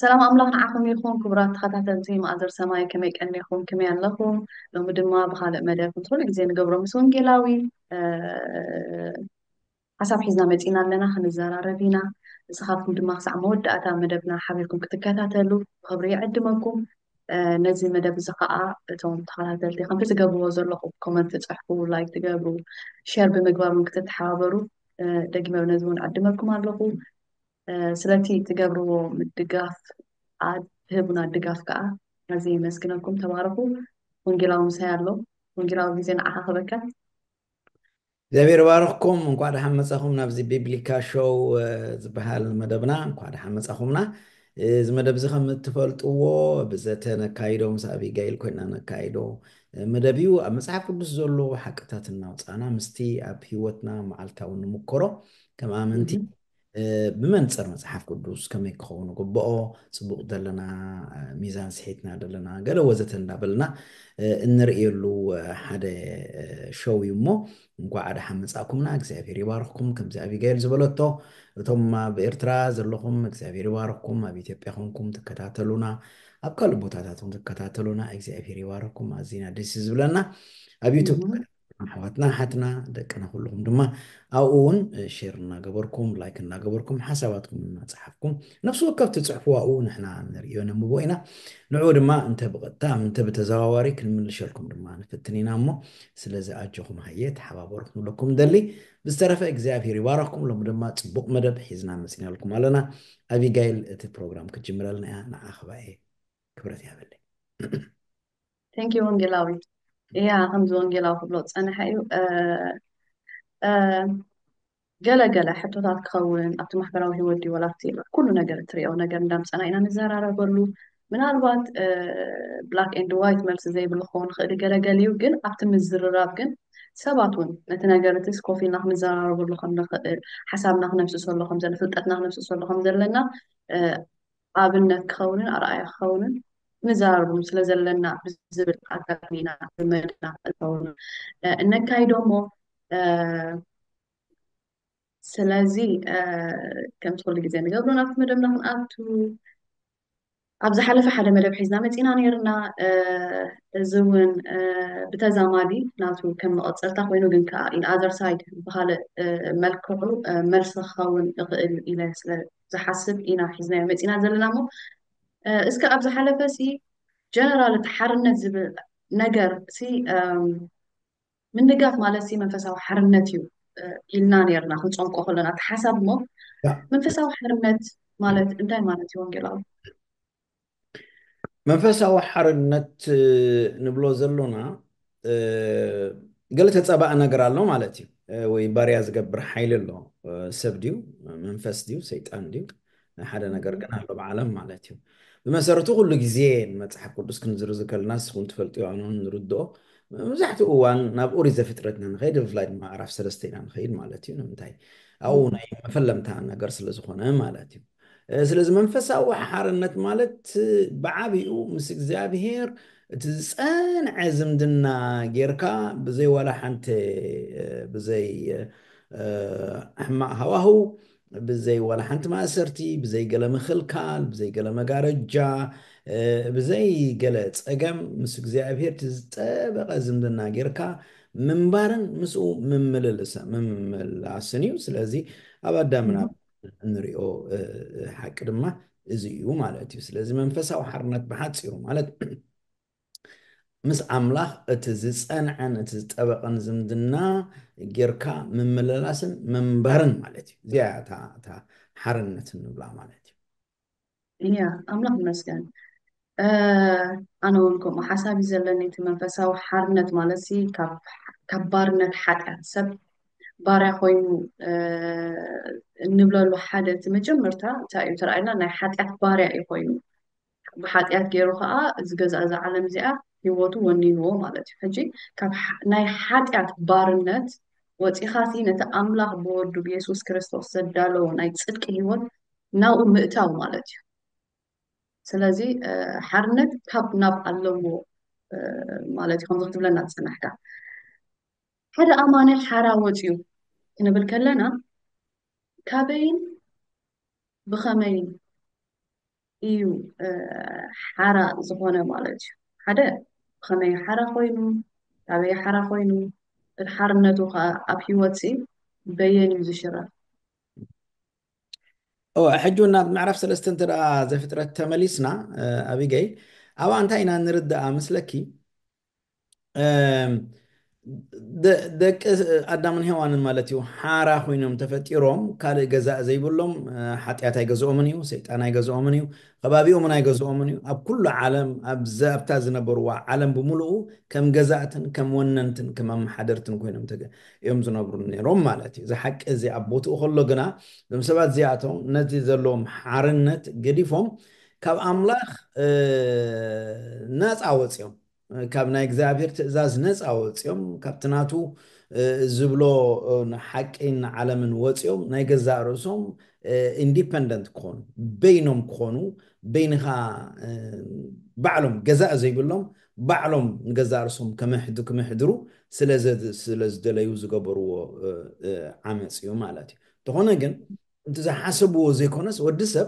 ሰላም ኣምላኽ ንዓኹም ይኹን። ክቡራት ተኸታተልቲ ማእዘር ሰማይ፣ ከመይ ቀኒኹም? ከመይ ኣለኹም? ሎሚ ድማ ብኻልእ መደብ፣ ከምቲ ኩሉ ግዜ ንገብሮ፣ ምስ ወንጌላዊ፣ እ፣ ሓሳብ ሒዝና መጺና ኣለና፣ ክንዘራረብ ኢና። ንስኻትኩም ድማ ክሳዕ መወዳእታ መደብና ሓቢርኩም ክትከታተሉ ብኽብሪ ይዕድመኩም። እ፣ ነዚ መደብ እዚ ኸኣ እቶም ተኸታተልቲ ከምቲ ትገብርዎ ዘለኹም፣ ኮመንት ትጽሕፉ፣ ላይክ ትገብሩ፣ ሼር ብምግባር እውን ክትተሓባበሩ፣ እ፣ ደጊመ ነዚ እውን ዕድመኩም ኣለኹ። እ፣ ስለቲ ትገብርዎ ምድጋፍ፣ ኣ-፣ ትህቡና ድጋፍ ከኣ ኣዝየ የመስግነኩም። ተባረኹ። ወንጌላዊ ምሳይ ኣሎ። ወንጌላዊ፣ ግዜ ንዓኻ ክበካ። እግዚኣብሔር ይባርኽኩም። እንኳዕ ደሓን መጻኹም ናብዚ ቢብሊካ ሾው፣ እ፣ ዝበሃል መደብና። እንኳዕ ደሓን መጻኹምና። እዚ መደብ እዚ ከም እትፈልጥዎ ብዘተ ነካይዶ፣ ምስ ኣቢጋይል ኮይና ነካይዶ፣ እ፣ መደብ እዩ። ኣብ መጽሓፍ ቅዱስ ዘሎ ሓቅታት እናውጻእና ምስቲ ኣብ ህይወትና መዓልታዊ ንምክሮ ከም ኣመንቲ፣ እህ። እ፣ ብመንጽር መጽሓፍ ቅዱስ ከመይ ክኸውን ግብኦ፣ ጽቡቕ ዘለና፣ እ፣ ሚዛን ስሒትና ዘለና፣ ገለ ወዘተ እንዳበልና፣ እ፣ እንርእየሉ፣ እ፣ ሓደ፣ እ፣ ሾው እዩ እሞ፣ እንኳዕ ደሓን መጻእኩምና። እግዚኣብሔር ይባርኽኩም። ከምዚ ኣቢጋይል ዝበለቶ፣ እቶም ኣብ ኤርትራ ዘለኹም እግዚኣብሔር ይባርኽኩም። ኣብ ኢትዮጵያ ኮንኩም ትከታተሉና፣ ኣብ ካልእ ቦታታት እውን ትከታተሉና እግዚኣብሔር ይባርኽኩም። ኣዚና ደስ እዩ ዝብለና። ኣብ ዩቱብ እህ። ኣሕዋትና፣ ሓትና፣ ደቅና ኩልኹም ድማ ኣብኡ እውን ሼር እናገበርኩም፣ ላይክ እናገበርኩም፣ ሓሳባትኩም እናጸሓፍኩም፣ ነፍሲ ወከፍ ትጽሕፍዎ ኣብኡ ንሕና ንርእዮ ነንብቦ ኢና። ንዕኡ ድማ እንተ ብቐጥታ እንተ ብተዘዋዋሪ ክንምልሸልኩም ድማ ንፍትን ኢና እሞ፣ ስለዚ ኣጆኹም ሃየ ተሓባበሩ ክንብለኩም ደሊ። ብዝተረፈ እግዚኣብሔር ይባረኽኩም። ሎሚ ድማ ጽቡቕ መደብ ሒዝና መጺናልኩም ኣለና። ኣቢጋይል እቲ ፕሮግራም ክትጅምረልና እያ። ንዓኺ ባኤ ክብረት ይሃበለይ። Thank you ወንጌላዊ። እያ፣ ከምዚ ወንጌላዊ ክብሎ ዝጸንሐ እዩ። እ፣ እ፣ ገለ ገለ ሕቶታት ክኸውን ኣብቲ ማሕበራዊ ህይወት ድዩ፣ ወላ ኣብቲ ኩሉ ነገር እትሪኦ ነገር እንዳምጸና ኢና ንዘራረበሉ። ምናልባት፣ እ፣ ብላክ ኤንድ ዋይት መልሲ ዘይብሉ ክኸውን ይኽእል እዩ፣ ገለ ገሊኡ ግን ኣብቲ ምዝርራብ ግን ሰባት እውን ነቲ ነገር እቲ ኮፍ ኢልና ክንዘራረበሉ ከም ንኽእል፣ ሓሳብና ክነፍስሰሉ ከም ዘለና፣ ፍልጠትና ክነፍስሰሉ ከም ዘለና፣ እ፣ ኣብነት ክኸውንን ኣርኣያ ክኸውንን ንዘራረበሉ ስለ ዘለና ብዝብል ኣጋጣሚ ኢና መደብና እንኸውን፣ እ፣ እነካይዶ እሞ፣ እ፣ ስለዚ፣ እ፣ ከምቲ ኩሉ ግዜ ንገብሮ ናብቲ መደብና ክንኣቱ፣ ኣብ ዝሓለፈ ሓደ መደብ ሒዝና መጺና ነይርና። እ፣ እዚ እውን፣ እ፣ ብተዛማዲ ናቱ ከም መቐጸልታ ኮይኑ፣ ግን ከኣ in other side ብኻልእ፣ እ፣ መልክዑ፣ እ፣ መልሲ ክኸውን ይኽእል ኢለ ስለ ዝሓስብ ኢና ሒዝናዮ መጺና ዘለና እሞ፣ እ፣ እስከ ኣብ ዝሓለፈ ሲ ጀነራል እቲ ሓርነት ዝብል ነገር ሲ፣ እም፣ ምንጋፍ ማለት ሲ መንፈሳዊ ሓርነት እዩ፣ እ፣ ኢልና ነይርና ክንጸምቆ ከለና እቲ ሓሳብ እሞ፣ ያ። መንፈሳዊ ሓርነት ማለት እንታይ ማለት እዩ ወንጌላዊ? መንፈሳዊ ሓርነት፣ እ፣ ንብሎ ዘሎና፣ እ፣ ገለ ተጻባኢ ነገር ኣሎ ማለት እዩ። እ፣ ወይ ባርያ ዝገብር ሓይሊ ኣሎ። እ፣ ሰብ ድዩ? መንፈስ ድዩ? ሰይጣን ድዩ? ሓደ ነገር ግን ኣሎ ኣብ ዓለም ማለት እዩ። ብመሰረቱ ኩሉ ግዜ ንመጽሓፍ ቅዱስ ክንዝርዝር ከለና ንስኹም ትፈልጥዮ፣ ኣነ እውን ንርድኦ። መብዛሕትኡ እዋን ናብ ኦሪት ዘፍጥረት ኢና ንኸይድ፣ ብፍላይ ድማ ምዕራፍ ሰለስተ ኢና ንኸይድ ማለት እዩ። ንምንታይ? ኣብኡ ናይ መፈለምታ ነገር ስለ ዝኾነ ማለት እዩ። እ፣ ስለዚ መንፈሳዊ ሓርነት ማለት ብዓቢኡ ምስ እግዚኣብሄር እቲ ዝጸንዐ ዝምድና ጌርካ ብዘይ ዋላ ሓንቲ፣ እ፣ ብዘይ፣ እ፣ ሕማቕ ሃዋህው፣ ብዘይ ዋላ ሓንቲ ማእሰርቲ፣ ብዘይ ገለ ምኽልካል፣ ብዘይ ገለ መጋረጃ፣ እ፣ ብዘይ ገለ ጸገም ምስ እግዚኣብሄር እቲ ዝጠበቐ ዝምድና ጌርካ ምንባርን ምስኡ ምምልልሳ-፣ ምምላስን እዩ። ስለዚ ኣብ ኣዳምን እም። ኣብ እንሪኦ፣ እ፣ እ፣ ሓቂ ድማ እዚ እዩ ማለት እዩ። ስለዚ መንፈሳዊ ሓርነት ብሓጺሩ ማለት ምስ ኣምላኽ እቲ ዝጸንዐን እቲ ዝጠበቐን ዝምድና ጌርካ ምምልላስን ምንባርን ማለት እዩ። እዚኣ እያ እታ፣ እታ ሓርነት እንብላ ማለት እዩ። እያ፣ ኣምላኽ ይመስገን። እ፣ ኣነ እውን ከምኡ ሓሳብ እዩ ዘለኒ። እቲ መንፈሳዊ ሓርነት ማለት ሲ ካብ፣ ካብ ባርነት ሓጢኣት፣ ሰብ ባርያ ኮይኑ፣ እ፣ እንብለሉ ሓደ እቲ መጀመርታ እንታይ እዩ ተራእየና? ናይ ሓጢኣት ባርያ እዩ ኮይኑ። ብሓጢኣት ገይሩ ኸኣ እዚ ገዛ፣ እዛ ዓለም እዚኣ ህይወቱ ወኒንዎ ማለት እዩ። ሕጂ ካብ ሓ-፣ ናይ ሓጢኣት ባርነት ወጺኻ ሲ ነቲ ኣምላኽ ብወዱ ብየሱስ ክርስቶስ ዘዳለዎ ናይ ጽድቂ ህይወት ናብኡ ምእታው ማለት እዩ። ስለዚ፣ እ፣ ሓርነት ካብ ናብ ኣለዎ፣ እ፣ ማለት እዩ፣ ከምዚ ክትብለና ዝጸናሕካ። ሓደ ኣማኒ ሓራ ወጺኡ ክንብል ከለና፣ ካበይን ብኸመይን እዩ ሓራ ዝኾነ ማለት እዩ። ሓደ ብኸመይ ሓራ ኮይኑ፣ ኣበይ ሓራ ኮይኑ፣ እቲ ሓርነቱ ከዓ ኣብ ህይወት በየን እዩ ዝሽረፍ? እወ፣ ሕጂ ናብ ምዕራፍ ሰለስተ እንተ ደኣ ዘፍጥረት ተመሊስና፣ ኣቢገይ፣ ኣብኣ እንታይ ኢና ንርዳኣ መስለኪ? ደቂ ኣዳምን ሄዋንን ማለት እዩ ሓራ ኮይኖም ተፈጢሮም፣ ካልእ ገዛእ ዘይብሎም። ሓጢኣት ኣይገዝኦምን እዩ፣ ሰይጣን ኣይገዝኦምን እዩ፣ ከባቢኦምን ኣይገዝኦምን እዩ። ኣብ ኩሉ ዓለም ኣብዛ ኣብታ ዝነበርዋ ዓለም ብምሉኡ ከም ገዛእትን ከም ወነንትን ከም ኣመሓደርትን ኮይኖም እዮም ዝነብሩ ነይሮም ማለት እዩ። እዚ ሓቂ እዚ ኣብ ቦትኡ ከሎ ግና እዞም ሰባት እዚኣቶም ነዚ ዘለዎም ሓርነት ገዲፎም ካብ ኣምላኽ ናፃ ወፂኦም፣ ካብ ናይ እግዚኣብሔር ትእዛዝ ነፃ ወፂኦም፣ ካብቲ ናቱ ዝብሎ ሓቂን ዓለምን ወፂኦም ናይ ገዛእ ርእሶም ኢንዲፐንደንት ክኾኑ፣ በይኖም ክኾኑ፣ በይንኻ ባዕሎም ገዛእ ዘይብሎም ባዕሎም ንገዛእ ርእሶም ክምሕድሩ ስለ ዝደለዩ ዝገበርዎ ዓመፅ እዩ ማለት እዩ። እንተኾነ ግን እቲ ዝሓሰብዎ ዘይኮነስ ወዲ ሰብ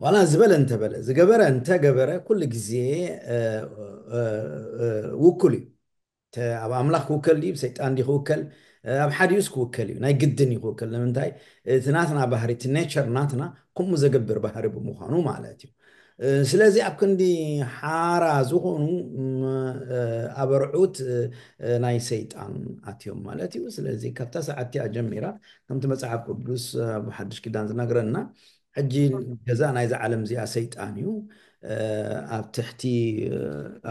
ዋላ ዝበለ እንተበለ ዝገበረ እንተገበረ ኩሉ ግዜ ውኩል እዩ። ኣብ ኣምላኽ ክውከል ድዩ ሰይጣን ድዩ ክውከል? ኣብ ሓዲኡስ ክውከል እዩ፣ ናይ ግድን እዩ ክውከል። ንምንታይ? እቲ ናትና ባህሪ፣ እቲ ኔቸር ናትና ከምኡ ዘገብር ባህሪ ብምዃኑ ማለት እዩ። ስለዚ ኣብ ክንዲ ሓራ ዝኾኑ ኣበርዑት ናይ ሰይጣን ኣትዮም ማለት እዩ። ስለዚ ካብታ ሰዓት እቲኣ ጀሚራ ከምቲ መፅሓፍ ቅዱስ ኣብ ሓድሽ ኪዳን ዝነግረና ሕጂ ገዛ ናይዛ ዓለም እዚኣ ሰይጣን እዩ። ኣብ ትሕቲ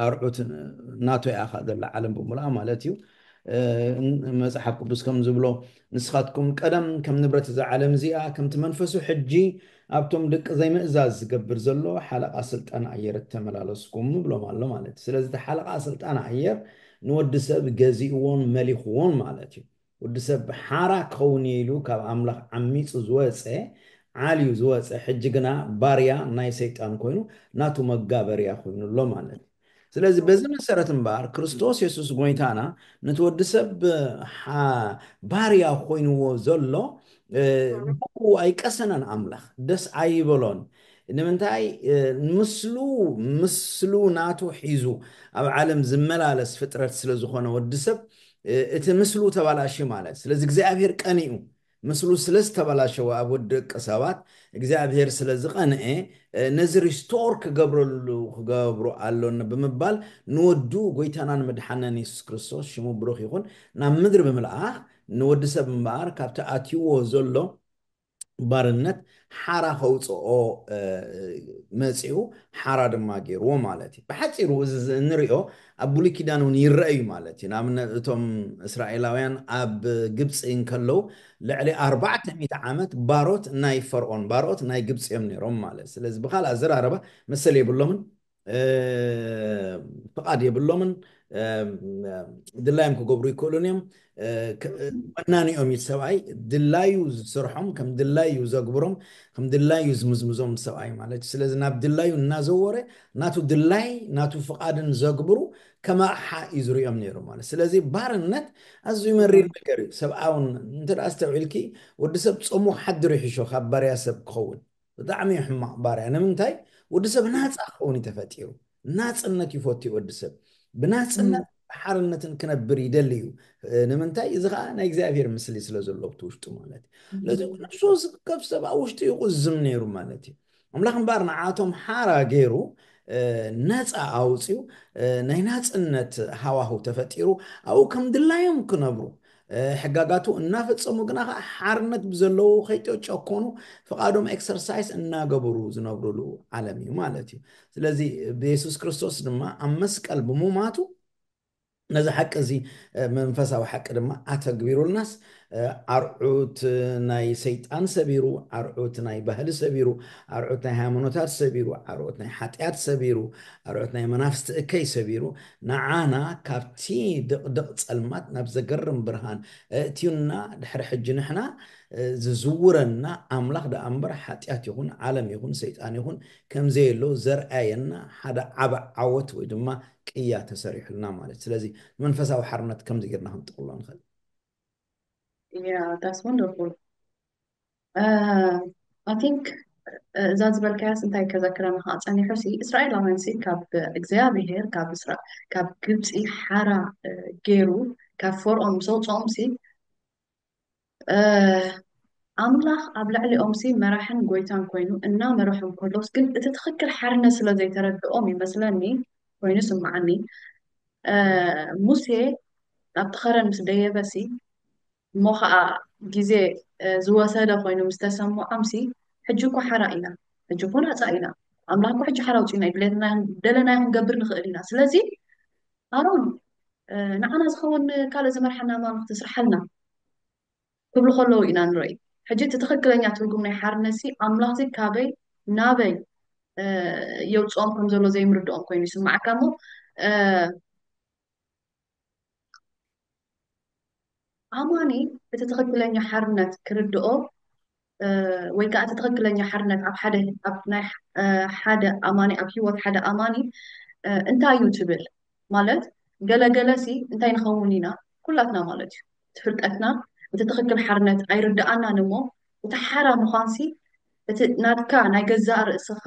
ኣርዑት ናቱ እያ ከኣ ዘላ ዓለም ብምሉኣ ማለት እዩ። መፅሓፍ ቅዱስ ከም ዝብሎ ንስኻትኩም ቀደም ከም ንብረት እዛ ዓለም እዚኣ ከምቲ መንፈሱ ሕጂ ኣብቶም ደቂ ዘይምእዛዝ ዝገብር ዘሎ ሓለቓ ስልጣን ኣየር እተመላለስኩም ይብሎም ኣሎ ማለት እዩ። ስለዚ እቲ ሓለቓ ስልጣን ኣየር ንወዲ ሰብ ገዚእዎን መሊኽዎን ማለት እዩ። ወዲ ሰብ ሓራ ክኸውን እየ ኢሉ ካብ ኣምላኽ ዓሚፁ ዝወፀ ዓልዩ ዝወፀ ሕጂ ግና ባርያ ናይ ሰይጣን ኮይኑ ናቱ መጋበርያ ኮይኑ ኣሎ ማለት እዩ። ስለዚ በዚ መሰረት እምበኣር ክርስቶስ የሱስ ጎይታና ነቲ ወዲ ሰብ ባርያ ኮይንዎ ዘሎ ብኡ ኣይቀሰነን። ኣምላኽ ደስ ኣይበሎን። ንምንታይ? ምስሉ ምስሉ ናቱ ሒዙ ኣብ ዓለም ዝመላለስ ፍጥረት ስለ ዝኾነ ወዲ ሰብ እቲ ምስሉ ተባላሽ ማለት። ስለዚ እግዚኣብሔር ቀኒኡ ምስሉ ስለ ዝተበላሸወ ኣብ ወዲ ደቂ ሰባት እግዚኣብሔር ስለ ዝቐንኤ ነዚ ሪስቶር ክገብረሉ ክገብሩ ኣሎና ብምባል ንወዱ ጎይታናን መድሓናን የሱስ ክርስቶስ ሽሙ ብሩኽ ይኹን ናብ ምድሪ ብምልኣኽ ንወዲ ሰብ እምበኣር ካብቲ ኣትይዎ ዘሎ ባርነት ሓራ ከውፅኦ መፂኡ ሓራ ድማ ገይርዎ ማለት እዩ። ብሓፂሩ እዚ እንሪኦ ኣብ ብሉይ ኪዳን እውን ይረአ እዩ ማለት እዩ። ንኣብነት እቶም እስራኤላውያን ኣብ ግብፂ እንከለዉ ልዕሊ ኣርባዕተ ሚእቲ ዓመት ባሮት ናይ ፈርኦን ባሮት ናይ ግብፂ እዮም ነይሮም ማለት። ስለዚ ብካልእ ኣዘራረባ መሰል የብሎምን፣ ፍቓድ የብሎምን፣ ድላዮም ክገብሩ ይክእሉን እዮም። መናኒኦም እዩ ሰብኣይ ድላዩ ዝስርሖም ከም ድላዩ ዘግብሮም ከም ድላዩ ዝምዝምዞም ሰብኣይ ማለት እዩ። ስለዚ ናብ ድላዩ እናዘወረ ናቱ ድላይ ናቱ ፍቓድን ዘግብሩ ከም ኣቕሓ እዩ ዝሪኦም ነይሩ ማለት። ስለዚ ባርነት ኣዝዩ መሪር ነገር እዩ። ሰብኣውን እንተ ኣስተውዒልኪ ወዲ ሰብ ጾሙ ክሓድር ይሕሾ ካብ ባርያ ሰብ ክኸውን ብጣዕሚ እዩ ሕማቕ ባርያ። ንምንታይ? ወዲ ሰብ ናፃ ክኸውን እዩ ተፈጢሩ። ናፅነት ይፈቱ ወዲ ሰብ ብናፅነት ሓርነትን ክነብር ይደሊ እዩ። ንምንታይ? እዚ ከዓ ናይ እግዚኣብሔር ምስሊ ስለ ዘሎ ብቲ ውሽጡ ማለት እዩ። ስለዚ ነፍሱ ዝከፍ ሰብ ኣብ ውሽጡ ይቁዝም ነይሩ ማለት እዩ። ኣምላኽ እምበኣር ንዓቶም ሓራ ገይሩ ነፃ ኣውፅዩ ናይ ናፅነት ሃዋህው ተፈጢሩ ኣብኡ ከም ድላዮም ክነብሩ ሕጋጋቱ እናፈፀሙ ግና ከዓ ሓርነት ብዘለዉ ከይተጨኮኑ ፍቓዶም ኤክሰርሳይስ እናገበሩ ዝነብሩሉ ዓለም እዩ ማለት እዩ። ስለዚ ብየሱስ ክርስቶስ ድማ ኣብ መስቀል ብሙማቱ ነዚ ሓቂ እዚ መንፈሳዊ ሓቂ ድማ ኣተግቢሩልናስ ኣርዑት ናይ ሰይጣን ሰቢሩ ኣርዑት ናይ ባህሊ ሰቢሩ ኣርዑት ናይ ሃይማኖታት ሰቢሩ ኣርዑት ናይ ሓጢኣት ሰቢሩ ኣርዑት ናይ መናፍስቲ እከይ ሰቢሩ ንዓና ካብቲ ድቕድቕ ጸልማት ናብ ዘገርም ብርሃን እእትዩና ድሕሪ ሕጂ ንሕና ዝዝውረና ኣምላኽ ደኣ እምበር ሓጢኣት ይኹን ዓለም ይኹን ሰይጣን ይኹን ከምዘየሎ ዘርኣየና ሓደ ዓበ ዓወት ወይ ድማ ቅያ ተሰሪሑልና ማለት። ስለዚ መንፈሳዊ ሓርነት ከምዚ ጌርና ክንጥቕሎ ንኽእል። Yeah, that's wonderful. I think እዛ ዝበልካያስ እንታይ ከዘክረና ከዓ ጸኒሑ ሲ እስራኤላውያን ሲ ካብ እግዚኣብሄር ካብ እስራ ካብ ግብፂ ሓራ ገይሩ ካብ ፈርኦን ምስ ኣውፅኦም ሲ ኣምላኽ ኣብ ልዕሊኦም ሲ መራሕን ጎይታን ኮይኑ እናመረሖም ከሎስ ግን እቲ ትኽክል ሓርነት ስለ ዘይተረድኦም ይመስለኒ ኮይኑ ስምዓኒ ሙሴ ኣብቲ ኸረን ምስ ደየበ ሲ እሞ ከዓ ግዜ ዝወሰደ ኮይኑ ምስ ተሰምዖም ሲ ሕጂ እኮ ሓራ ኢና ሕጂ እኮ ናፃ ኢና ኣምላኽ እኮ ሕጂ ሓራ ውፅና እዩ ድሌትና ደለናዮ ክንገብር ንኽእል ኢና ስለዚ ኣሮን ንዓና ዝኸውን ካልእ ዝመርሓና ኣማልኽቲ ስርሓልና ክብሉ ከለዉ ኢና ንርኢ ሕጂ እቲ ትኽክለኛ ትርጉም ናይ ሓርነት ሲ ኣምላኽዚ ካበይ ናበይ የውፅኦም ከም ዘሎ ዘይምርድኦም ኮይኑ ይስማዓካ እሞ ኣማኒ እቲ ትኽክለኛ ሓርነት ክርድኦ ወይ ከዓ እቲ ትኽክለኛ ሓርነት ኣብ ሓደ ኣብ ናይ ሓደ ኣማኒ ኣብ ሂወት ሓደ ኣማኒ እንታይ እዩ ትብል ማለት ገለገለ ሲ እንታይ ንኸውን ኢና ኩላትና ማለት እዩ እቲ ፍልጠትና እቲ ትኽክል ሓርነት ኣይርድኣናን እሞ እቲ ሓራ ምዃንሲ እቲ ናትካ ናይ ገዛእ ርእስኻ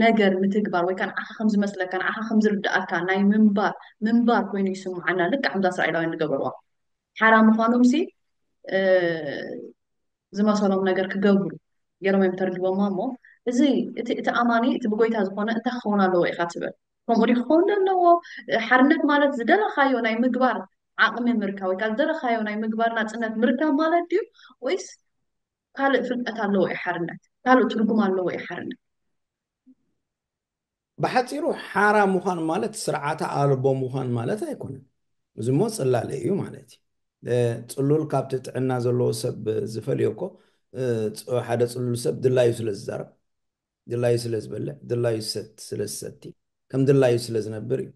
ነገር ምትግባር ወይ ከዓ ንዓኻ ከም ዝመስለካ ንዓኻ ከም ዝርድኣካ ናይ ምንባር ምንባር ኮይኑ ይስምዓና ልክዕ ከምዛ እስራኤላውያን ዝገበርዋ ሓራ ምዃኖም ሲ ዝመሰሎም ነገር ክገብሩ ገይሮም እዮም ተርጊቦማ እሞ እዚ እቲ እቲ ኣማኒ እቲ ብጎይታ ዝኾነ እንታይ ክኸውን ኣለዎ ኢኻ ትብል ከምኡ ዲ ክኸውን ኣለዎ ሓርነት ማለት ዝደለኻዮ ናይ ምግባር ዓቕሚ ምርካብ ወይ ከዓ ዝደለኻዮ ናይ ምግባር ናፅነት ምርካብ ማለት ድዩ ወይስ ካልእ ፍልጠት ኣለዎ እዩ ሓርነት ካልእ ትርጉም ኣለዎ እዩ ሓርነት ብሓፂሩ ሓራ ምዃን ማለት ስርዓተ ኣልቦ ምዃን ማለት ኣይኮነን። እዚ እሞ ፅላለ እዩ ማለት እዩ። እ፣ ፅሉል ካብቲ ጥዕና ዘለዎ ሰብ ዝፈልዮ እኮ እ፣ ፅ- ሓደ ፅሉል ሰብ ድላዩ ስለ ዝዛረብ፣ ድላዩ ስለ ዝበልዕ፣ ድላዩ ዝሰት- ስለ ዝሰቲ፣ ከም ድላዩ ስለ ዝነብር እዩ።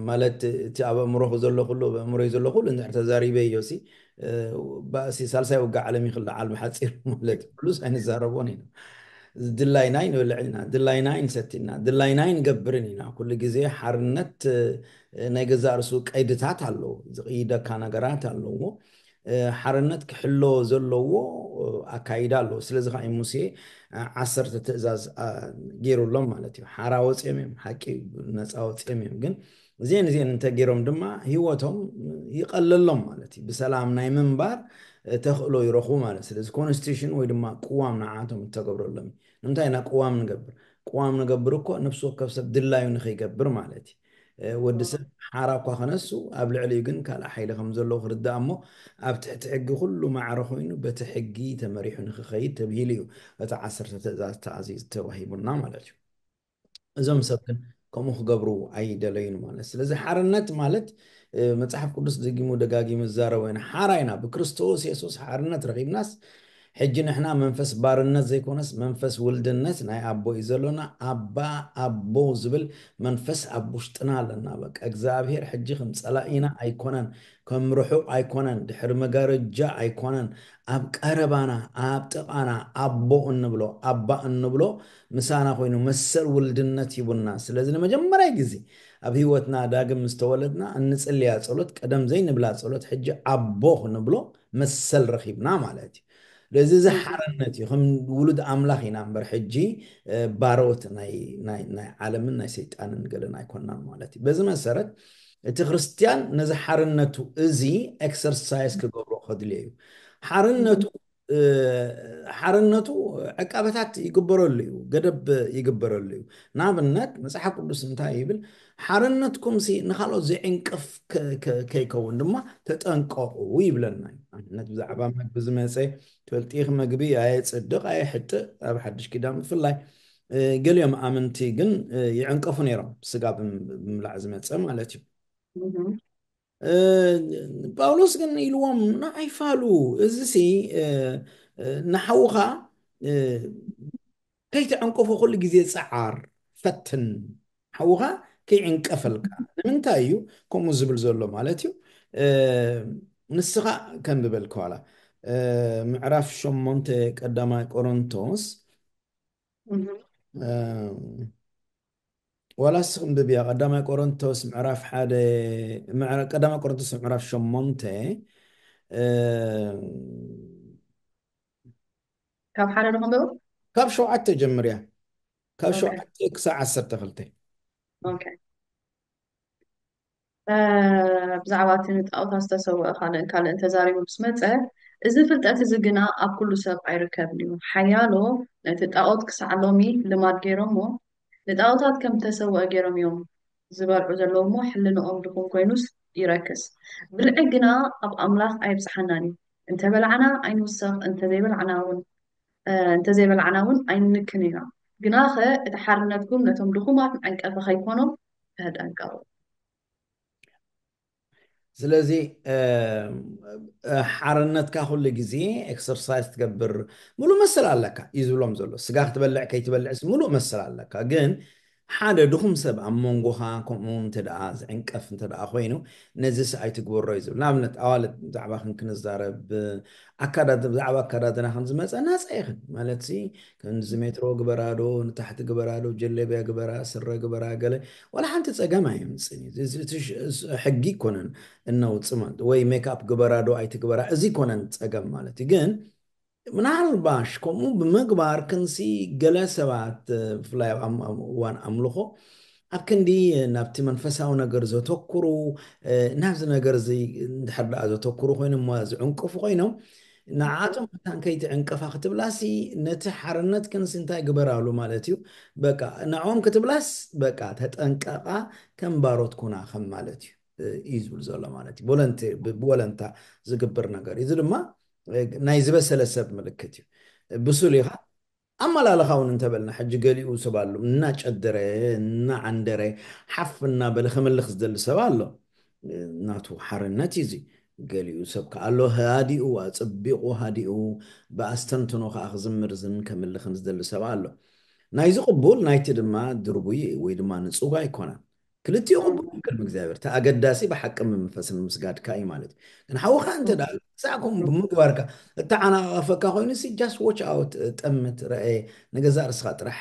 ማለት እቲ ኣብ ኣእምሮኹ ዘሎ ኩሉ ኣብ ኣእምሮይ ዘሎ ኩሉ እንድሕር ተዛሪበዮ ሲ እ፣ ባእሲ ሳልሳይ ውግእ ዓለም ይኽልዓል ብሓፂር ማለት እዩ። ኩሉስ ኣይንዛረቦን ኢና። ድላይናይ ንበልዕ ኢና፣ ድላይናይ ንሰቲ ኢና፣ ድላይናይ ንገብርን ኢና። ኩሉ ግዜ ሓርነት እ፣ ናይ ገዛእ ርእሱ ቀይድታት ኣለዎ፣ ዝቕይደካ ነገራት ኣለዎ። እ፣ ሓርነት ክሕሎ ዘለዎ እ፣ ኣካይዳ ኣለዎ። ስለዚ ከዓ እዩ ሙሴ እ፣ ዓሰርተ ትእዛዝ እ፣ ገይሩሎም ማለት እዩ። ሓራ ወፂኦም እዮም፣ ሓቂ እዩ፣ ነፃ ወፂኦም እዮም። ግን እዚአን እዚአን እንተገይሮም ድማ ህይወቶም ይቐለሎም ማለት እዩ። ብሰላም ናይ ምንባር እ፣ ተኽእሎ ይረኽቡ ማለት እዩ። ስለዚ ኮንስቲቱሽን ወይ ድማ ቅዋም ንዓቶም እተገብረሎም እዩ። ንምንታይ ኢና ቅዋም ንገብር? ቅዋም ንገብር እኮ ነፍሲ ወከፍ ሰብ ድላዩ ንኸይገብር ማለት እዩ። እ፣ ወዲ ሰብ ሓራ እኳ ከነሱ ኣብ ልዕሊኡ ግን ካልእ ሓይሊ ከም ዘለዎ ክርዳእ እሞ ኣብ ትሕቲ ሕጊ ኩሉ ማዕረ ኮይኑ በቲ ሕጊ ተመሪሑ ንክኸይድ ተብሂሉ እዩ እቲ ዓሰርተ ትእዛዝ ተኣዚዙ ተዋሂቡና ማለት እዩ። እዞም ሰብ ግን ከምኡ ክገብሩ ኣይደለዩን ማለት ስለዚ ሓርነት ማለት እ፣ መፅሓፍ ቅዱስ ደጊሙ ደጋጊሙ ዝዛረቦ ኢና ሓራ ኢና ብክርስቶስ የሱስ ሓርነት ረኺብናስ ሕጂ ንሕና መንፈስ ባርነት ዘይኮነስ መንፈስ ውልድነት ናይ ኣቦ እዩ ዘሎና ኣባ ኣቦ ዝብል መንፈስ ኣብ ውሽጥና ኣለና በቃ እግዚኣብሔር ሕጂ ከም ፀላኢና ኣይኮነን ከም ርሑቕ ኣይኮነን ድሕሪ መጋረጃ ኣይኮነን ኣብ ቀረባና ኣብ ጥቓና ኣቦ እንብሎ ኣባ እንብሎ ምሳና ኮይኑ መሰል ውልድነት ሂቡና ስለዚ ንመጀመርያ ግዜ ኣብ ህይወትና ዳግም ምስ ተወለድና እንጽልያ ጸሎት ቀደም ዘይንብላ ጸሎት ሕጂ ኣቦ ክንብሎ መሰል ረኺብና ማለት እዩ። ስለዚ እዚ ሓርነት እዩ። ከም ውሉድ ኣምላኽ ኢና እምበር ሕጂ እ፣ ባሮት ናይ ናይ ናይ ዓለምን ናይ ሰይጣንን ገለን ኣይኮናን ማለት እዩ። በዚ መሰረት እቲ ክርስትያን ነዚ ሓርነቱ እዚ ኤክሰርሳይዝ ክገብሮ ከድልዮ እዩ። ሓርነቱ እ፣ ሓርነቱ ዕቃበታት ይግበረሉ እዩ፣ ገደብ ይግበረሉ እዩ። ንኣብነት መፅሓፍ ቅዱስ እንታይ ይብል? ሓርነትኩም ሲ ንካልኦት ዘይዕንቅፍ ከ- ከ- ከይከውን ድማ ተጠንቀቁ ይብለና እዩ። ኣብነት ብዛዕባ መግቢ ዝመፀ ትፈልጢ ኢኺ፣ መግቢ ኣየፅድቕ ኣየሕጥእ ኣብ ሓድሽ ኪዳን ብፍላይ እ፣ ገሊኦም ኣመንቲ ግን እ፣ ይዕንቀፉ ነይሮም ስጋ ብም- ብምብላዕ ዝመፀ ማለት እዩ። ፓውሎስ ግን ኢልዎም ንዓይ ፋሉ እዚ ሲ ንሓውኻ ከይትዕንቀፎ ኩሉ ግዜ ፀዓር ፈትን ሓውኻ ከይዕንቀፈልካ ንምንታይ እዩ ከምኡ ዝብል ዘሎ ማለት እዩ ንስኻ ከንብበልካ ዋላ ምዕራፍ ሸሞንተ ቀዳማይ ቆሮንቶስ ዋላ እስኺ እንብብያ ቀዳማይ ቆሮንቶስ ምዕራፍ ሓደ ምዕራ- ቀዳማይ ቆሮንቶስ ምዕራፍ ሸሞንተ እ፣ ካብ ሓደ ዶ ክንብብ? ካብ ሸውዓተ ጀምርያ። ካብ ኦኬ። ሸውዓተ ክሳብ ዓሰርተ ክልተ። ኦኬ። እ፣ ብዛዕባ እቲ ንጣዖታት ዝተሰውአ ካልእን ካልእን ተዛሪቡ ምስ መጸ፣ እዚ ፍልጠት እዚ ግና ኣብ ኩሉ ሰብ ኣይርከብን እዩ። ሓያሎ ነቲ ጣዖት ክሳዕ ሎሚ ልማድ ገይሮሞ፣ ንጣዖታት ከም ዝተሰውአ ገይሮም እዮም ዝበልዑ ዘለዉ እሞ፣ ሕልንኦም ድኹም ኮይኑስ ይረክስ። ብልዒ ግና ኣብ ኣምላኽ ኣይብጽሓናን እዩ። እንተ በላዕና ኣይንውሰኽ፣ እንተ ዘይበላዕና እውን፣ እ፣ እንተ ዘይበላዕና እውን ኣይንንክን ኢና። ግናኸ እቲ ሓርነትኩም ነቶም ድኹማት መዐንቀፊ ከይኮኖም ተጠንቀቑ። ስለዚ እ፣ እ፣ ሓርነትካ ኩሉ ግዜ ኤክሰርሳይዝ ትገብር ሙሉእ መሰል ኣለካ እዩ ዝብሎም ዘሎ። ስጋ ክትበልዕ ከይትበልዕስ ሙሉእ መሰል ኣለካ። ግን ሓደ ድኹም ሰብ ኣብ መንጎኻ ከምኡ እንተ ደኣ ዝዕንቀፍ እንተ ደኣ ኮይኑ፣ ነዚስ ኣይትግበሮ እዩ ዝብል። ንኣብነት ኣዋልድ ብዛዕባ ክንክንዛረብ፣ ኣካዳድ-፣ ብዛዕባ ኣካዳድና ከም ዝመጸ ናጻ ኢኽን። ማለትሲ ከምዚ ሜትሮ ግበራ ዶ፣ ንታሕቲ ግበራ ዶ፣ ጀለብያ ግበራ፣ ስረ ግበራ፣ ገለ ዋላ ሓንቲ ጸገም ኣየምጽእን እዩ። እዚ፣ እቲ ሽ-፣ ስ-፣ ሕጊ ይኮነን እነውጽእ ማለት ወይ ሜክኣፕ ግበራ ዶ ኣይትግበራ፣ እዚ ይኮነን ጸገም ማለት እዩ። ግን ምናልባሽ ከምኡ ብምግባር ክንሲ ገለ ሰባት፣ እ፣ ብፍላይ ኣብ ኣም-፣ ኣብ እዋን ኣምልኾ ኣብ ክንዲ ናብቲ መንፈሳዊ ነገር ዘተኩሩ፣ እ፣ ናብዚ ነገር እዚ እንድሕር ደኣ ዘተኩሩ ኮይኖም እሞ ዝዕንቅፉ ኮይኖም፣ ንዓቶም መታን ከይትዕንቀፋ ክትብላሲ ነቲ ሓርነት ክንሲ እንታይ ግበራሉ ማለት እዩ። በቃ ንዕኦም ክትብላስ በቃ ተጠንቀቓ፣ ከም ባሮት ኩና ከም ማለት እዩ፣ እ፣ እዩ ዝብል ዘሎ ማለት እዩ። ቦለንቲ-፣ ብ-፣ ብወለንታ ዝግብር ነገር እዩ። እዚ ድማ፣ እ፣ ናይ ዝበሰለ ሰብ ምልክት እዩ። ብሱል ኢኻ። ኣመላልኻ እውን እንተበልና ሕጂ ገሊኡ ሰብ ኣሎ እናጨደረ፣ እናዓንደረ፣ ሓፍ እናበለ ክምልኽ ዝደሊ ሰብ ኣሎ። ናቱ ሓርነት እዩ እዚ። ገሊኡ ሰብ ከኣ ኣሎ ሃዲኡ፣ ኣጸቢቑ ሃዲኡ፣ ብኣስተንትኖ ከኣ ክዝምር ዝን ከምልኽን ዝደሊ ሰብ ኣሎ። ናይዚ ቅቡል ናይቲ ድማ ድርቡይ ወይ ድማ ንጹግ ኣይኮነን። ክልቲኡ ቅቡል እዩ ቅድሚ እግዚኣብሔር። እቲ ኣገዳሲ ብሓቂ መንፈስን ምስጋድካ እዩ ማለት እዩ። ግን ሓውኻ እንተ ደኣ ክሳዕ ከምኡ ብምግባርካ እተዓናቐፈካ ኮይኑ ሲ just watch out፣ ጠምት፣ ረአ፣ ንገዛእ ርስኻ ጥራሕ፣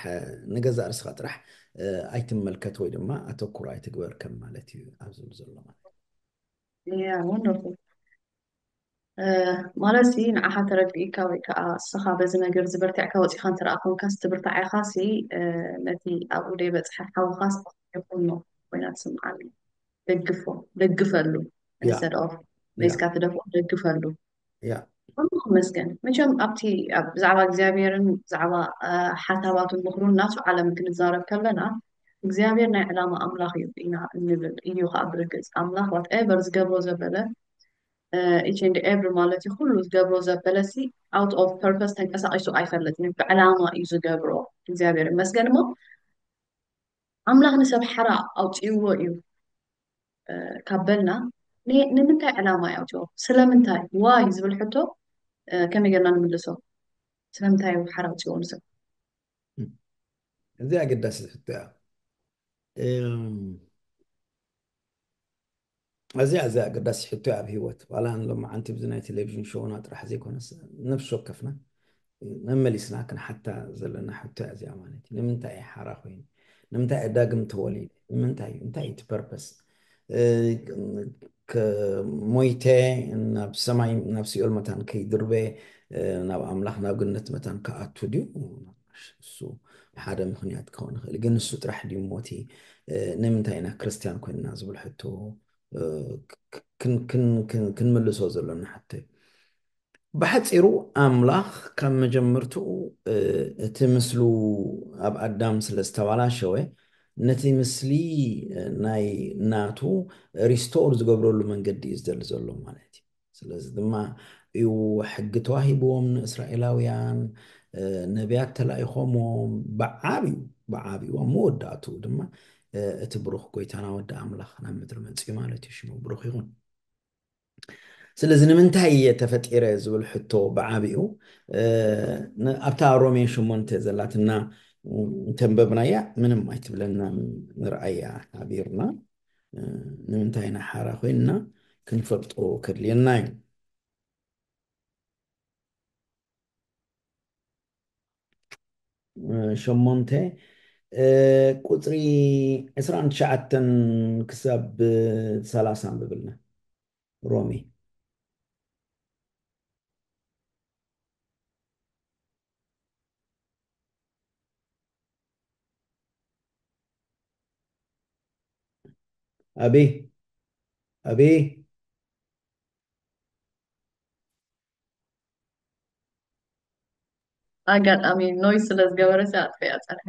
ንገዛእ ርስኻ ጥራሕ፣ እ፣ ኣይትመልከት ወይ ድማ ኣተኩሮ ኣይትግበር ከም ማለት እዩ ኣብ ዝብል ዘሎ ማለት እዩ። Yeah, wonderful። እ፣ ማለት ሲ ንዓኻ ተረዲእካ ወይ ከዓ እስኻ በዚ ነገር ዝበርቲዕካ ወፂኻ እንተ ደኣ ኮንካስ ትብርታዕ ኢኻ ሲ፣ እ፣ ነቲ ኣብኡ ደይበፅሐ ሓውኻስ ይኹኖ ኮይና ትስምዓኒ። ደግፎ፣ ደግፈሉ። ያ፣ Instead of ያ፣ ሜስካ ትደፍኦ፣ ደግፈሉ። ያ። ኩሉ ክመስገን። መቸም ኣብቲ ኣብ ብዛዕባ እግዚኣብሔርን ብዛዕባ፣ እ፣ ሓሳባቱን ምኽሩን ናቱ ዓለም ክንዛረብ ከለና እግዚኣብሔር ናይ ዕላማ ኣምላኽ እዩ ኢና እንብል። እዩ ከዓ ብርግጽ ኣምላኽ whatever ዝገብሮ ዘበለ፣ እ፣ each and every ማለት እዩ ኩሉ ዝገብሮ ዘበለ ሲ out of purpose ተንቀሳቒሱ ኣይፈልጥን እዩ። ብዕላማ እዩ ዝገብሮ። እግዚኣብሔር ይመስገን። እሞ ኣምላኽ ንሰብ ሓራ ኣውፅእዎ እዩ፣ እ፣ ካብ በልና ን-፣ ንምንታይ ዕላማ እዩ ኣውፅዎ? ስለምንታይ? ዋይ ዝብል ሕቶ፣ እ፣ ከመይ ጌርና ንምልሶ? ስለምንታይ እዩ ሓራ ኣውፅዎ ንሰብ? እዚ ኣገዳሲ ሕቶ እያ። እም፣ እዚ፣ እዚ ኣገዳሲ ሕቶ እያ ኣብ ህይወት። ዋላ ንሎማዓንቲ ብዚ ናይ ቴሌቪዥን ሾውና ጥራሕ ዘይኮነስ ነፍሲ ወከፍና መመሊስና ክንሓታ ዘለና ሕቶ እያ እዚኣ ማለት እዩ። ንምንታይ እየ ሓራ ኮይኑ? ንምንታይ እየ ዳግም ተወሊደ? ንምንታይ እዩ? እንታይ እዩ እቲ ፐርፐስ? እ፣ ከ-፣ ሞይተ ናብ ሰማይ፣ ናብ ሲኦል መታን ከይድርበ፣ እ፣ ናብ ኣምላኽ፣ ናብ ገነት መታን ክኣቱ ድዩ? እሱ ሓደ ምኽንያት ክኸውን ይኽእል። ግን ንሱ ጥራሕ ድዩ ሞቲ? እ፣ ንምንታይ ኢና ክርስትያን ኮይንና ዝብል ሕቶ፣ እ፣ ክ-፣ ክን-፣ ክን-፣ ክን-፣ ክንምልሶ ዘሎና ሕቶ እዩ። ብሓጺሩ ኣምላኽ ካብ መጀመርትኡ፣ እ፣ እቲ ምስሉ ኣብ ኣዳም ስለ ዝተባላሸወ፣ ነቲ ምስሊ፣ እ፣ ናይ ናቱ ሪስቶር ዝገብረሉ መንገዲ እዩ ዝደሊ ዘሎ ማለት እዩ። ስለዚ ድማ እዩ ሕጊ ተዋሂብዎም ንእስራኤላውያን፣ እ፣ ነቢያት ተላኢኾምዎም ብዓብዩ፣ ብዓብዩ ኣብ መወዳእትኡ ድማ፣ እ፣ እቲ ብሩኽ ጎይታና ወዲ ኣምላኽ ናብ ምድሪ መጺኡ ማለት እዩ። ሽሙ ብሩኽ ይኹን። ስለዚ ንምንታይ እየ ተፈጢረ ዝብል ሕቶ ብዓቢኡ፣ እ፣ ን-፣ ኣብታ ሮሜ ሸሞንተ ዘላትና እንተንበብናያ ምንም ኣይትብለና፣ ንርኣያ ሓቢርና፣ እ፣ ንምንታይ ኢና ሓራ ኮይንና ክንፈልጦ ከድልየና እዩ። እ፣ ሸሞንተ፣ እ፣ ቁጽሪ ዕስራን ትሽዓተን ክሳብ ሰላሳ ኣንብብልና። ሮሜ። ኣቢ ኣቢ ኣጋጣሚ ኖይዝ ስለ ዝገበረ ኣጥፊኣ ፀርሐ።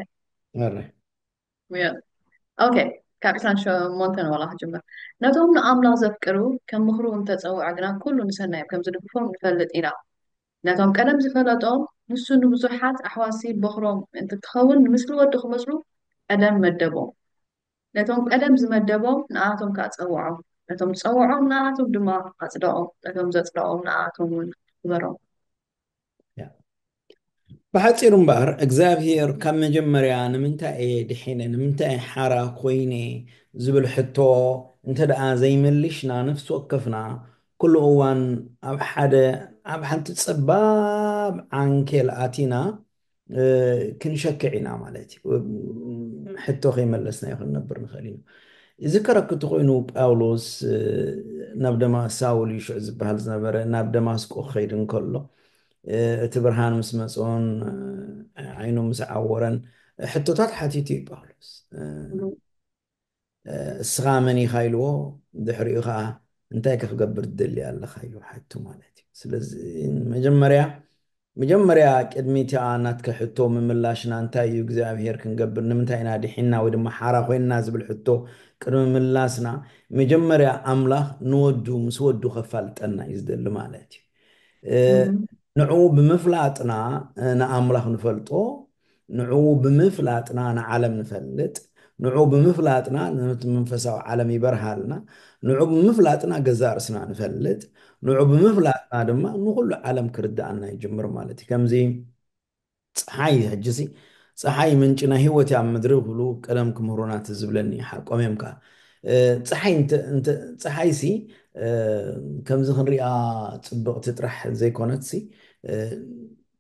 ኣረ ኦኬ፣ ካብ ዕስራን ሸሞንተን ዋላ ክጅምር። ነቶም ንኣምላኽ ዘፍቅሩ ከም ምኽሩ እንተጸውዐ ግና ኩሉ ንሰናዮም ከም ዝድግፎም ንፈልጥ ኢና። ነቶም ቀደም ዝፈለጦም ንሱ ንብዙሓት ኣሕዋሲ በኹሮም እንትትኸውን ንምስሊ ወዱ ክመስሉ ቀደም መደቦም። ነቶም ቀደም ዝመደቦም ንኣቶም ከኣ ጸውዖም። ነቶም ዝጸውዖም ንኣቶም ድማ ኣጽደቖም። ነቶም ዘጽደቖም ንኣቶም እውን ኣኽበሮም። ብሓፂሩ እምበኣር እግዚኣብሔር ካብ መጀመርያ ንምንታይ እየ ድሒነ ንምንታይ ሓራ ኮይነ ዝብል ሕቶ እንተ ደኣ ዘይመልሽና ነፍሲ ወከፍና ኩሉ እዋን ኣብ ሓደ ኣብ ሓንቲ ፀባብ ዓንኬል ኣቲና ክንሸክዕ ኢና ማለት እዩ። ሕቶ ከይመለስናዮ ክንነብር ንኽእል ኢና። ይዝከረኪ እንተኮይኑ ጳውሎስ ናብ ደማ ሳውል ይሹዕ ዝበሃል ዝነበረ ናብ ደማስቆ ክኸይድ እንከሎ እቲ ብርሃን ምስ መፅኦን ዓይኑ ምስ ዓወረን ሕቶታት ሓቲቱ እዩ ጳውሎስ። እስኻ መን ኢኻ ኢልዎ፣ ድሕሪኡ ከዓ እንታይ ከ ክገብር ትደሊ ኣለኻ ኢሉ ሓቱ ማለት እዩ። ስለዚ መጀመርያ መጀመርያ ቅድሚ እቲኣ ናትከ ሕቶ ምምላሽና እንታይ እዩ እግዚኣብሔር ክንገብር ንምንታይ ኢና ድሒና ወይ ድማ ሓራ ኮይንና ዝብል ሕቶ ቅድሚ ምላስና መጀመርያ ኣምላኽ ንወዱ ምስ ወዱ ከፋልጠና እዩ ዝደሊ ማለት እዩ። ንዕኡ ብምፍላጥና ንኣምላኽ ንፈልጦ፣ ንዕኡ ብምፍላጥና ንዓለም ንፈልጥ፣ ንዕኡ ብምፍላጥና ነቲ መንፈሳዊ ዓለም ይበርሃልና፣ ንዕኡ ብምፍላጥና ገዛእ ርእስና ንፈልጥ፣ ንዕኡ ብምፍላጥና ድማ ንኹሉ ዓለም ክርድኣና ይጅምር ማለት እዩ። ከምዚ ፀሓይ ሕጂሲ ፀሓይ ምንጪ ናይ ህይወት እያ ኣብ ምድሪ ክብሉ ቀደም ክምህሩና ትዝ ዝብለኒ ሓቆም እዮም ከዓ ፀሓይ ፀሓይ ሲ ከምዚ ክንሪኣ ፅብቕቲ ጥራሕ ዘይኮነትሲ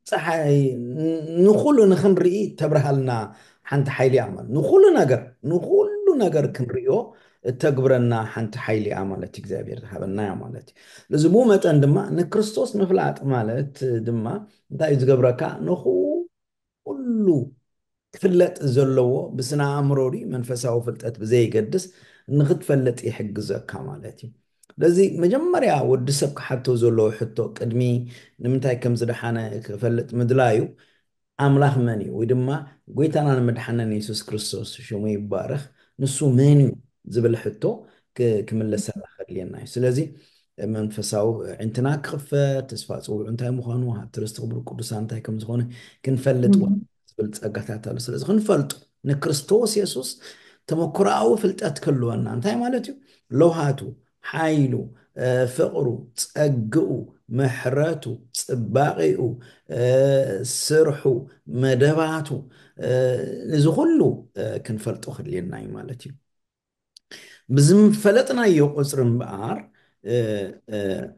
ፀሓይ ንኩሉ ንክንርኢ ተብርሃልና ሓንቲ ሓይሊ እያ ማለት ንኩሉ ነገር ንኩሉ ነገር ክንሪኦ እተግብረና ሓንቲ ሓይሊ እያ ማለት እግዚኣብሔር ዝሃበና እያ ማለት እዩ። እዚ ብኡ መጠን ድማ ንክርስቶስ ምፍላጥ ማለት ድማ እንታይ እዩ ዝገብረካ? ንኩሉ ክፍለጥ ዘለዎ ብስነ ኣእምሮ ድዩ መንፈሳዊ ፍልጠት ብዘይገድስ ንክትፈልጥ ይሕግዘካ ማለት እዩ። ስለዚ መጀመርያ ወዲ ሰብ ክሓቶ ዘለዎ ሕቶ ቅድሚ ንምንታይ ከም ዝደሓነ ክፈልጥ ምድላዩ ኣምላኽ መን እዩ ወይ ድማ ጎይታናን መድሓንን የሱስ ክርስቶስ ሽሙ ይባረኽ ንሱ መን እዩ ዝብል ሕቶ ክምለሰና ከድልየና እዩ። ስለዚ መንፈሳዊ ዕንትና ክኽፈት ተስፋ ፅውዑ እንታይ ምዃኑ ሃብቲ ርስቲ ክብሪ ቅዱሳን እንታይ ከም ዝኾነ ክንፈልጥ ዝብል ፀጋታት ኣሎ። ስለዚ ክንፈልጡ ንክርስቶስ የሱስ ተመክሮኣዊ ፍልጠት ክህልወና እንታይ ማለት እዩ? ለውሃቱ፣ ሓይሉ፣ ፍቕሩ፣ ጸግኡ፣ ምሕረቱ፣ ጽባቒኡ፣ ስርሑ፣ መደባቱ እዚ ኩሉ ክንፈልጦ ክድልየና እዩ ማለት እዩ። ብዝፈለጥናዮ ቁፅሪ እምበኣር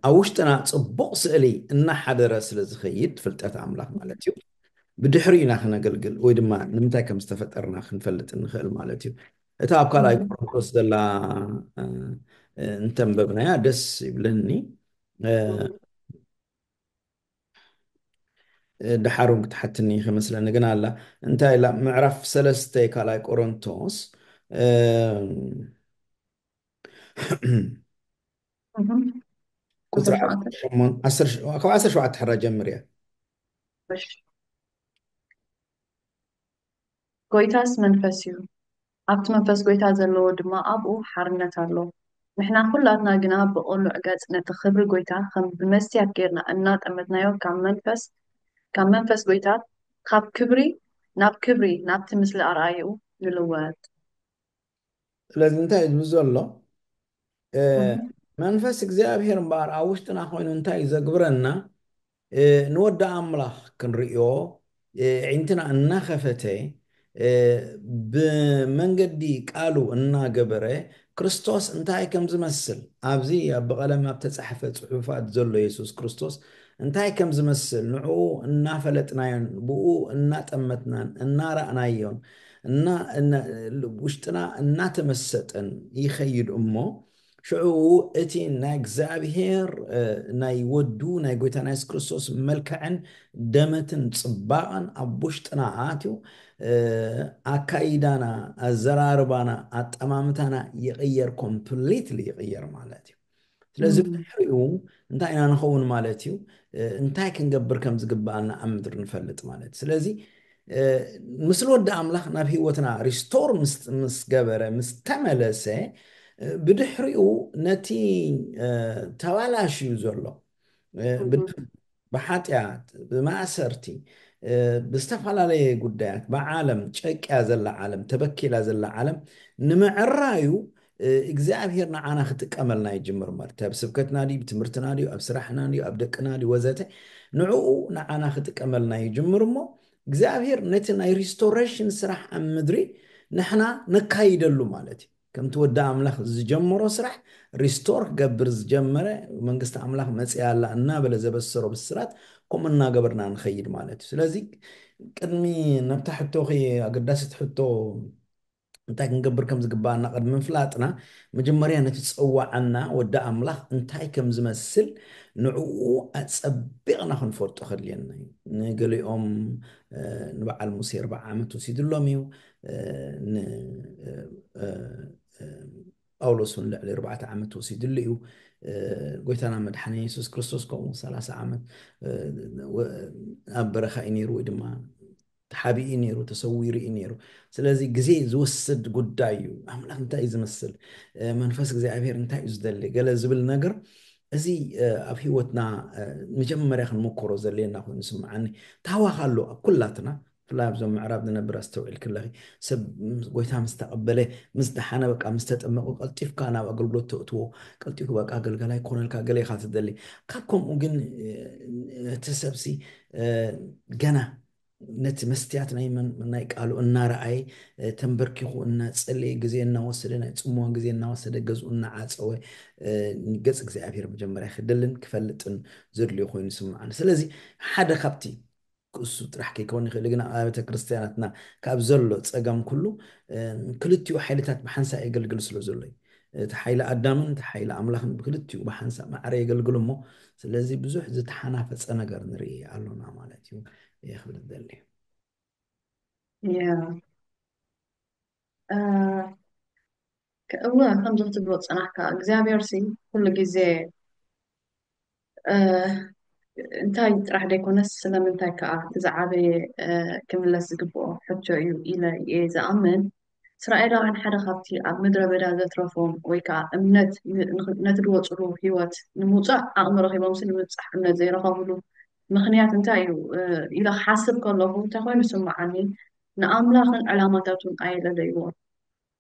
ኣብ ውሽጥና ፅቡቕ ስእሊ እናሓደረ ስለ ዝኸይድ ፍልጠት ኣምላኽ ማለት እዩ። ብድሕሪ ኢና ክነገልግል ወይ ድማ ንምንታይ ከም ዝተፈጠርና ክንፈልጥ እንኽእል ማለት እዩ። እታ ኣብ ካልኣይ ቆሮንቶስ ዘላ እንተንበብናያ ደስ ይብለኒ። ድሓር እውን ክትሓትኒ ከመስለኒ ግን ኣላ እንታይ ኢላ ምዕራፍ ሰለስተ ካልኣይ ቆሮንቶስ ቁፅሪ ካብ ዓሰርተ ሸውዓተ ሕራ ጀምር እያ። ጎይታስ መንፈስ እዩ፣ ኣብቲ መንፈስ ጎይታ ዘለዎ ድማ ኣብኡ ሓርነት ኣሎ። ንሕና ኩላትና ግና ብቕሉዕ ገጽ ነቲ ክብሪ ጎይታ ከም ብመስትያት ጌርና እናጠመትናዮ ካብ መንፈስ ካብ መንፈስ ጎይታ ካብ ክብሪ ናብ ክብሪ ናብቲ ምስሊ ኣርኣይኡ ንልወጥ። ስለዚ እንታይ እዩ ዝብል ዘሎ? መንፈስ እግዚኣብሔር እምበኣር ኣብ ውሽጥና ኮይኑ እንታይ እዩ ዘግብረና? ንወዲ ኣምላኽ ክንርእዮ ዕንትና እናኸፈተ ብመንገዲ ቃሉ እናገበረ ክርስቶስ እንታይ ከም ዝመስል ኣብዚ ኣብ ብቐለም ኣብ ተጻሕፈ ጽሑፋት ዘሎ የሱስ ክርስቶስ እንታይ ከም ዝመስል ንዕኡ እናፈለጥናዮን ብኡ እናጠመትናን እናረእናዮን ውሽጥና እናተመሰጠን ይኸይድ እሞ ሽዑ እቲ ናይ እግዚኣብሔር ናይ ወዱ ናይ ጎይታ ናይ የሱስ ክርስቶስ መልክዕን ደመትን ጽባቐን ኣብ ውሽጥና ኣትዩ ኣካይዳና፣ ኣዘራርባና፣ ኣጠማምታና ይቕየር፣ ኮምፕሊትሊ ይቕየር ማለት እዩ። ስለዚ ብድሕሪኡ እንታይ ኢና ንኸውን ማለት እዩ? እንታይ ክንገብር ከም ዝግብኣና ኣብ ምድሪ ንፈልጥ ማለት እዩ። ስለዚ ምስሊ ወዲ ኣምላኽ ናብ ህይወትና ሪስቶር ምስ ገበረ፣ ምስ ተመለሰ፣ ብድሕሪኡ ነቲ ተባላሽዩ ዘሎ ብሓጢኣት፣ ብማእሰርቲ፣ ብዝተፈላለየ ጉዳያት፣ ብዓለም ጨቅያ ዘላ ዓለም፣ ተበኪላ ዘላ ዓለም ንምዕራዩ እግዚኣብሔር ንዓና ክጥቀመልና ይጅምር ማለት እዩ። ኣብ ስብከትና ድዩ፣ ብትምህርትና ድዩ፣ ኣብ ስራሕና ድዩ፣ ኣብ ደቅና ድዩ፣ ወዘተ፣ ንዕኡ ንዓና ክጥቀመልና ይጅምር እሞ እግዚኣብሔር ነቲ ናይ ሪስቶሬሽን ስራሕ ኣብ ምድሪ ንሕና ነካይደሉ ማለት እዩ። ከምቲ ወዲ ኣምላኽ ዝጀመሮ ስራሕ ሪስቶር ክገብር ዝጀመረ፣ መንግስቲ ኣምላኽ መፅያ ኣላ እናበለ ዘበሰሮ ብስራት ከምኡ እናገበርና ንኸይድ ማለት እዩ። ስለዚ ቅድሚ ናብታ ሕቶኺ ኣገዳሲት ሕቶ እንታይ ክንገብር ከም ዝግባኣና ቅድሚ ምፍላጥና መጀመርያ ነቲ ዝፀዋዓና ወዲ ኣምላኽ እንታይ ከም ዝመስል ንዕኡ ኣፀቢቕና ክንፈልጦ ከድልየና እዩ። ንገሊኦም ንበዓል ሙሴ ኣርባዓ ዓመት ወሲድሎም እዩ። ጳውሎስ እውን ልዕሊ ኣርባዕተ ዓመት ወሲድሉ እዩ። ጎይታና መድሓኒ የሱስ ክርስቶስ ከምኡ ሰላሳ ዓመት ኣብ በረኻ እዩ ነይሩ፣ ወይ ድማ ተሓቢኡ ነይሩ፣ ተሰዊሩ እዩ ነይሩ። ስለዚ ግዜ ዝወስድ ጉዳይ እዩ። ኣምላኽ እንታይ እዩ ዝመስል፣ መንፈስ እግዚኣብሔር እንታይ እዩ ዝደሊ፣ ገለ ዝብል ነገር፣ እዚ ኣብ ህይወትና መጀመርያ ክንምኮሮ ዘድልየና ኮይኑ ስምዓኒ። ታዋኽ ኣሎ ኣብ ኩላትና፣ ብፍላይ ኣብዞም ምዕራብ ንነብር ኣስተውዒል ክለኺ፣ ሰብ ጎይታ ምስ ተቐበለ፣ ምስ ደሓነ፣ በቃ ምስ ተጠመቁ፣ ቀልጢፍካ ናብ ኣገልግሎት ተእትዎ፣ ቀልጢፉ በቃ ኣገልጋላይ ክኾነልካ ገለ ኢኻ ትደሊ። ካብ ከምኡ ግን እቲ ሰብሲ ገና ነቲ መስትያት ናይ ናይ ቃሉ እናረኣየ፣ ተንበርኪኹ እናጸለየ፣ ግዜ እናወሰደ፣ ናይ ጽምዋ ግዜ እናወሰደ፣ ገዝኡ እናዓጸወ፣ ገጽ እግዚኣብሔር መጀመርያ ክደልን ክፈልጥን ዘድልዮ ኮይኑ ይስምዓኒ። ስለዚ ሓደ ካብቲ ክእሱ ጥራሕ ከይከውን ይኽእል፣ ግን ኣብ ኣብያተ ክርስትያናትና ካብ ዘሎ ጸገም ኩሉ ክልቲኡ ሓይልታት ብሓንሳእ የገልግል ስለ ዘሎ እዩ። እቲ ሓይሊ ኣዳምን እቲ ሓይሊ ኣምላኽን ብክልቲኡ ብሓንሳእ ማዕረ የገልግሉ እሞ፣ ስለዚ ብዙሕ ዝተሓናፈጸ ነገር ንርኢ ኣሎና ማለት እዩ። እየ ክብል ዝደሊ። እወ፣ ከምዚ ክትብሎ ዝጸናሕካ እግዚኣብሔር ሲ ኩሉ ግዜ እንታይ ጥራሕ ዘይኮነስ ስለምንታይ ከዓ እቲ ዝዓበየ ክምለስ ዝግብኦ ሕቶ እዩ ኢለ እየ ዝኣምን። እስራኤላውያን ሓደ ካብቲ ኣብ ምድረ በዳ ዘትረፎም ወይ ከዓ እምነት ነቲ ዝወፅሉ ህይወት ንምውፃእ ዓቕሚ ረኺቦምሲ ንምብፃሕ እምነት ዘይረኸብሉ ምኽንያት እንታይ እዩ ኢለ ክሓስብ ከለኹ እንታይ ኮይኑ ይስምዓኒ? ንኣምላኽን ዕላማታቱን ኣየለለይዎን።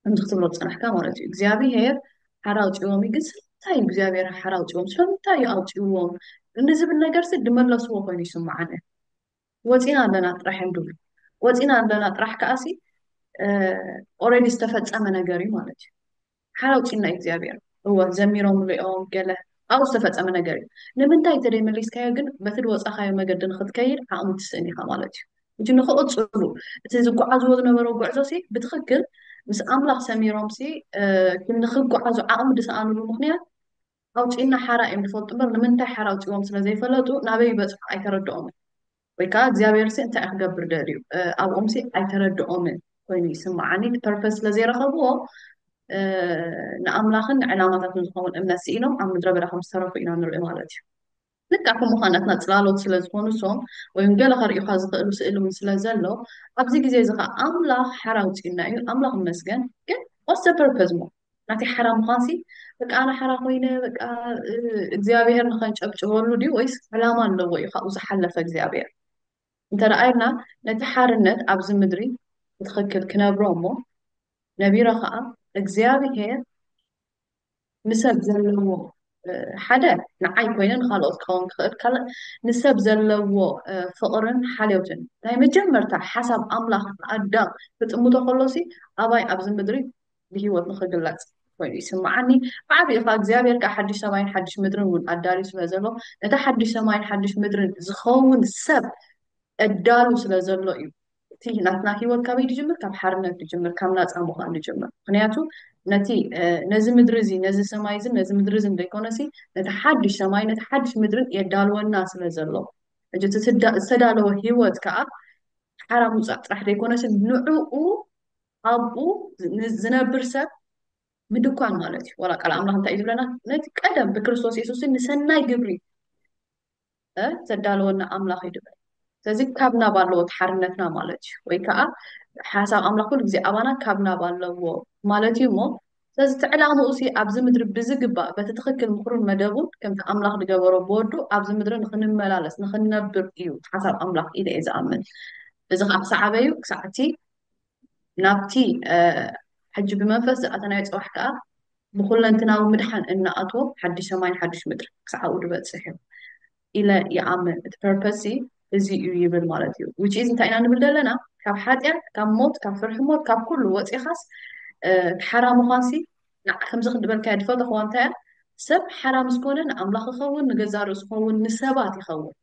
ከምዚ ክትብሎ ዝፀናሕካ ማለት እዩ እግዚኣብሄር ሓራ ኣውፅዎም እዩ። ግን ስለምንታይ እዩ እግዚኣብሄር ሓራ ኣውፅዎም? ስለምንታይ እዩ ኣውፅዎም ንዝብል ነገርሲ ድመለስዎ ኮይኑ ይስምዓኒ። ወፂና ኣለና ጥራሕ እዮም ድብሉ። ወፂና ኣለና ጥራሕ ከዓሲ ኦረዲ ዝተፈፀመ ነገር እዩ ማለት እዩ። ሓራ ኣውፂና እዩ እግዚኣብሄር። እወ ዘሚሮምሉ እዮም ገለ ኣብኡ ዝተፈፀመ ነገር እዩ። ንምንታይ ተደይ መሊስካዮ ግን በቲ ድወፃኻዮ መገዲ ንክትከይድ ዓቕሚ ትስእን ኢኻ ማለት እዩ። እቲ ንክቕፅሉ እቲ ዝጓዓዝዎ ዝነበረው ጉዕዞ ሲ ብትኽክል ምስ ኣምላኽ ሰሚሮም ሲ ንክጓዓዙ ዓቕሚ ዝሰኣኑሉ ምኽንያት ኣውፂእና ሓራ እዮም ዝፈልጡ እምበር ንምንታይ ሓራ ኣውፂዎም ስለዘይፈለጡ ናበይ ይበፅሑ ኣይተረድኦምን። ወይ ከዓ እግዚኣብሔር ሲ እንታይ ክገብር ደልዩ ኣብኦም ሲ ኣይተረድኦምን ኮይኑ ይስምዓኒ። እቲ ፐርፐስ ስለዘይረኸብዎ ንኣምላኽን ንዕላማታትን ዝኸውን እምነት ስኢኖም ኣብ ምድረ በዳ ከም ዝተረፉ ኢና ንርኢ ማለት እዩ። ልክዕ ከምኡ ከዓ ናትና ፅላሎት ስለ ዝኾኑ እሶም ወይም ገለ ከርእዩካ ዝኽእሉ ስእሊ እውን ስለ ዘሎ ኣብዚ ግዜ እዚ ከዓ ኣምላኽ ሓራ ኣውፅእና እዩ። ኣምላኽ ይመስገን። ግን what's the purpose ሞ ናተይ ሓራ ምዃንሲ በቃ ኣነ ሓራ ኮይነ በቃ እግዚኣብሔር ንኸንጨብጭበሉ ድዩ ወይስ ዕላማ ኣለዎ እዩ ካብኡ ዝሓለፈ እግዚኣብሔር? እንተ ደኣ ኢልና ነቲ ሓርነት ኣብዚ ምድሪ ብትኽክል ክነብሮ እሞ ነቢረ ከዓ እግዚኣብሔር ንሰብ ዘለዎ ሓደ ንዓይ ኮይነ ንካልኦት ክኸውን ክኽእል ካልእ ንሰብ ዘለዎ ፍቕርን ሓልዮትን ናይ መጀመርታ ሓሳብ ኣምላኽ ኣዳም ክጥምቶ ከሎሲ ኣባይ ኣብዚ ምድሪ ብህይወት ንኽግለፅ ኮይኑ ይስምዓኒ። ብዓብኡ ከዓ እግዚኣብሔር ከዓ ሓድሽ ሰማይን ሓድሽ ምድርን እውን ኣዳልዩ ስለ ዘሎ ነቲ ሓድሽ ሰማይን ሓድሽ ምድርን ዝኸውን ሰብ ኣዳሉ ስለ ዘሎ እዩ። እቲ ናትና ህይወት ካበይ ዝጅምር? ካብ ሓርነት ዝጅምር፣ ካብ ናፃ ምዃን ዝጅምር። ምክንያቱ ነቲ ነዚ ምድሪ እዚ ነዚ ሰማይ እዚ ነዚ ምድሪ እዚ ዘይኮነሲ ነቲ ሓድሽ ሰማይ ነቲ ሓድሽ ምድርን የዳልወና ስለ ዘሎ ሕጂ ዝተዳለወ ህይወት ከዓ ሓራ ምውፃእ ጥራሕ ዘይኮነስ ንዕኡ ኣብኡ ን- ዝነብር ሰብ ምድኳን ማለት እዩ። ዋላ ቃል ኣምላኽ እንታይ እዩ ዝብለና? ነቲ ቀደም ብክርስቶስ የሱስ ንሰናይ ግብሪ እ፣ ዘዳለወና ኣምላኽ እዩ ድበል። ስለዚ ካብ ናብ ኣለዎ እቲ ሓርነትና ማለት እዩ። ወይ ከዓ ሓሳብ ኣምላኽ ኩሉ ግዜ ኣባና ካብ ናብ ኣለዎ ማለት እዩ እሞ፣ ስለዚ እቲ ዕላምኡ ሲ ኣብዚ ምድሪ ብዝግባእ በቲ ትኽክል ምኽሩን መደቡን ከምቲ ኣምላኽ ዝገበሮ ብወዱ ኣብዚ ምድሪ ንኽንመላለስ ንኽንነብር እዩ ሓሳብ ኣምላኽ ኢለ እየ ዝኣምን። እዚ ከዓ ክሳዕ ኣበዩ ክሳዕ እቲ ናብቲ እ፣ ሕጂ ብመንፈስ ዝኣተናዮ ፅባሕ ከዓ ብኩለንትናዊ ምድሓን እናኣትዎ ሓድሽ ሰማይን ሓድሽ ምድሪ ክሳዕ ኣብኡ ዝበፅሕ እዩ ኢለ ይኣምን። እቲ ፐርፐስ እዚ እዩ ይብል ማለት እዩ። Which is እንታይ ኢና ንብል ዘለና? ካብ ሓጢኣት፣ ካብ ሞት፣ ካብ ፍርሒ ሞት፣ ካብ ኩሉ ወፂኻስ እ፣ ሓራ ምዃንሲ ንዓ ከምዚ ክንድበልካዮ ድፈተኽዋ እንታይ እያ? ሰብ ሓራ ምስ ኮነ ንኣምላኽ ይኸውን፣ ንገዛእ ርእሱ ይኸውን፣ ንሰባት ይኸውን።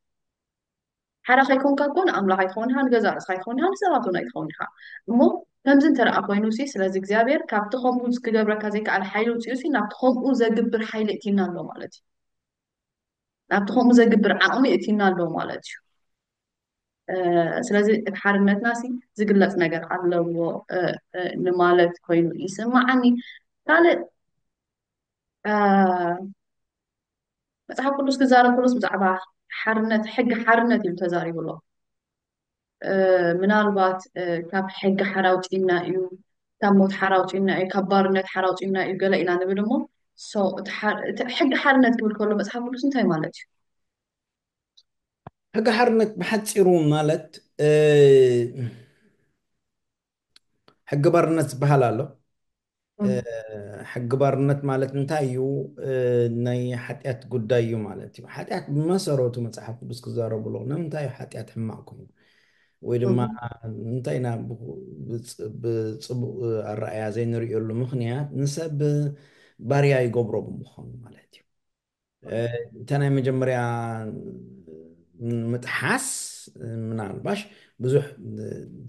ሓራ ከይኮንካ እኮ ንኣምላኽ ኣይትኸውን ኢኻ፣ ንገዛእ ርእስኻ ኣይትኸውን ኢኻ፣ ንሰባት እውን ኣይትኸውን ኢኻ። እሞ ከምዚ እንተደኣ ኮይኑ ሲ ስለዚ እግዚኣብሔር ካብቲ ከምኡ ክገብረካ ዘይከኣል ሓይሊ ውፅኡ ሲ ናብቲ ከምኡ ዘግብር ሓይሊ እቲና ኣሎ ማለት እዩ። ናብቲ ከምኡ ዘግብር ዓቕሚ እቲና ኣሎ ማለት እዩ። እ፣ ስለዚ እቲ ሓርነትና ሲ ዝግለፅ ነገር ኣለዎ እ፣ እ፣ ንማለት ኮይኑ ይስማዓኒ። ካልእ እ፣ መጽሓፍ ቅዱስ ክዛረብ ከሎስ ብዛዕባ ሓርነት፣ ሕጊ ሓርነት ኢሉ ተዛሪቡ ኣሎ። እ፣ ምናልባት እ፣ ካብ ሕጊ ሓራ ኣውጺእና እዩ፣ ካብ ሞት ሓራ ኣውጺእና እዩ፣ ካብ ባርነት ሓራ ኣውጺእና እዩ ገለ ኢና ንብል እሞ፣ so፣ እቲ ሓ- እቲ ሕጊ ሓርነት ክብል ከሎ መጽሓፍ ቅዱስ እንታይ ማለት እዩ? ሕጊ ሓርነት ብሓፂሩ ማለት እ፣ ሕጊ ባርነት ዝበሃል ኣሎ። እ፣ ሕጊ ባርነት ማለት እንታይ እዩ? እ፣ ናይ ሓጢኣት ጉዳይ እዩ ማለት እዩ። ሓጢኣት ብመሰረቱ መፅሓፍ ቅዱስ ክዛረቡ ኣለዉ። ንምንታይ እዩ ሓጢኣት ሕማቕ ኮይኑ? ወይ ድማ እንታይ ኢና ብ- ብፅ- ብፅቡቕ ኣረኣያ ዘይንርእየሉ ምኽንያት ንሰብ ባርያ ይገብሮ ብምዃኑ ማለት እዩ። እ፣ እታ ናይ መጀመርያ ምጥሓስ ምናልባሽ ብዙሕ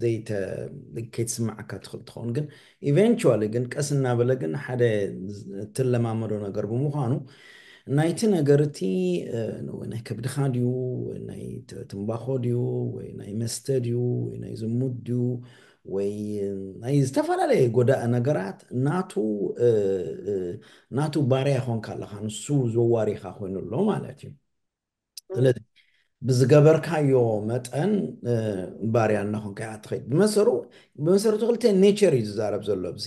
ዘይተ- ከይትስማዓካ ትኽእል ትኸውን፣ ግን ኢቨንቹዋሊ ግን ቀስ እናበለ ግን ሓደ ትለማመዶ ነገር ብምዃኑ ናይቲ ነገር እቲ እ፣ ወይ ናይ ከብድኻ ድዩ ወይ ናይ ት- ትምባኾ ድዩ ወይ ናይ መስተ ድዩ ወይ ናይ ዝሙት ድዩ ወይ ናይ ዝተፈላለየ ጎዳኢ ነገራት ናቱ እ፣ እ፣ ናቱ ባርያ ይኾንካ ኣለኻ፣ ንሱ ዘዋሪኻ ኮይኑ ኣሎ ማለት እዩ። ስለዚ ብዝገበርካዮ መጠን እ፣ ባርያ እናኾንካ ኢኻ ትኸይድ። ብመሰሩ ብመሰረቱ ክልተ ኔቸር እዩ ዝዛረብ ዘሎ ኣብዚ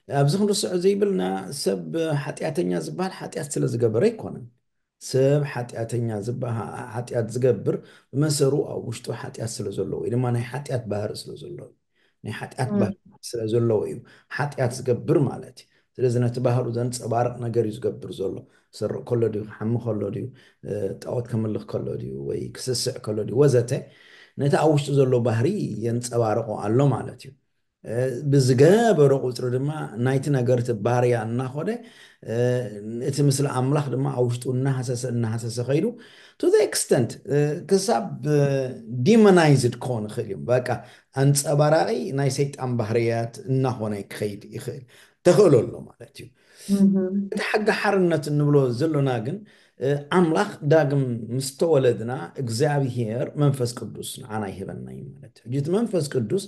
ኣብዚ ክንርስዖ ዘይብልና ሰብ ሓጢኣተኛ ዝበሃል ሓጢኣት ስለ ዝገበረ ኣይኮነን። ሰብ ሓጢኣተኛ ዝበሃል ሓጢኣት ዝገብር ብመሰሩ ኣብ ውሽጡ ሓጢኣት ስለ ዘሎ ወይ ድማ ናይ ሓጢኣት ባህሪ ስለ ዘሎ ናይ ሓጢኣት ባህሪ ስለ ዘለዎ እዩ ሓጢኣት ዝገብር ማለት እዩ። ስለዚ ነቲ ባህሩ ዘንፀባርቕ ነገር እዩ ዝገብር ዘሎ። ክሰርቕ ከሎ ድዩ፣ ክሓሚ ከሎ ድዩ፣ እ፣ ጣዖት ከምልኽ ከሎ ድዩ ወይ ክስስዕ ከሎ ድዩ ወዘተ ነቲ ኣብ ውሽጡ ዘሎ ባህሪ የንፀባርቆ ኣሎ ማለት እዩ። እ፣ ብዝገበሮ ቁፅሪ ድማ ናይቲ ነገር እቲ ባህርያ እናኾደ እ፣ እቲ ምስሊ ኣምላኽ ድማ ኣብ ውሽጡ እናሃሰሰ እናሃሰሰ ከይዱ to the extent እ፣ ክሳብ ዲሞናይዝድ ክኾን ይኽእል እዩ። በቃ ኣንፀባራቂ ናይ ሰይጣን ባህርያት እናኾነ ክኸይድ ይኽእል ተኽእሎ ኣሎ ማለት እዩ። እቲ ሕጊ ሓርነት እንብሎ ዘሎና ግን እ፣ ኣምላኽ ዳግም ምስ ተወለድና እግዚኣብሄር መንፈስ ቅዱስ ንዓና ይህበና እዩ ማለት እዩ። ሕጂ እቲ መንፈስ ቅዱስ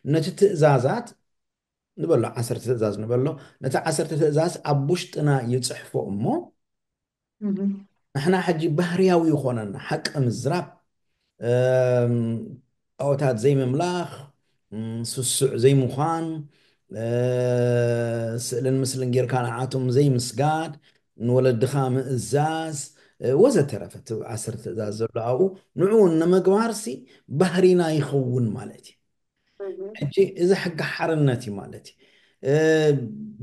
ነቲ ትእዛዛት ንበሎ ዓሰርተ ትእዛዝ ንበሎ ነቲ ዓሰርተ ትእዛዝ ኣብ ውሽጥና ይፅሕፎ እሞ ንሕና ሕጂ ባህርያዊ ይኾነና ሓቂ ምዝራብ እም፣ ጣዖታት ዘይምምላኽ እም፣ ስሱዕ ዘይምዃን እ፣ ስእልን ምስልን ጌርካ ንዓቶም ዘይምስጋድ ንወለድኻ ምእዛዝ እ፣ ወዘተረፈ እቲ ዓሰርተ ትእዛዝ ዘሎ ኣብኡ ንዕኡ ንምግባርሲ ባህሪና ይኸውን ማለት እዩ። ሕጂ እዚ ሕጊ ሓርነት እዩ ማለት እዩ። እ፣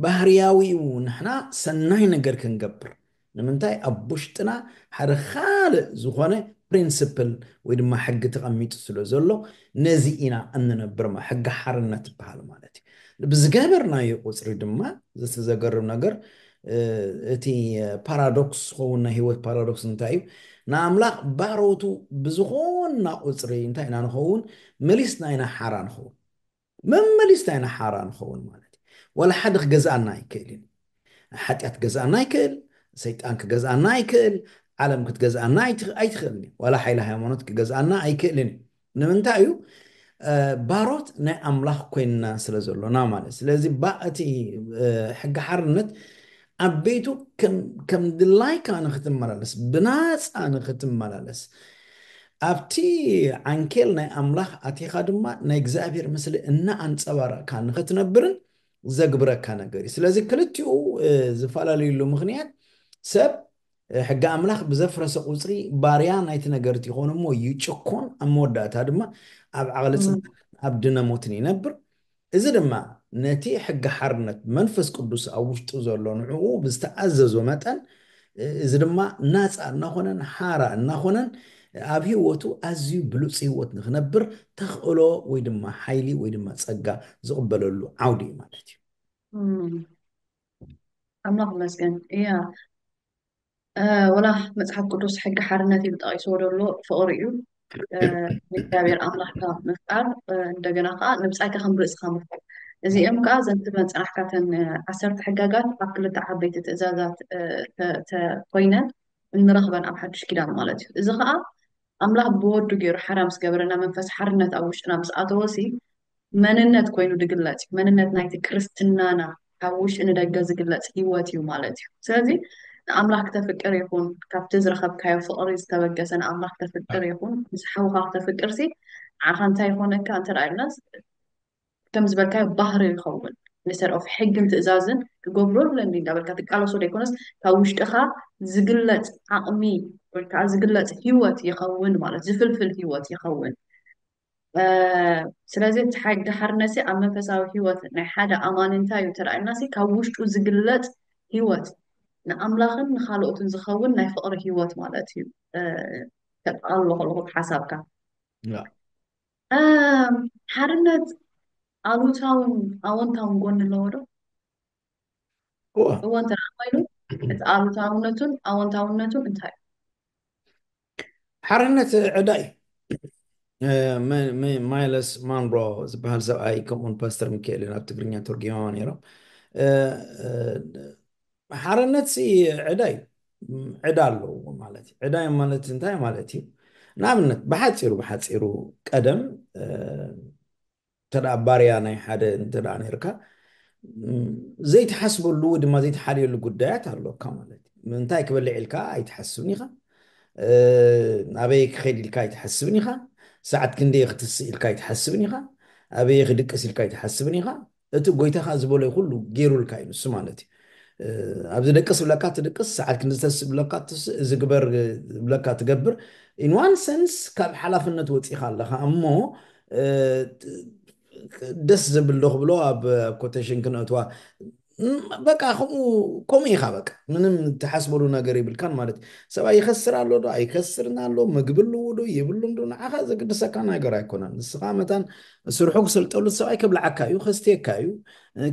ባህርያዊ እዩ ንሕና ሰናይ ነገር ክንገብር ንምንታይ ኣብ ውሽጥና ሓደ ካልእ ዝኾነ ፕሪንስፕል ወይ ድማ ሕጊ ተቐሚጡ ስለ ዘሎ ነዚ ኢና እንነብር ማ- ሕጊ ሓርነት ይበሃል ማለት እዩ። ብዝገበርናዮ ቁፅሪ ድማ ዘቲ ዘገርም ነገር እ፣ እቲ ፓራዶክስ ዝኸውን ናይ ህይወት ፓራዶክስ እንታይ እዩ? ንኣምላኽ ባሮቱ ብዝኾንና ቁፅሪ እንታይ ኢና ንኸውን? መሊስና ኢና ሓራ ንኸውን። መመሊስና ኢና ሓራ ንኸውን ማለት እዩ። ዋላ ሓደ ክገዝኣና ኣይክእልን። ሓጢኣት ክገዝኣና ኣይክእል፣ ሰይጣን ክገዝኣና ኣይክእል፣ ዓለም ክትገዝኣና ኣይትኽ- ኣይትኽእልን እዩ። ዋላ ሓይሊ ሃይማኖት ክገዝኣና ኣይክእልን እዩ። ንምንታይ እዩ? ባሮት ናይ ኣምላኽ ኮይንና ስለ ዘሎና ማለት። ስለዚ ባ እቲ ሕጊ ሓርነት ኣብ ቤቱ ከም ድላይካ ንክትመላለስ፣ ብናፃ ንክትመላለስ፣ ኣብቲ ዓንኬል ናይ ኣምላኽ ኣቲኻ ድማ ናይ እግዚኣብሔር ምስሊ እናኣንፀባረቕካ ንክትነብርን ዘግብረካ ነገር እዩ። ስለዚ ክልቲኡ ዝፈላለዩሉ ምክንያት ሰብ ሕጊ ኣምላኽ ብዘፍረሰ ቁፅሪ ባርያ ናይቲ ነገር ይኾን እሞ ይጭኮን፣ ኣብ መወዳእታ ድማ ኣብ ዓቕሊ ፅንተትን ኣብ ድነ ሞትን ይነብር። እዚ ድማ ነቲ ሕጊ ሓርነት መንፈስ ቅዱስ ኣብ ውሽጡ ዘሎ ንዕኡ ብዝተኣዘዞ መጠን፣ እዚ ድማ ናፃ እናኾነን ሓራ እናኾነን ኣብ ህይወቱ ኣዝዩ ብሉፅ ህይወት ንክነብር ተኽእሎ ወይ ድማ ሓይሊ ወይ ድማ ፀጋ ዝቕበለሉ ዓውዲ እዩ ማለት እዩ። ኣምላኽ ይመስገን። እያ ወላ መፅሓፍ ቅዱስ ሕጊ ሓርነት እዩ ጠቂስዎ ዘሎ ፍቕሪ እዩ። ንእግዚኣብሔር ኣምላኽካ ምፍቃር፣ እንደገና ከዓ ንብፃይካ ከም ርእስካ ምፍቃር። እዚኦም ከዓ ዘንትበን ፅናሕካተን ዓሰርተ ሕጋጋት ኣብ ክልተ ዓበይቲ ትእዛዛት ኮይነን እንረኽበን ኣብ ሓዱሽ ኪዳን ማለት እዩ። እዚ ከዓ ኣምላኽ ብወዱ ገይሩ ሓራ ምስ ገበረና መንፈስ ሓርነት ኣብ ውሽጥና ምስ ኣተወሲ መንነት ኮይኑ ዝግለጽ እዩ። መንነት ናይቲ ክርስትናና ካብ ውሽጢ ንደገ ዝግለጽ ህይወት እዩ ማለት እዩ። ስለዚ ንኣምላኽ ክተፍቅር ይኹን ካብቲ ዝረኸብካዮ ፍቕሪ ዝተበገሰ ንኣምላኽ ክተፍቅር ይኹን ምስ ሓውኻ ክተፍቅርሲ ንዓኻ እንታይ ይኾነካ እንተ ደኣ ኢልናስ ከም ዝበልካዮ ባህሪ ይኸውን። Instead of ሕግን ትእዛዝን ክገብሮ ኣለኒ እንዳበልካ ትቃለሶ ዘይኮነስ ካብ ውሽጥኻ ዝግለጽ ዓቕሚ ወይ ከዓ ዝግለጽ ህይወት ይኸውን ማለት ዝፍልፍል ህይወት ይኸውን። ስለዚ እቲ ሓርነትሲ ኣብ መንፈሳዊ ህይወት ናይ ሓደ ኣማኒ እንታይ እዩ ተራእዩናሲ ካብ ውሽጡ ዝግለጽ ህይወት ንኣምላኽን ንካልኦትን ዝኸውን ናይ ፍቕሪ ህይወት ማለት እዩ። ከጠቓልሎ ከለኹ ሓሳብካ ሓርነት ኣሉታውን ኣወንታውን ጎኒ ኣለዎ ዶ? እዎ እንተ ኮይኑ እቲ ኣሉታውነቱን ኣወንታውነቱን እንታይ ሓርነት ዕዳ እዩ። ማይለስ ማንሮ ዝበሃል ሰብኣይ ከምኡውን ፓስተር ሚካኤልን ኣብ ትግርኛ ተርጉሞም ነይሮም። ሓርነት ሲ ዕዳ እዩ። ዕዳ ኣለዎ ማለት እዩ። ዕዳ ማለት እንታይ ማለት እዩ? ንኣብነት ብሓፂሩ ብሓፂሩ ቀደም እንተ ባርያ ናይ ሓደ እንተ ነርካ ዘይትሓስበሉ ወይ ድማ ዘይትሓልየሉ ጉዳያት ኣለካ ማለት እዩ። እንታይ ክበልዕ ኢልካ ኣይትሓስብን ኢኻ። ኣበይ ክኸይድ ኢልካ ኣይትሓስብን ኢኻ። ሰዓት ክንደይ ክትስእ ኢልካ ኣይትሓስብን ኢኻ። ኣበይ ክድቅስ ኢልካ ኣይትሓስብን ኢኻ። እቲ ጎይታኻ ዝበሎ ኩሉ ገይሩልካ እዩ ንሱ ማለት እዩ። ኣብዚ ደቅስ ብለካ ትድቅስ፣ ሰዓት ክንዲ ተስእ ብለካ ትስእ፣ እዚ ግበር ብለካ ትገብር። In one sense ካብ ሓላፍነት ወፂኻ ኣለኻ እሞ ደስ ዘብል ዶ ክብሎ ኣብ ኮቴሽን ክነእትዋ በቃ ከምኡ ከምኡ ኢኻ በቃ ምንም ትሓስበሉ ነገር ይብልካን ማለት እዩ። ሰብኣይ ይኸስር ኣሎ ዶ ኣይከስርን ኣሎ፣ ምግቢ ኣለዎ ዶ የብሉን ዶ ንዓኻ ዘግድሰካ ነገር ኣይኮነን። ንስኻ መታን ስርሑ ክሰልጠሉ ሰብኣይ ከብልዓካ እዩ፣ ከስትየካ እዩ፣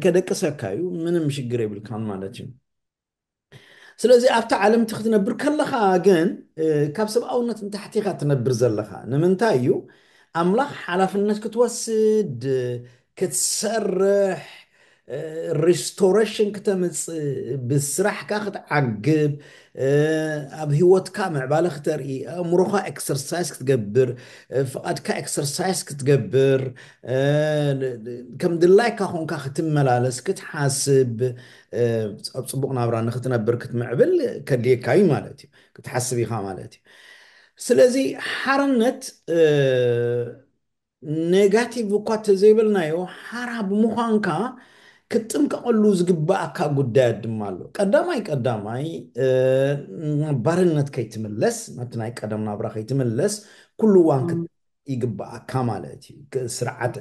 ከደቅሰካ እዩ፣ ምንም ሽግር የብልካን ማለት እዩ። ስለዚ ኣብታ ዓለም እቲ ክትነብር ከለኻ ግን ካብ ሰብኣውነት ንታሕቲ ኢኻ ትነብር ዘለኻ። ንምንታይ እዩ ኣምላኽ ሓላፍነት ክትወስድ ክትሰርሕ ሪስቶሬሽን ክተምፅእ ብስራሕካ ክትዓግብ ኣብ ህይወትካ ምዕባለ ክተርኢ ኣእምሮኻ ኤክሰርሳይዝ ክትገብር ፍቓድካ ኤክሰርሳይዝ ክትገብር ከም ድላይካ ኮንካ ክትመላለስ ክትሓስብ ኣብ ፅቡቕ ናብራ ንክትነብር ክትምዕብል ከድልየካ እዩ ማለት እዩ። ክትሓስብ ኢኻ ማለት እዩ። ስለዚ ሓርነት ኔጋቲቭ እኳ ተዘይበልናዮ ሓራ ብምዃንካ ክትጥንቀቐሉ ዝግባኣካ ጉዳያት ድማ ኣሎ። ቀዳማይ ቀዳማይ ባርነት ከይትምለስ ናብቲ ናይ ቀደም ናብራ ከይትምለስ ኩሉ እዋን ይግባኣካ ማለት እዩ። ስርዓት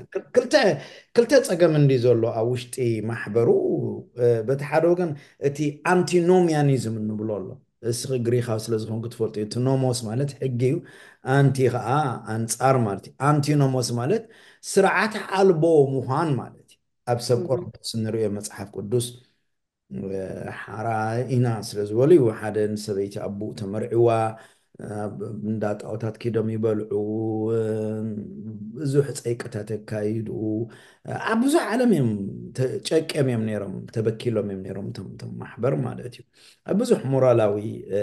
ክልተ ፀገም እንዲ ዘሎ ኣብ ውሽጢ ማሕበሩ በቲ ሓደ ወገን እቲ ኣንቲኖሚያኒዝም እንብሎ ኣሎ። እስኺ ግሪኻዊ ስለ ዝኾንኩ ትፈልጡ እቲ ኖሞስ ማለት ሕጊ እዩ። ኣንቲ ከዓ ኣንፃር ማለት እዩ። ኣንቲኖሞስ ማለት ስርዓት ኣልቦ ምዃን ማለት እዩ። ኣብ ሰብ ቆሮንቶስ እንሪኦ መፅሓፍ ቅዱስ ሓራ ኢና ስለ ዝበሉ እዩ። ሓደ ንሰበይቲ ኣቦኡ ተመርዕዋ ኣብ እንዳ ጣዖታት ኪዶም ይበልዑ፣ ብዙሕ ጸይቅታት የካይዱ። ኣብ ብዙሕ ዓለም እዮም ተ- ጨቅዮም እዮም ነይሮም፣ ተበኪሎም እዮም ነይሮም እቶም እቶም ማሕበር ማለት እዩ። ኣብ ብዙሕ ሞራላዊ እ፣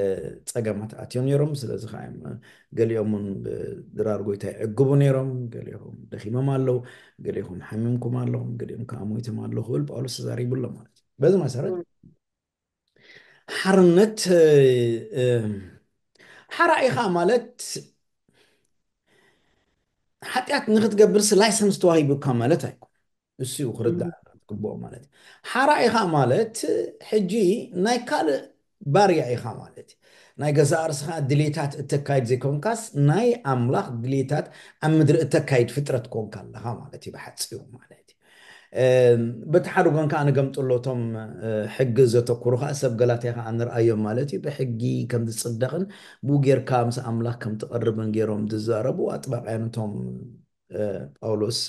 ጸገማት ኣትዮም ነይሮም። ስለዚ ከዓ እዮም ገሊኦም እውን ብድራር ጎይታ ይዕግቡ ነይሮም፣ ገሊኦም ደኺሞም ኣለዉ፣ ገሊኦም ሓሚምኩም ኣለኹም፣ ገሊኦም ከዓ ሞይቶም ኣለዉ ክብል ጳውሎስ ተዛሪቡ ኣሎ ማለት እዩ። በዚ መሰረት ሓርነት እ፣ እ፣ ሓራ ኢኻ ማለት ሓጢኣት ንክትገብርስ ላይሰንስ ተዋሂቡካ ማለት ኣይኮን። እሱ እዩ ክርዳእ ዝግብኦ ማለት እዩ። ሓራ ኢኻ ማለት ሕጂ ናይ ካልእ ባርያ ኢኻ ማለት እዩ። ናይ ገዛእ ርእስኻ ድሌታት እተካይድ ዘይኮንካስ ናይ ኣምላኽ ድሌታት ኣብ ምድሪ እተካይድ ፍጥረት ኮንካ ኣለኻ ማለት እዩ ብሓፂሩ ማለት እዩ። በቲ ሓደ ጎን ከዓ ንገምጥሎ እቶም ሕጊ ዘተኩሩ ከዓ ሰብ ገላትያ ከዓ ንርኣዮም ማለት እዩ። ብሕጊ ከም ዝፅደቕን ብኡ ጌርካ ምስ ኣምላኽ ከም ትቐርብን ገይሮም ዝዛረቡ ኣጥባቅያን እቶም ጳውሎስ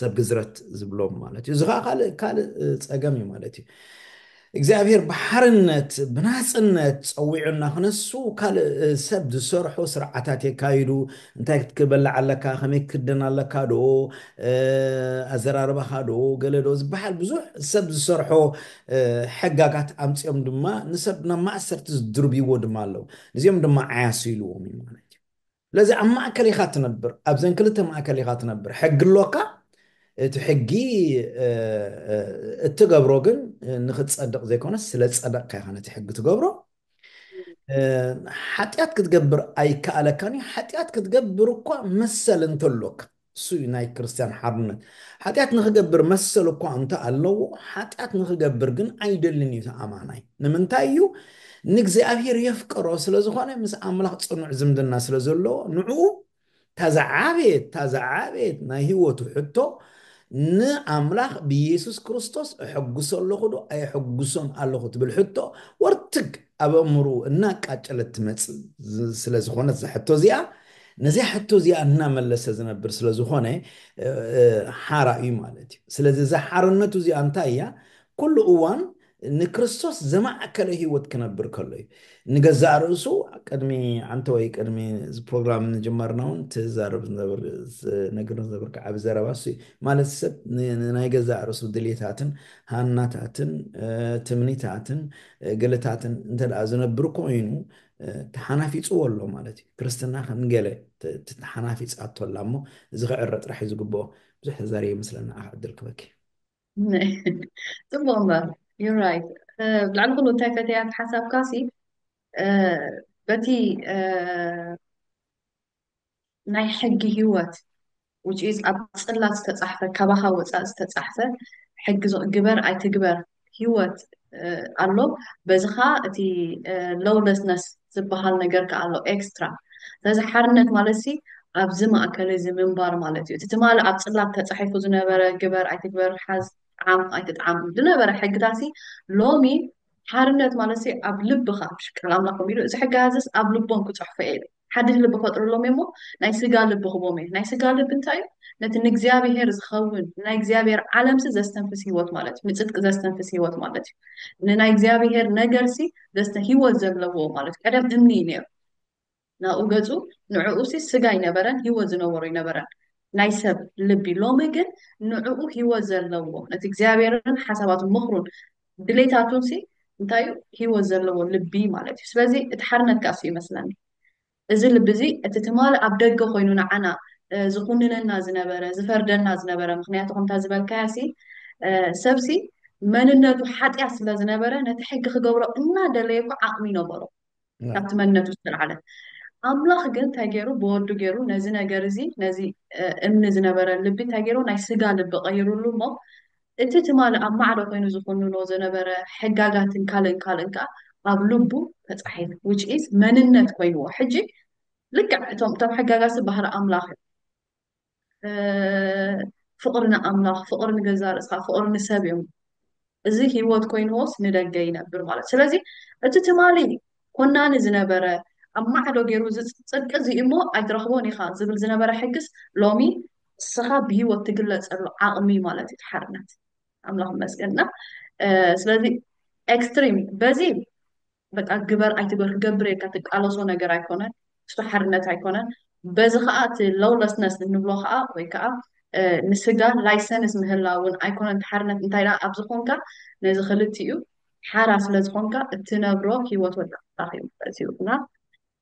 ሰብ ግዝረት ዝብሎም ማለት እዩ። እዚ ከዓ ካልእ ካልእ ፀገም እዩ ማለት እዩ። እግዚኣብሔር ብሓርነት ብናፅነት ፀዊዑና ክነሱ ካልእ ሰብ ዝሰርሖ ስርዓታት የካይዱ። እንታይ ክትበልዕ ኣለካ፣ ከመይ ክትክደን ኣለካ ዶ፣ ኣዘራርባኻ ዶ፣ ገለ ዶ ዝበሃል ብዙሕ ሰብ ዝሰርሖ ሕጋጋት ኣምፅኦም ድማ ንሰብ ናብ ማእሰርቲ ዝድርብይዎ ድማ ኣለዉ። እዚኦም ድማ ዓያሱ ኢልዎም እዩ ማለት እዩ። ስለዚ ኣብ ማእከል ኢኻ ትነብር፣ ኣብዘን ክልተ ማእከል ኢኻ ትነብር። ሕጊ ኣሎካ፣ እቲ ሕጊ እትገብሮ ግን ንክትፀድቕ ዘይኮነስ ስለ ዝፀደቕካ ኢኻ ነቲ ሕጊ ትገብሮ። ሓጢኣት ክትገብር ኣይከኣለካን እዩ። ሓጢኣት ክትገብር እኳ መሰል እንተሎካ፣ እሱ እዩ ናይ ክርስትያን ሓርነት። ሓጢኣት ንክገብር መሰል እኳ እንተ ኣለዎ፣ ሓጢኣት ንክገብር ግን ኣይደልን እዩ እቲ ኣማናይ። ንምንታይ እዩ? ንእግዚኣብሔር የፍቅሮ ስለ ዝኾነ፣ ምስ ኣምላኽ ጽኑዕ ዝምድና ስለ ዘለዎ፣ ንዕኡ ታዛ ዓቤት ታዛ ዓቤት ናይ ህይወቱ ሕቶ ንኣምላኽ ብኢየሱስ ክርስቶስ እሕጉሶ ኣለኹ ዶ ኣየሕጉሶን ኣለኹ ትብል ሕቶ ወርትግ ኣብ ኣእምርኡ እናቃጨለት ትመጽእ ዝ- ስለ ዝኾነት እዛ ሕቶ እዚኣ፣ ነዚኣ ሕቶ እዚኣ እናመለሰ ዝነብር ስለ ዝኾነ እ፣ እ፣ ሓራ እዩ ማለት እዩ። ስለዚ እዛ ሓርነቱ እዚኣ እንታይ እያ? ኩሉ እዋን ንክርስቶስ ዘማእከለ ህይወት ክነብር ከሎ እዩ። ንገዛእ ርእሱ ቅድሚ ዓንተ ወይ ቅድሚ እዚ ፕሮግራም ንጅመርና እውን ትዛረብ ዝነብር ዝነግር ዝነብር ዓቢ ዘረባ እሱ እዩ። ማለት ሰብ ን- ን- ናይ ገዛእ ርእሱ ድሌታትን ሃናታትን እ፣ ትምኒታትን እ፣ ገለታትን እንተ ደኣ ዝነብር ኮይኑ እ፣ ተሓናፊፅዎ ኣሎ ማለት እዩ። ክርስትና ከም ገለ ተ- ተ- ተሓናፊፃቶ ኣላ እሞ እዚ ክዕረ ጥራሕ እዩ ዝግብኦ። ብዙሕ ተዛሪበ ይመስለና። ኣሕ ዕድል ክበኪ ጽቡቅ እምበር you're right። እ፣ ብልዕሊ ኩሉ እንታይ ፈተያ ሓሳብካ ሲ እ፣ በቲ እ፣ ናይ ሕጊ ህይወት which is ኣብ ጽላት ዝተጻሕፈ ካባኻ ወጻእ ዝተጻሕፈ ሕጊ ዝ- ግበር ኣይትግበር ህይወት እ፣ ኣሎ። በዚ ኸኣ እቲ lawlessness ዝበሃል ነገር ከኣ ኣሎ ኤክስትራ። ስለዚ ሓርነት ማለት ሲ ኣብዚ ማእከል እዚ ምንባር ማለት እዩ። እቲ ትማሊ ኣብ ጽላት ተጻሒፉ ዝነበረ ግበር ኣይትግበር፣ ሓዝ፣ ጥዓም ኣይትጥዓም ዝነበረ ሕግታት ሲ ሎሚ ሓርነት ማለት ሲ ኣብ ልብኻ፣ ምሽ ቃል ኣምላኽ ከምኡ ኢሉ፣ እዚ ሕጊ ሃዝስ ኣብ ልቦም ክጽሕፎ እየ ኢሉ። ሓድሽ ልቢ ፈጥርሎም እየ እሞ ናይ ስጋ ልቢ ክቦም እየ። ናይ ስጋ ልቢ እንታይ እዩ? ነቲ ንእግዚኣብሔር ዝኸውን ናይ እግዚኣብሔር ዓለምሲ ዘስተንፍስ ህይወት ማለት እዩ። ንጽድቂ ዘስተንፍስ ህይወት ማለት እዩ። ንናይ እግዚኣብሔር ነገርሲ ዘስተ ህይወት ዘለዎ ማለት እዩ። ቀደም እምኒ እዩ ነይሩ። ናብኡ ገጹ ንዕኡ ሲ ስጋ ኣይነበረን፣ ህይወት ዝነበሮ ኣይነበረን። ናይ ሰብ ልቢ ሎሚ ግን ንዕኡ ህይወት ዘለዎ ነቲ እግዚኣብሔርን ሓሳባቱ ምኽሩን ድሌታቱን ሲ እንታይ እዩ? ህይወት ዘለዎ ልቢ ማለት እዩ። ስለዚ እቲ ሓርነት ከኣ እሱ ይመስለኒ። እዚ ልቢ እዚ እቲ ትማሊ ኣብ ደገ ኮይኑ ንዓና እ፣ ዝኹንነና ዝነበረ ዝፈርደና ዝነበረ ምክንያቱ ከምታ ዝበልካያ ሲ እ፣ ሰብሲ መንነቱ ሓጢኣት ስለ ዝነበረ ነቲ ሕጊ ክገብሮ እናደለየ እኮ ዓቕሚ ነበሮ ካብቲ መንነቱ ዝተልዓለ። ኣምላኽ ግን እንታይ ገይሩ? ብወዱ ገይሩ ነዚ ነገር እዚ ነዚ እ፣ እምኒ ዝነበረ ልቢ እንታይ ገይሩ? ናይ ስጋ ልቢ ቀይሩሉ እሞ እቲ ትማሊ ኣብ ማዕዶ ኮይኑ ዝኹንኖ ዝነበረ ሕጋጋትን ካልእን ካልእን ከዓ ኣብ ልቡ ተፃሒፉ which is መንነት ኮይንዎ። ሕጂ ልክዕ እቶም እቶም ሕጋጋት ባህሪ ኣምላኽ እዮም። እ፣ ፍቕሪ ንኣምላኽ፣ ፍቕሪ ንገዛእ ርእስኻ፣ ፍቕሪ ንሰብ እዮም። እዚ ህይወት ኮይንዎስ ንደገ ይነብር ማለት። ስለዚ እቲ ትማሊ ኮናኒ ዝነበረ ኣብ ማዕዶ ገይሩ እዚ ጽድቂ እዚ እሞ ኣይትረኽቦን ኢኻ ዝብል ዝነበረ ሕግስ ሎሚ እስኻ ብህይወት ትግለጸሉ ዓቕሚ ማለት እዩ እቲ ሓርነት። ኣምላኽ ይመስገን እና እ፣ ስለዚ ኤክስትሪም በዚ በቃ ግበር ኣይትግበር ክገብር ኢልካ ትቃለሶ ነገር ኣይኮነን። እሱ ሓርነት ኣይኮነን። በዚ ከዓ እቲ lawlessness እንብሎ ከዓ ወይ ከዓ ንስጋ license ምህላውን ኣይኮነን። ሓርነት እንታይ ደኣ ኣብ ዝኾንካ ነዚ ክልቲኡ ሓራ ስለ ዝኾንካ እትነብሮ ህይወት ወዲ ኣምላኽ እዩ ማለት እዩ። እና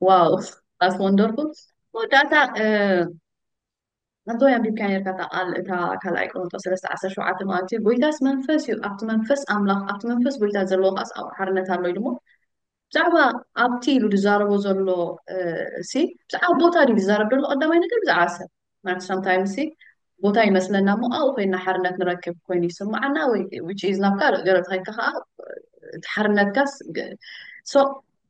ዋው that's wonderful። መወዳእታ ኣንቶ ኣንቢብካ ነርካ እታ ቃል እታ ካልኣይ ቆሮንጦስ ሰለስተ ዓሰርተ ሸውዓተ ማለት እዩ። ጎይታስ መንፈስ እዩ፣ ኣብቲ መንፈስ ኣምላኽ ኣብቲ መንፈስ ጎይታ ዘለዎ ከኣስ ኣብኡ ሓርነት ኣሎ ኢሉ እሞ ብዛዕባ ኣብቲ ኢሉ ዝዛረቦ ዘሎ ሲ ብዛዕባ ቦታ ድዩ ዝዛረብ ዘሎ? ቀዳማይ ነገር ብዛዕባ ሰብ ማለት sometimes ሲ ቦታ ይመስለና እሞ ኣብኡ ኮይና ሓርነት ንረክብ ኮይኑ ይስምዓና ወይ which is ናብ ካልእ ገለ ተኸይድካ ከዓ እቲ ሓርነትካስ so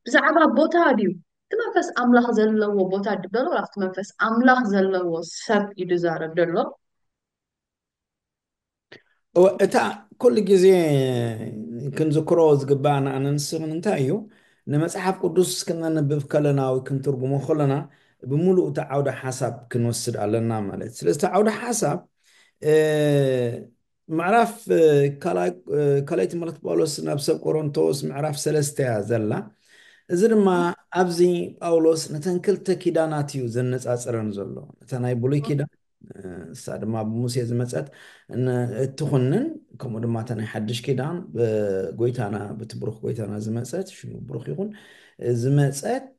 ብዛዕባ ቦታ ድዩ እቲ መንፈስ ኣምላኽ ዘለዎ ቦታ ድበሎ ኣብቲ መንፈስ ኣምላኽ ዘለዎ ሰብ እዩ ዝዛረብ ዘሎ። እታ ኩሉ ግዜ ክንዝክሮ ዝግባኣና ኣነንስን እንታይ እዩ ንመፅሓፍ ቅዱስ ክነንብብ ከለና ወይ ክንትርጉሞ ከለና ብምሉእ እቲ ዓውደ ሓሳብ ክንወስድ ኣለና ማለት ስለዚ እቲ ዓውደ ሓሳብ ምዕራፍ ካልኣይ ትምህርቲ ጳውሎስ ናብ ሰብ ቆሮንቶስ ምዕራፍ ሰለስተ እያ ዘላ። እዚ ድማ ኣብዚ ጳውሎስ ነተን ክልተ ኪዳናት እዩ ዘነፃፅረን ዘሎ። እታ ናይ ብሉይ ኪዳን እሳ ድማ ብሙሴ ዝመፀት እትኹንን ከምኡ ድማ እታ ናይ ሓድሽ ኪዳን ብጎይታና ብቲ ብሩኽ ጎይታና ዝመፀት ሽሙ ብሩኽ ይኹን ዝመፀት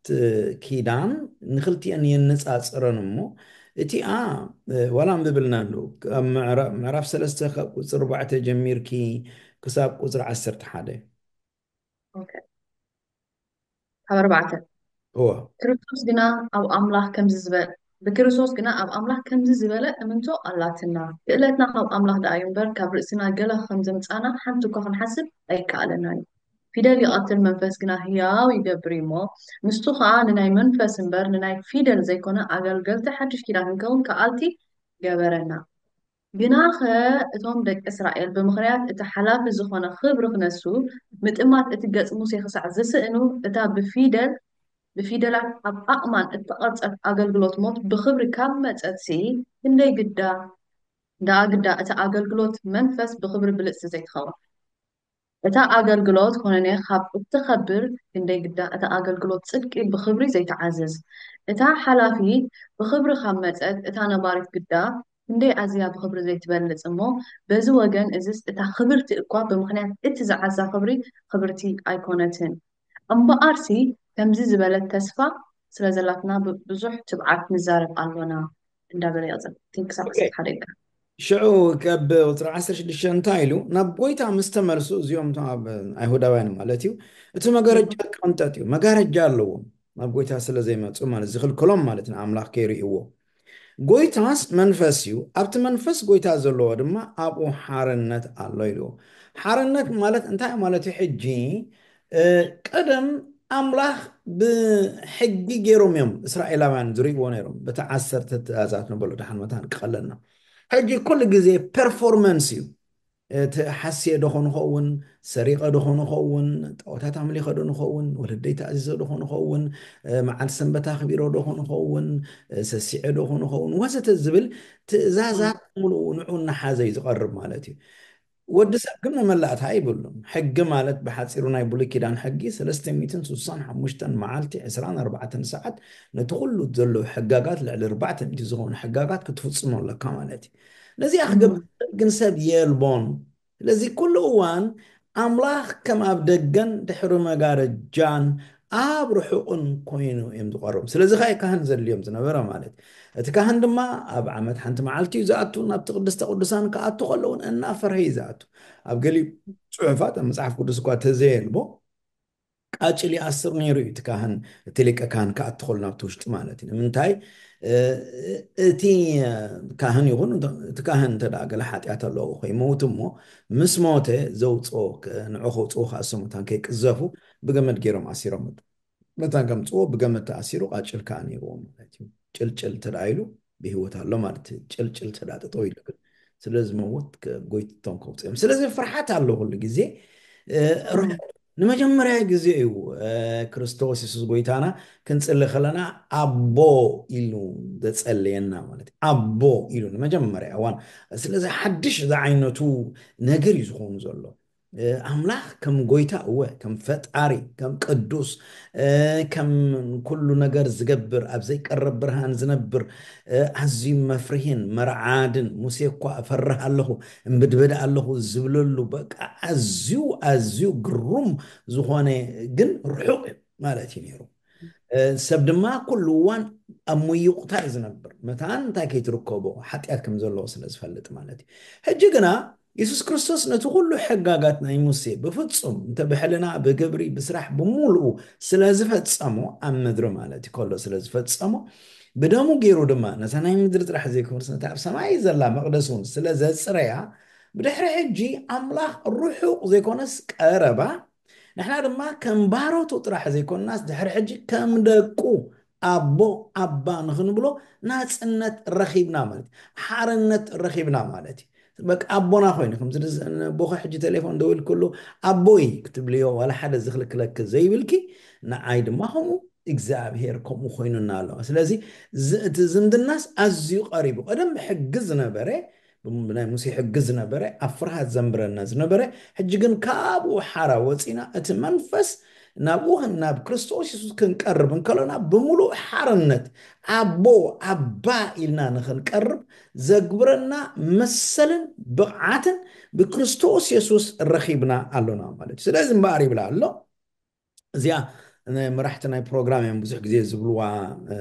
ኪዳን ንክልቲአን የነፃፅረን እሞ እቲኣ ዋላ ኣንብብልና ኣለዉ ምዕራፍ ሰለስተ ካብ ቁፅሪ ኣርባዕተ ጀሚርኪ ክሳብ ቁፅሪ ዓሰርተ ሓደ ካብ ኣርባዕተ እወ ክርስቶስ ግና ኣብ ኣምላኽ ከምዚ ዝበለ ብክርስቶስ ግና ኣብ ኣምላኽ ከምዚ ዝበለ እምንቶ ኣላትና። ክእለትና ካብ ኣምላኽ ደኣ እዩ እምበር ካብ ርእስና ገለ ከም ዘምጻና ሓንቲ እኳ ክንሓስብ ኣይከኣለናን እዩ። ፊደል ይቐትል መንፈስ ግና ህያው ይገብር እዩ እሞ ንሱ ኸኣ ንናይ መንፈስ እምበር ንናይ ፊደል ዘይኮነ ኣገልገልቲ ሓድሽ ኪዳን ክንከውን ከኣልቲ ገበረና። ግናኸ እቶም ደቂ እስራኤል ብምኽንያት እቲ ሓላፊ ዝኾነ ኽብሪ ክነሱ ምጥማት እቲ ገጽ ሙሴ ክሳዕ ዝስእኑ እታ ብፊደል ብፊደላት ኣብ ኣእማን እተቐርጸት ኣገልግሎት ሞት ብኽብሪ ካብ መጸትሲ ክንደይ ግዳ ደኣ ግዳ እታ ኣገልግሎት መንፈስ ብኽብሪ ብልጽቲ ዘይትኸውን እታ ኣገልግሎት ኮነነ ካብ እትኸብር ክንደይ ግዳ እታ ኣገልግሎት ጽድቂ ብኽብሪ ዘይትዓዝዝ እታ ሓላፊት ብኽብሪ ካብ መጸት እታ ነባሪት ግዳ ክንደይ ኣዝያ ብኽብሪ ዘይትበልጽ እሞ በዚ ወገን እዝስ እታ ክብርቲ እኳ ብምኽንያት እቲ ዝዓዛ ክብሪ ክብርቲ ኣይኮነትን እምበኣርሲ ከምዚ ዝበለት ተስፋ ስለ ዘላትና ብዙሕ ትብዓት ንዛረብ ኣሎና እንዳበለ ይቕጽል። ቲንክ ክሳብ ዓሰርተ ሓደ ኢልካ ሽዑ ከብ ቁፅሪ ዓሰርተ ሽዱሽተ እንታይ ኢሉ ናብ ጎይታ ምስ ተመልሱ እዚኦም እቶም ኣብ ኣይሁዳውያን ማለት እዩ እቲ መጋረጃ ቅንጠጥ እዩ መጋረጃ ኣለዎም ናብ ጎይታ ስለ ዘይመፁ ማለት ዝኽልክሎም ማለት ንኣምላኽ ከይርእይዎ ጎይታስ መንፈስ እዩ ኣብቲ መንፈስ ጎይታ ዘለዎ ድማ ኣብኡ ሓርነት ኣሎ ኢልዎ ሓርነት ማለት እንታይ ማለት እዩ ሕጂ ቀደም ኣምላኽ ብሕጊ ገይሮም እዮም እስራኤላውያን ዝርእይዎ ነይሮም በቲ ዓሰርተ ትእዛዛት ንበሎ ድሓን መታን ክቐለልና ሕጂ ኩሉ ግዜ ፐርፎርመንስ እዩ እቲ ሓስየ ዶ ኾንኸውን ሰሪቐ ዶ ኾንኸውን ጣዖታት ኣምሊኸ ዶ ንኸውን ወለደይ ተኣዚዘ ዶ ኾንኸውን መዓልቲ ሰንበት ኣኽቢሮ ዶ ኾንኸውን ሰሲዐ ዶ ኾንኸውን ወዘተ ዝብል ትእዛዛት ሙሉኡ ንዑ እናሓዘ እዩ ዝቐርብ ማለት እዩ ወዲ ሰብ ግን መመላእታ ኣይብሉን ሕጊ ማለት ብሓፂሩ ናይ ብሉይ ኪዳን ሕጊ ሰለስተ ሚእትን ስሳን ሓሙሽተን መዓልቲ ዕስራን ኣርባዕተን ሰዓት ነቲ ኩሉ ዘሎ ሕጋጋት ልዕሊ ኣርባዕተ ሚእቲ ዝኾኑ ሕጋጋት ክትፍፅሞ ኣለካ ማለት እዩ ነዚኣ ክገብር ግን ሰብ የልቦን ስለዚ ኩሉ እዋን ኣምላኽ ከም ኣብ ደገን ድሕሪ መጋረጃን ኣብ ርሑቕን ኮይኑ እዮም ዝቐርቡ ስለዚ ኸዓ ካህን ዘድልዮም ዝነበረ ማለት እቲ ካህን ድማ ኣብ ዓመት ሓንቲ መዓልቲ እዩ ዝኣቱ ናብቲ ቅድስተ ቅዱሳን ክኣቱ ከለውን እናፈርሀ እዩ ዝኣቱ ኣብ ገሊኡ ፅሑፋት ኣብ መፅሓፍ ቅዱስ እኳ ተዘየልቦ ቃጭል ይኣስር ነይሩ እዩ እቲ ካህን እቲ ሊቀ ካህን ክኣትኸሉ ናብቲ ውሽጢ ማለት እዩ ንምንታይ እቲ ካህን ይኹን እቲ ካህን እንተ ገለ ሓጢኣት ኣለዎ ከይመውት እሞ ምስ ሞተ ዘውፅኦ ንዑ ከውፅኡ ከዓ ሰሙታን ከይቅዘፉ ብገመድ ገይሮም ኣሲሮም መታን ከምፅዎ ብገመድ ተኣሲሩ ቃጭል ከዓ ነይርዎ ማለት እዩ ጭልጭል ተዳ ኢሉ ብህይወት ኣሎ ማለት እዩ ጭልጭል ተዳ ጠጠው ኢሉ ግን ስለ ዝመውት ጎይትቶም ከውፅኦም ስለዚ ፍርሓት ኣሎ ኩሉ ግዜ ንመጀመርያ ግዜ እዩ ክርስቶስ የሱስ ጎይታና ክንፅሊ ከለና ኣቦ ኢሉ ዘፀለየና ማለት ኣቦ ኢሉ ንመጀመርያ እዋን ስለዚ ሓድሽ ዝዓይነቱ ነገር እዩ ዝኸውን ዘሎ ኣምላኽ ከም ጎይታ፣ እወ፣ ከም ፈጣሪ፣ ከም ቅዱስ፣ ከም ኩሉ ነገር ዝገብር፣ ኣብ ዘይቀረብ ብርሃን ዝነብር፣ ኣዝዩ መፍርሂን መርዓድን፣ ሙሴ እኳ እፈርህ ኣለኹ፣ እምብድበድ ኣለኹ ዝብለሉ፣ በቃ ኣዝዩ ኣዝዩ ግሩም ዝኾነ፣ ግን ርሑቕ ማለት እዩ ነይሩ። ሰብ ድማ ኩሉ እዋን ኣብ ምይቁታ እዩ ዝነብር። መታን እንታይ ከይትርከቦ ሓጢኣት ከም ዘለዎ ስለ ዝፈልጥ ማለት እዩ። ሕጂ ግና የሱስ ክርስቶስ ነቲ ኩሉ ሕጋጋት ናይ ሙሴ ብፍጹም እንተ ብሕልና ብግብሪ ብስራሕ ብምሉኡ ስለ ዝፈጸሞ፣ ኣብ ምድሪ ማለት እዩ ከሎ ስለ ዝፈጸሞ፣ ብደሙ ገይሩ ድማ ነታ ናይ ምድሪ ጥራሕ ዘይኮነስ ነታ ኣብ ሰማይ ዘላ መቕደስ እውን ስለ ዘጽረያ፣ ብድሕሪ ሕጂ ኣምላኽ ርሑቕ ዘይኮነስ ቀረባ፣ ንሕና ድማ ከም ባሮቱ ጥራሕ ዘይኮንናስ ድሕሪ ሕጂ ከም ደቁ ኣቦ ኣባ ንኽንብሎ ናጽነት ረኺብና ማለት እዩ። ሓርነት ረኺብና ማለት እዩ። በቃ ኣቦና ኮይኑ ከምዚ ንስ- ንቦኸ ሕጂ ቴሌፎን ደዊል ኩሉ ኣቦይ ክትብልዮ ዋላ ሓደ ዝኽልክለክ ዘይብልኪ፣ ንዓይ ድማ ከምኡ እግዚኣብሔር ከምኡ ኮይኑና ኣለዋ። ስለዚ ዝ- እቲ ዝምድናስ ኣዝዩ ቀሪቡ፣ ቀደም ብሕጊ ዝነበረ፣ ብናይ ሙሴ ሕጊ ዝነበረ ኣብ ፍርሃት ዘንብረና ዝነበረ፣ ሕጂ ግን ካብኡ ሓራ ወፂና እቲ መንፈስ ናብኡ ኽን- ናብ ክርስቶስ የሱስ ክንቀርብ እንከሎና ብምሉእ ሓርነት ኣቦ ኣባ ኢልና ንኽንቀርብ ዘግብረና መሰልን ብቕዓትን ብክርስቶስ የሱስ ረኺብና ኣሎና ማለት እዩ። ስለዚ እምበኣር ይብላ ኣሎ እዚኣ ነ- መራሕቲ ናይ ፕሮግራም እዮም ብዙሕ ግዜ ዝብልዋ፣ እ፣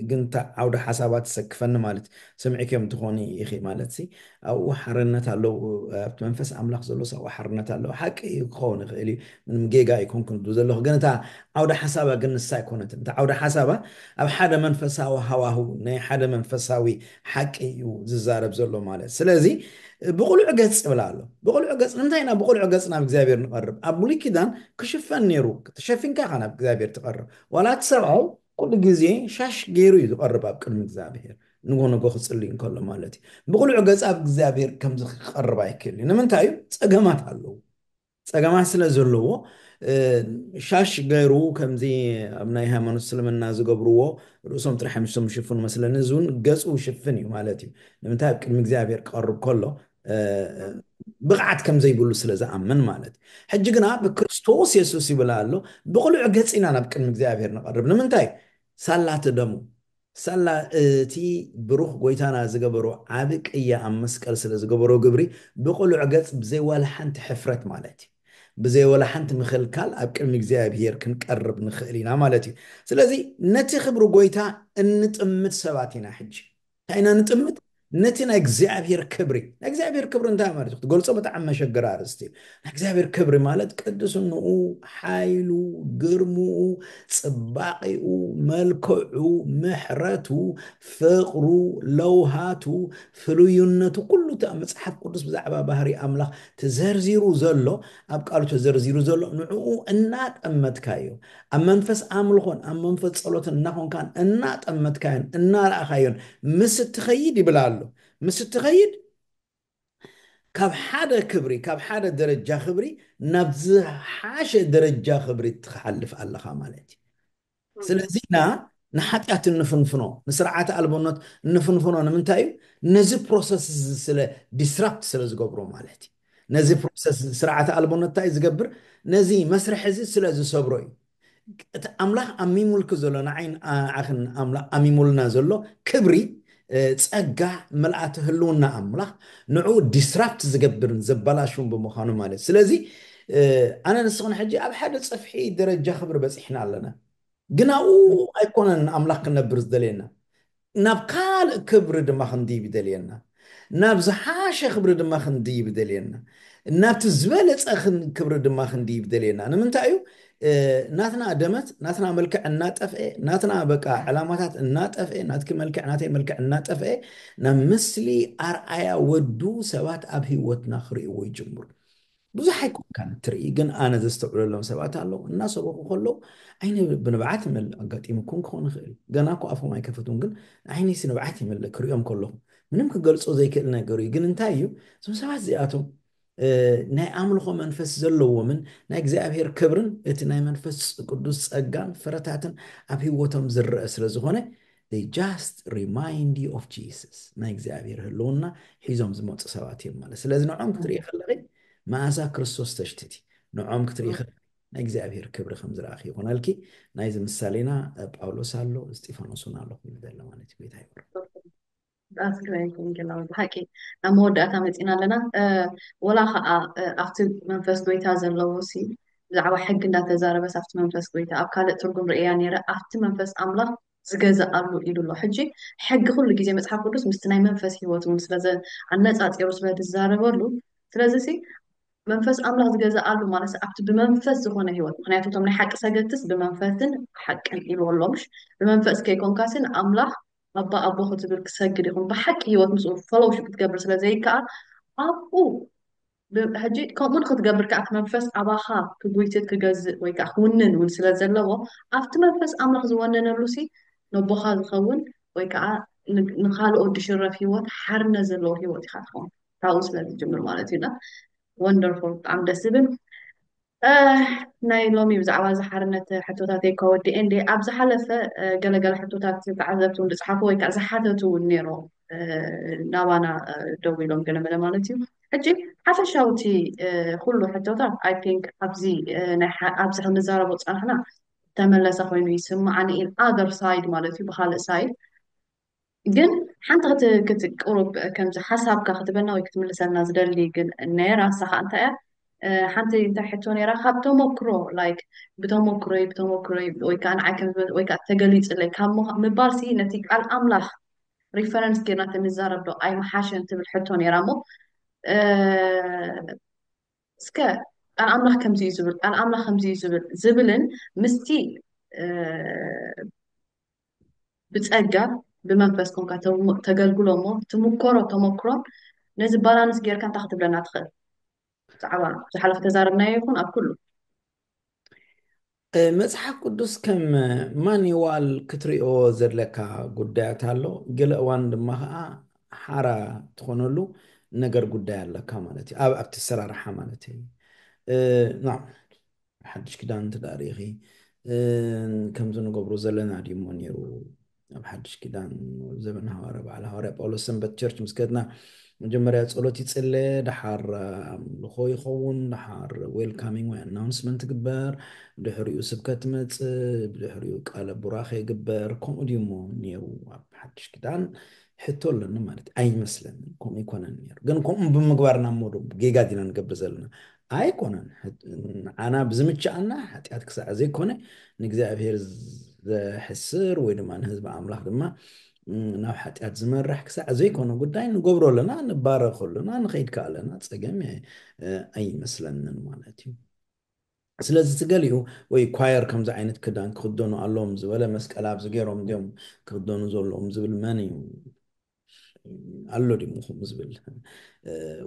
ግን እታ ዓውደ ሓሳባት ትሰክፈኒ ማለት ሰሚዕክዮም ትኾኒ ኢኺ ማለት ሲ ኣብኡ ሓርነት ኣለዉ። ኣብቲ መንፈስ ኣምላኽ ዘሎ ኣብኡ ሓርነት ኣለዉ። ሓቂ እዩ ክኸውን ይኽእል እዩ፣ ምንም ጌጋ ኣይኮንኩን ዝብሉ ዘለኹ፣ ግን እታ ዓውደ ሓሳባ ግን ንሳ ኣይኮነትን። እታ ዓውደ ሓሳባ ኣብ ሓደ መንፈሳዊ ሃዋሁ ናይ ሓደ መንፈሳዊ ሓቂ እዩ ዝዛረብ ዘሎ ማለት። ስለዚ ብቕሉዕ ገጽ ይብላ ኣሎ። ብቕሉዕ ገጽ ንምንታይ ኢና ብቕሉዕ ገጽ ናብ እግዚኣብሔር ንቐርብ? ኣብ ብሉይ ኪዳን ክሽፈን ነይሩ። ተሸፊንካ ኢኻ ናብ እግዚኣብሔር ትቐርብ። ዋላ እቲ ሰብኣይ ኩሉ ግዜ ሻሽ ገይሩ እዩ ዝቐርብ ኣብ ቅድሚ እግዚኣብሔር፣ ንጎ ንጎ ክጽልይ እንከሎ ማለት እዩ። ብቕሉዕ ገጽ ኣብ እግዚኣብሔር ከምዚ ክቐርብ ኣይክእል እዩ። ንምንታይ እዩ? ጸገማት ኣለዉ። ጸገማት ስለ ዘለዎ፣ እ፣ ሻሽ ገይሩ ከምዚ ኣብ ናይ ሃይማኖት እስልምና ዝገብርዎ ርእሶም ጥራሕ እዮም ዝሽፍኑ መስለኒ። እዚ እውን ገጹ ሽፍን እዩ ማለት እዩ። ንምንታይ? ኣብ ቅድሚ እግዚኣብሔር ክቐርብ ከሎ እ፣ ብቕዓት ከም ዘይብሉ ስለ ዝኣምን ማለት እዩ። ሕጂ ግና ብክርስቶስ የሱስ ይብል ኣሎ ብቕሉዕ ገጽ ኢና ናብ ቅድሚ እግዚኣብሔር ንቐርብ። ንምንታይ? ሳላ እቲ ደሙ፣ ሳላ እቲ ብሩኽ ጎይታና ዝገበሮ ዓቢ ቅያ ኣብ መስቀል ስለ ዝገበሮ ግብሪ ብቕሉዕ ገጽ ብዘይ ዋላ ሓንቲ ሕፍረት ማለት እዩ፣ ብዘይ ዋላ ሓንቲ ምኽልካል ኣብ ቅድሚ እግዚኣብሔር ክንቀርብ ንኽእል ኢና ማለት እዩ። ስለዚ ነቲ ክብሪ ጎይታ እንጥምት ሰባት ኢና። ሕጂ እንታይ ኢና ንጥምት? ነቲ ናይ እግዚኣብሔር ክብሪ። ናይ እግዚኣብሔር ክብሪ እንታይ ማለት እዩ? ክትገልጾ ብጣዕሚ መሸገሪ ኣርእስቲ እዩ። ናይ እግዚኣብሔር ክብሪ ማለት ቅድስንኡ፣ ሓይሉ፣ ግርምኡ፣ ጽባቒኡ፣ መልክዑ፣ ምሕረቱ፣ ፍቕሩ፣ ለውሃቱ፣ ፍሉይነቱ፣ ኩሉ እቲ ኣብ መጽሓፍ ቅዱስ ብዛዕባ ባህሪ ኣምላኽ ተዘርዚሩ ዘሎ፣ ኣብ ቃሉ ተዘርዚሩ ዘሎ፣ ንዕኡ እናጠመትካዮ፣ ኣብ መንፈስ ኣምልኾን ኣብ መንፈስ ጸሎትን እናኾንካን እናጠመትካዮን እናረኣኻዮን ምስ እትኸይድ ይብል ኣሎ። ምስ እትኸይድ ካብ ሓደ ክብሪ፣ ካብ ሓደ ደረጃ ክብሪ ናብ ዝሓሸ ደረጃ ክብሪ ትሓልፍ ኣለኻ ማለት እዩ። ስለዚ ኢና ንሓጢኣት እንፍንፍኖ፣ ንስርዓተ ኣልቦነት እንፍንፍኖ ንምንታይ እዩ? ነዚ ፕሮሰስ እዚ ስለ ዲስራፕት ስለ ዝገብሮ ማለት እዩ። ነዚ ፕሮሰስ ስርዓተ ኣልቦነት እንታይ ዝገብር? ነዚ መስርሕ እዚ ስለ ዝሰብሮ እዩ። እቲ ኣምላኽ ኣሚሙልኪ ዘሎ ንዓይን ንዓኽን ኣምላኽ ኣሚሙልና ዘሎ ክብሪ፣ እ፣ ጸጋ፣ ምልኣት ህልውና ኣምላኽ ንዕኡ ዲስራፕት ዝገብርን ዘበላሽውን ብምዃኑ ማለት። ስለዚ እ፣ ኣነ ንስኽን ሕጂ ኣብ ሓደ ጽፍሒ ደረጃ ክብሪ በጺሕና ኣለና። ግን ኣብኡ ኣይኮነን ኣምላኽ ክነብር ዝደልየና። ናብ ካልእ ክብሪ ድማ ክንድይብ ይደልየና። ናብ ዝሓሸ ክብሪ ድማ ክንድይብ ይደልየና። ናብቲ ዝበለጸ ክን- ክብሪ ድማ ክንድይብ ይደልየና። ንምንታይ እዩ? እ፣ ናትና ደመት፣ ናትና መልክዕ እናጠፍኤ፣ ናትና በቃ ዕላማታት እናጠፍኤ፣ ናትኪ መልክዕ፣ ናተይ መልክዕ እናጠፍኤ፣ ናብ ምስሊ ኣርኣያ ወዱ ሰባት ኣብ ህይወትና ክርእይዎ ይጅምሩ። ብዙሕ ኣይኮንካን እትርኢ፣ ግን ኣነ ዘስተውዕለሎም ሰባት ኣለዉ። እናሰበኹ ከለዉ ዓይነ ብንብዓት ይመልእ። ኣጋጢሙኩም ክኸውን ይኽእል። ገና እኮ ኣፎም ኣይከፈቱን፣ ግን ዓይነይሲ ንብዓት ይመልእ ክርእዮም ከለኹ። ምንም ክገልጾ ዘይክእል ነገር እዩ። ግን እንታይ እዩ? እዞም ሰባት እዚኣቶም፣ እ፣ ናይ ኣምልኾ መንፈስ ዘለዎምን ናይ እግዚኣብሔር ክብርን እቲ ናይ መንፈስ ቅዱስ ጸጋን ፍረታትን ኣብ ህይወቶም ዝረአ ስለ ዝኾነ፣ they just remind you of Jesus። ናይ እግዚኣብሔር ህልውና ሒዞም ዝመጹ ሰባት እዮም ማለት። ስለዚ ንዕኦም ክትርኢ ከለኺ መኣዛ ክርስቶስ ተሽትቲ ንዖም ክትርኢ ከለኺ ናይ እግዚኣብሔር ክብሪ ከም ዝረኣኺ ይኹነልኪ። ናይዚ ምሳሌና ጳውሎስ ኣሎ፣ እስጢፋኖስ እውን ኣሎ ክብል ዘሎ ማለት እዩ። ጎይታ ይባርክ። ኣስክሬን ኩንጌላዊ ብሓቂ ናብ መወዳእታ መፂና ኣለና። ወላ ከዓ ኣብቲ መንፈስ ጎይታ ዘለዎ ሲ ብዛዕባ ሕጊ እንዳተዛረበስ ኣብቲ መንፈስ ጎይታ ኣብ ካልእ ትርጉም ርእያ ነይረ፣ ኣብቲ መንፈስ ኣምላኽ ዝገዝኣሉ ኢሉ ኣሎ። ሕጂ ሕጊ ኩሉ ግዜ መፅሓፍ ቅዱስ ምስቲ ናይ መንፈስ ህይወት እውን ስለዘ ኣነፃፂሩ ስለዝዛረበሉ፣ ስለዚ ሲ መንፈስ ኣምላኽ ዝገዝኣሉ ማለት ኣብቲ ብመንፈስ ዝኾነ ህይወት፣ ምክንያቱ እቶም ናይ ሓቂ ሰገትስ ብመንፈስን ሓቅን ኢልዎ ኣሎ። ምሽ ብመንፈስ ከይኮንካሲ ንኣምላኽ ኣባ ኣቦ ክትብል ክሰግድ ይኹን ብሓቂ ህይወት ምስኡ ፈሎውሽፕ ክትገብር ስለ ዘይከኣል ኣብኡ ብ- ሕጂ ከምኡ ንክትገብር ከዓ እቲ መንፈስ ኣባኻ ክጉይትት ክገዝእ ወይ ከዓ ክውንን እውን ስለ ዘለዎ ኣብቲ መንፈስ ኣምላኽ ዝወነነሉ ሲ ነቦኻ ዝኸውን ወይ ከዓ ን- ንኻልኦት ዝሽረፍ ህይወት ሓርነት ዘለዎ ህይወት ኢኻ ትኸውን ካብኡ ስለ ዝጅምር ማለት እዩ። ወንደርፉል ብጣዕሚ ደስ ዝብል። ናይ ሎሚ ብዛዕባ እዚ ሓርነት ሕቶታተይ ከወዲ እንዲ ኣብ ዝሓለፈ ገለገለ ሕቶታት ተዓዘብቲ እውን ዝፅሓፉ ወይ ከዓ ዝሓተቱ እውን ነይሮ ናባና ደው ኢሎም ገለመለ ማለት እዩ። ሕጂ ሓፈሻውቲ ኩሉ ሕቶታት ኣይ ቲንክ ኣብዚ ኣብዚ ክንዛረቦ ዝፀናሕና ተመለሰ ኮይኑ ይስማዓኒ ኢን ኣደር ሳይድ ማለት እዩ። ብካልእ ሳይድ ግን ሓንቲ ክትቅሩብ ከምዚ ሓሳብካ ክትበና ወይ ክትምልሰልና ዝደሊ ግን ነራ ሳኻ እንታይ እያ ሓንቲ እንታይ ሕቶ ነራ ካብ ተመክሮ ላይክ ብተመክሮይ ብተመክሮይ ወይ ከዓ ንዓይ ከም ዝበል ወይ ከዓ ተገሊፅለይ ካብ ምባል ሲ ነቲ ቃል ኣምላኽ ሪፈረንስ ጌርና ተንዛረብ ዶ ኣይመሓሸን ትብል ሕቶ ነራ እሞ እስከ ቃል ኣምላኽ ከምዚ እዩ ዝብል ቃል ኣምላኽ ከምዚ እዩ ዝብል ዝብልን ምስቲ ብጸጋ ብመንፈስ ኮንካ ተገልግሎ እሞ ትምኮሮ ተመክሮን ነዚ ባላንስ ጌርካ እንታይ ክትብለና ትኽእል? ብዛዕባ ዝሓለፈ ተዛረብናዮ ይኹን ኣብ ኩሉ መፅሓፍ ቅዱስ ከም ማኒዋል ክትሪኦ ዘድለካ ጉዳያት ኣሎ። ገለ እዋን ድማ ከዓ ሓራ ትኾነሉ ነገር ጉዳይ ኣለካ ማለት እዩ። ኣብ ኣብቲ ሰራርሓ ማለት እዩ። ና ሓድሽ ክዳን ትዳሪኺ ከምዚ ንገብሮ ዘለና ድሞ ነይሩ ኣብ ሓድሽ ኪዳን ዘበን ሃዋርያ በዓል ሃዋርያ ጳውሎስ ሰንበት ቸርች ምስ ከድና መጀመርያ ጸሎት ይጽለ፣ ድሓር ኣምልኾ ይኸውን፣ ድሓር ዌልካሚንግ ወይ ኣናውንስመንት ይግበር፣ ድሕሪኡ ስብከት ትመጽእ፣ ብድሕሪኡ ቃለ ቡራኸ ይግበር። ከምኡ ድዩሞ ነይሩ ኣብ ሓድሽ ኪዳን? ሕቶ ኣለኒ ማለት ኣይመስለንን። ከምኡ ይኮነን ነይሩ። ግን ከምኡ ብምግባርና እሞ ዶ ጌጋ ዲና ንገብር ዘለና? ኣይኮነን። ንዓና ብዝምችኣና ሓጢኣት ክሳዕ ዘይኮነ ንእግዚኣብሔር ዘሕስር ወይ ድማ ንህዝቢ ኣምላኽ ድማ ናብ ሓጢኣት ዝመርሕ ክሳዕ ዘይኮነ ጉዳይ ንገብሮ ኣለና፣ ንባረኽ ኣለና፣ ንኸይድ ከኣ ኣለና፣ ጸገም ኣይመስለንን ማለት እዩ። ስለዚ እቲ ገሊኡ ወይ ኳየር ከምዚ ዓይነት ክዳን ክኽደኑ ኣለዎም ዝበለ መስቀል ኣብዚ ገይሮም ድዮም ክኽደኑ ዘለዎም ዝብል መን እዩ? ኣሎ ድዩ ከምኡ ዝብል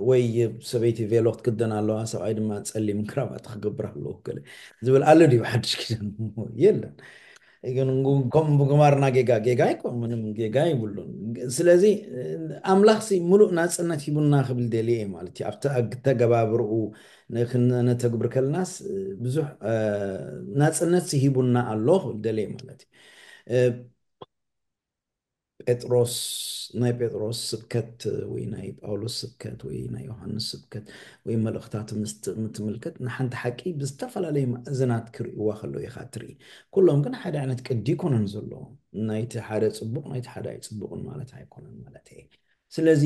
ወይ ሰበይቲ ቬሎ ክትክደን ኣለዋ ሰብኣይ ድማ ፀሊም ክራባት ክገብር ኣለዎ ገለ ዝብል ኣሎ ድዩ ሓድሽ ኪዳን? የለን። ግን ከም ብግማርና ጌጋ ጌጋ ይኮን ምንም ጌጋ ይብሉን። ስለዚ ኣምላኽሲ ሙሉእ ናፅነት ሂቡና ክብል ደልየ ማለት እዩ ኣብቲ ኣተገባብርኡ ነተግብር ከልናስ ብዙሕ ናፅነት ሂቡና ኣሎ ክብል ደልየ ማለት እዩ። ጴጥሮስ ናይ ጴጥሮስ ስብከት ወይ ናይ ጳውሎስ ስብከት ወይ ናይ ዮሃንስ ስብከት ወይ መልእኽታት ምስ ትምልከት ንሓንቲ ሓቂ ብዝተፈላለዩ ማእዝናት ክርእይዋ ከለዉ ኢኻ ትርኢ። ኩሎም ግን ሓደ ዓይነት ቅዲ ኣይኮነን ዘለዎም። ናይቲ ሓደ ጽቡቕ ናይቲ ሓደ ኣይጽቡቕን ማለት ኣይኮነን ማለት እየ። ስለዚ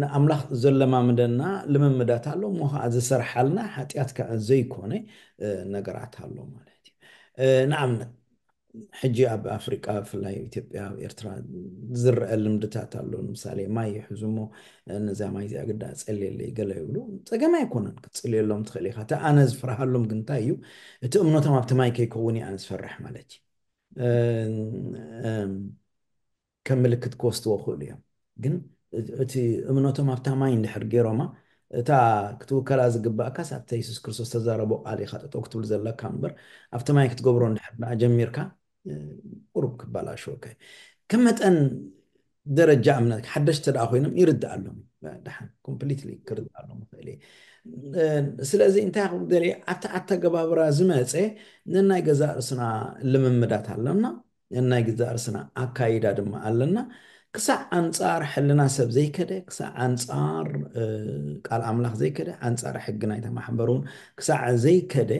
ንኣምላኽ ዘለማምደና ልምምዳት ኣሎ እሞ ከዓ ዝሰርሓልና ሓጢኣት ከዓ ዘይኮነ ነገራት ኣሎ ማለት እዩ። ንኣብነት ሕጂ ኣብ ኣፍሪቃ ብፍላይ ኣብ ኢትዮጵያ ኣብ ኤርትራ ዝረአ ልምድታት ኣሎ። ንምሳሌ ማይ ይሕዙ እሞ ነዛ ማይ እዚኣ ግዳ ጸልየለይ ገለ ይብሉ። ጸገም ኣይኮነን ክትጽልየሎም ትኽእል ኢኻ። እቲ ኣነ ዝፈርሃሎም ግን እንታይ እዩ እቲ እምነቶም ኣብቲ ማይ ከይከውን እዩ ኣነ ዝፈርሕ ማለት እዩ። ከም ምልክት ክወስድዎ ክእሉ እዮም። ግን እቲ እምነቶም ኣብታ ማይ እንድሕር ገይሮማ እታ ክትውከላ ዝግባእካስ ኣብታ የሱስ ክርስቶስ ተዛረቦ ቃል ኢኻ ጠጠው ክትብል ዘለካ እምበር ኣብቲ ማይ ክትገብሮ እንድሕር ደኣ ጀሚርካ ቁሩብ ክበላሸወካ እዩ። ከም መጠን ደረጃ እምነት ሓደሽቲ ደኣ ኮይኖም ይርድኣሎም ደሓን ኮምፕሊትሊ ክርድኣሎም ይኽእል እየ። ስለዚ እንታይ ክብል ደልየ ኣብቲ ኣተገባብራ ዝመፀ ነናይ ገዛእ ርእስና ልምምዳት ኣለና፣ ነናይ ገዛእ ርእስና ኣካይዳ ድማ ኣለና። ክሳዕ ኣንጻር ሕልና ሰብ ዘይከደ፣ ክሳዕ ኣንጻር ቃል ኣምላኽ ዘይከደ፣ ኣንጻር ሕጊ ናይታ ማሕበር እውን ክሳዕ ዘይከደ፣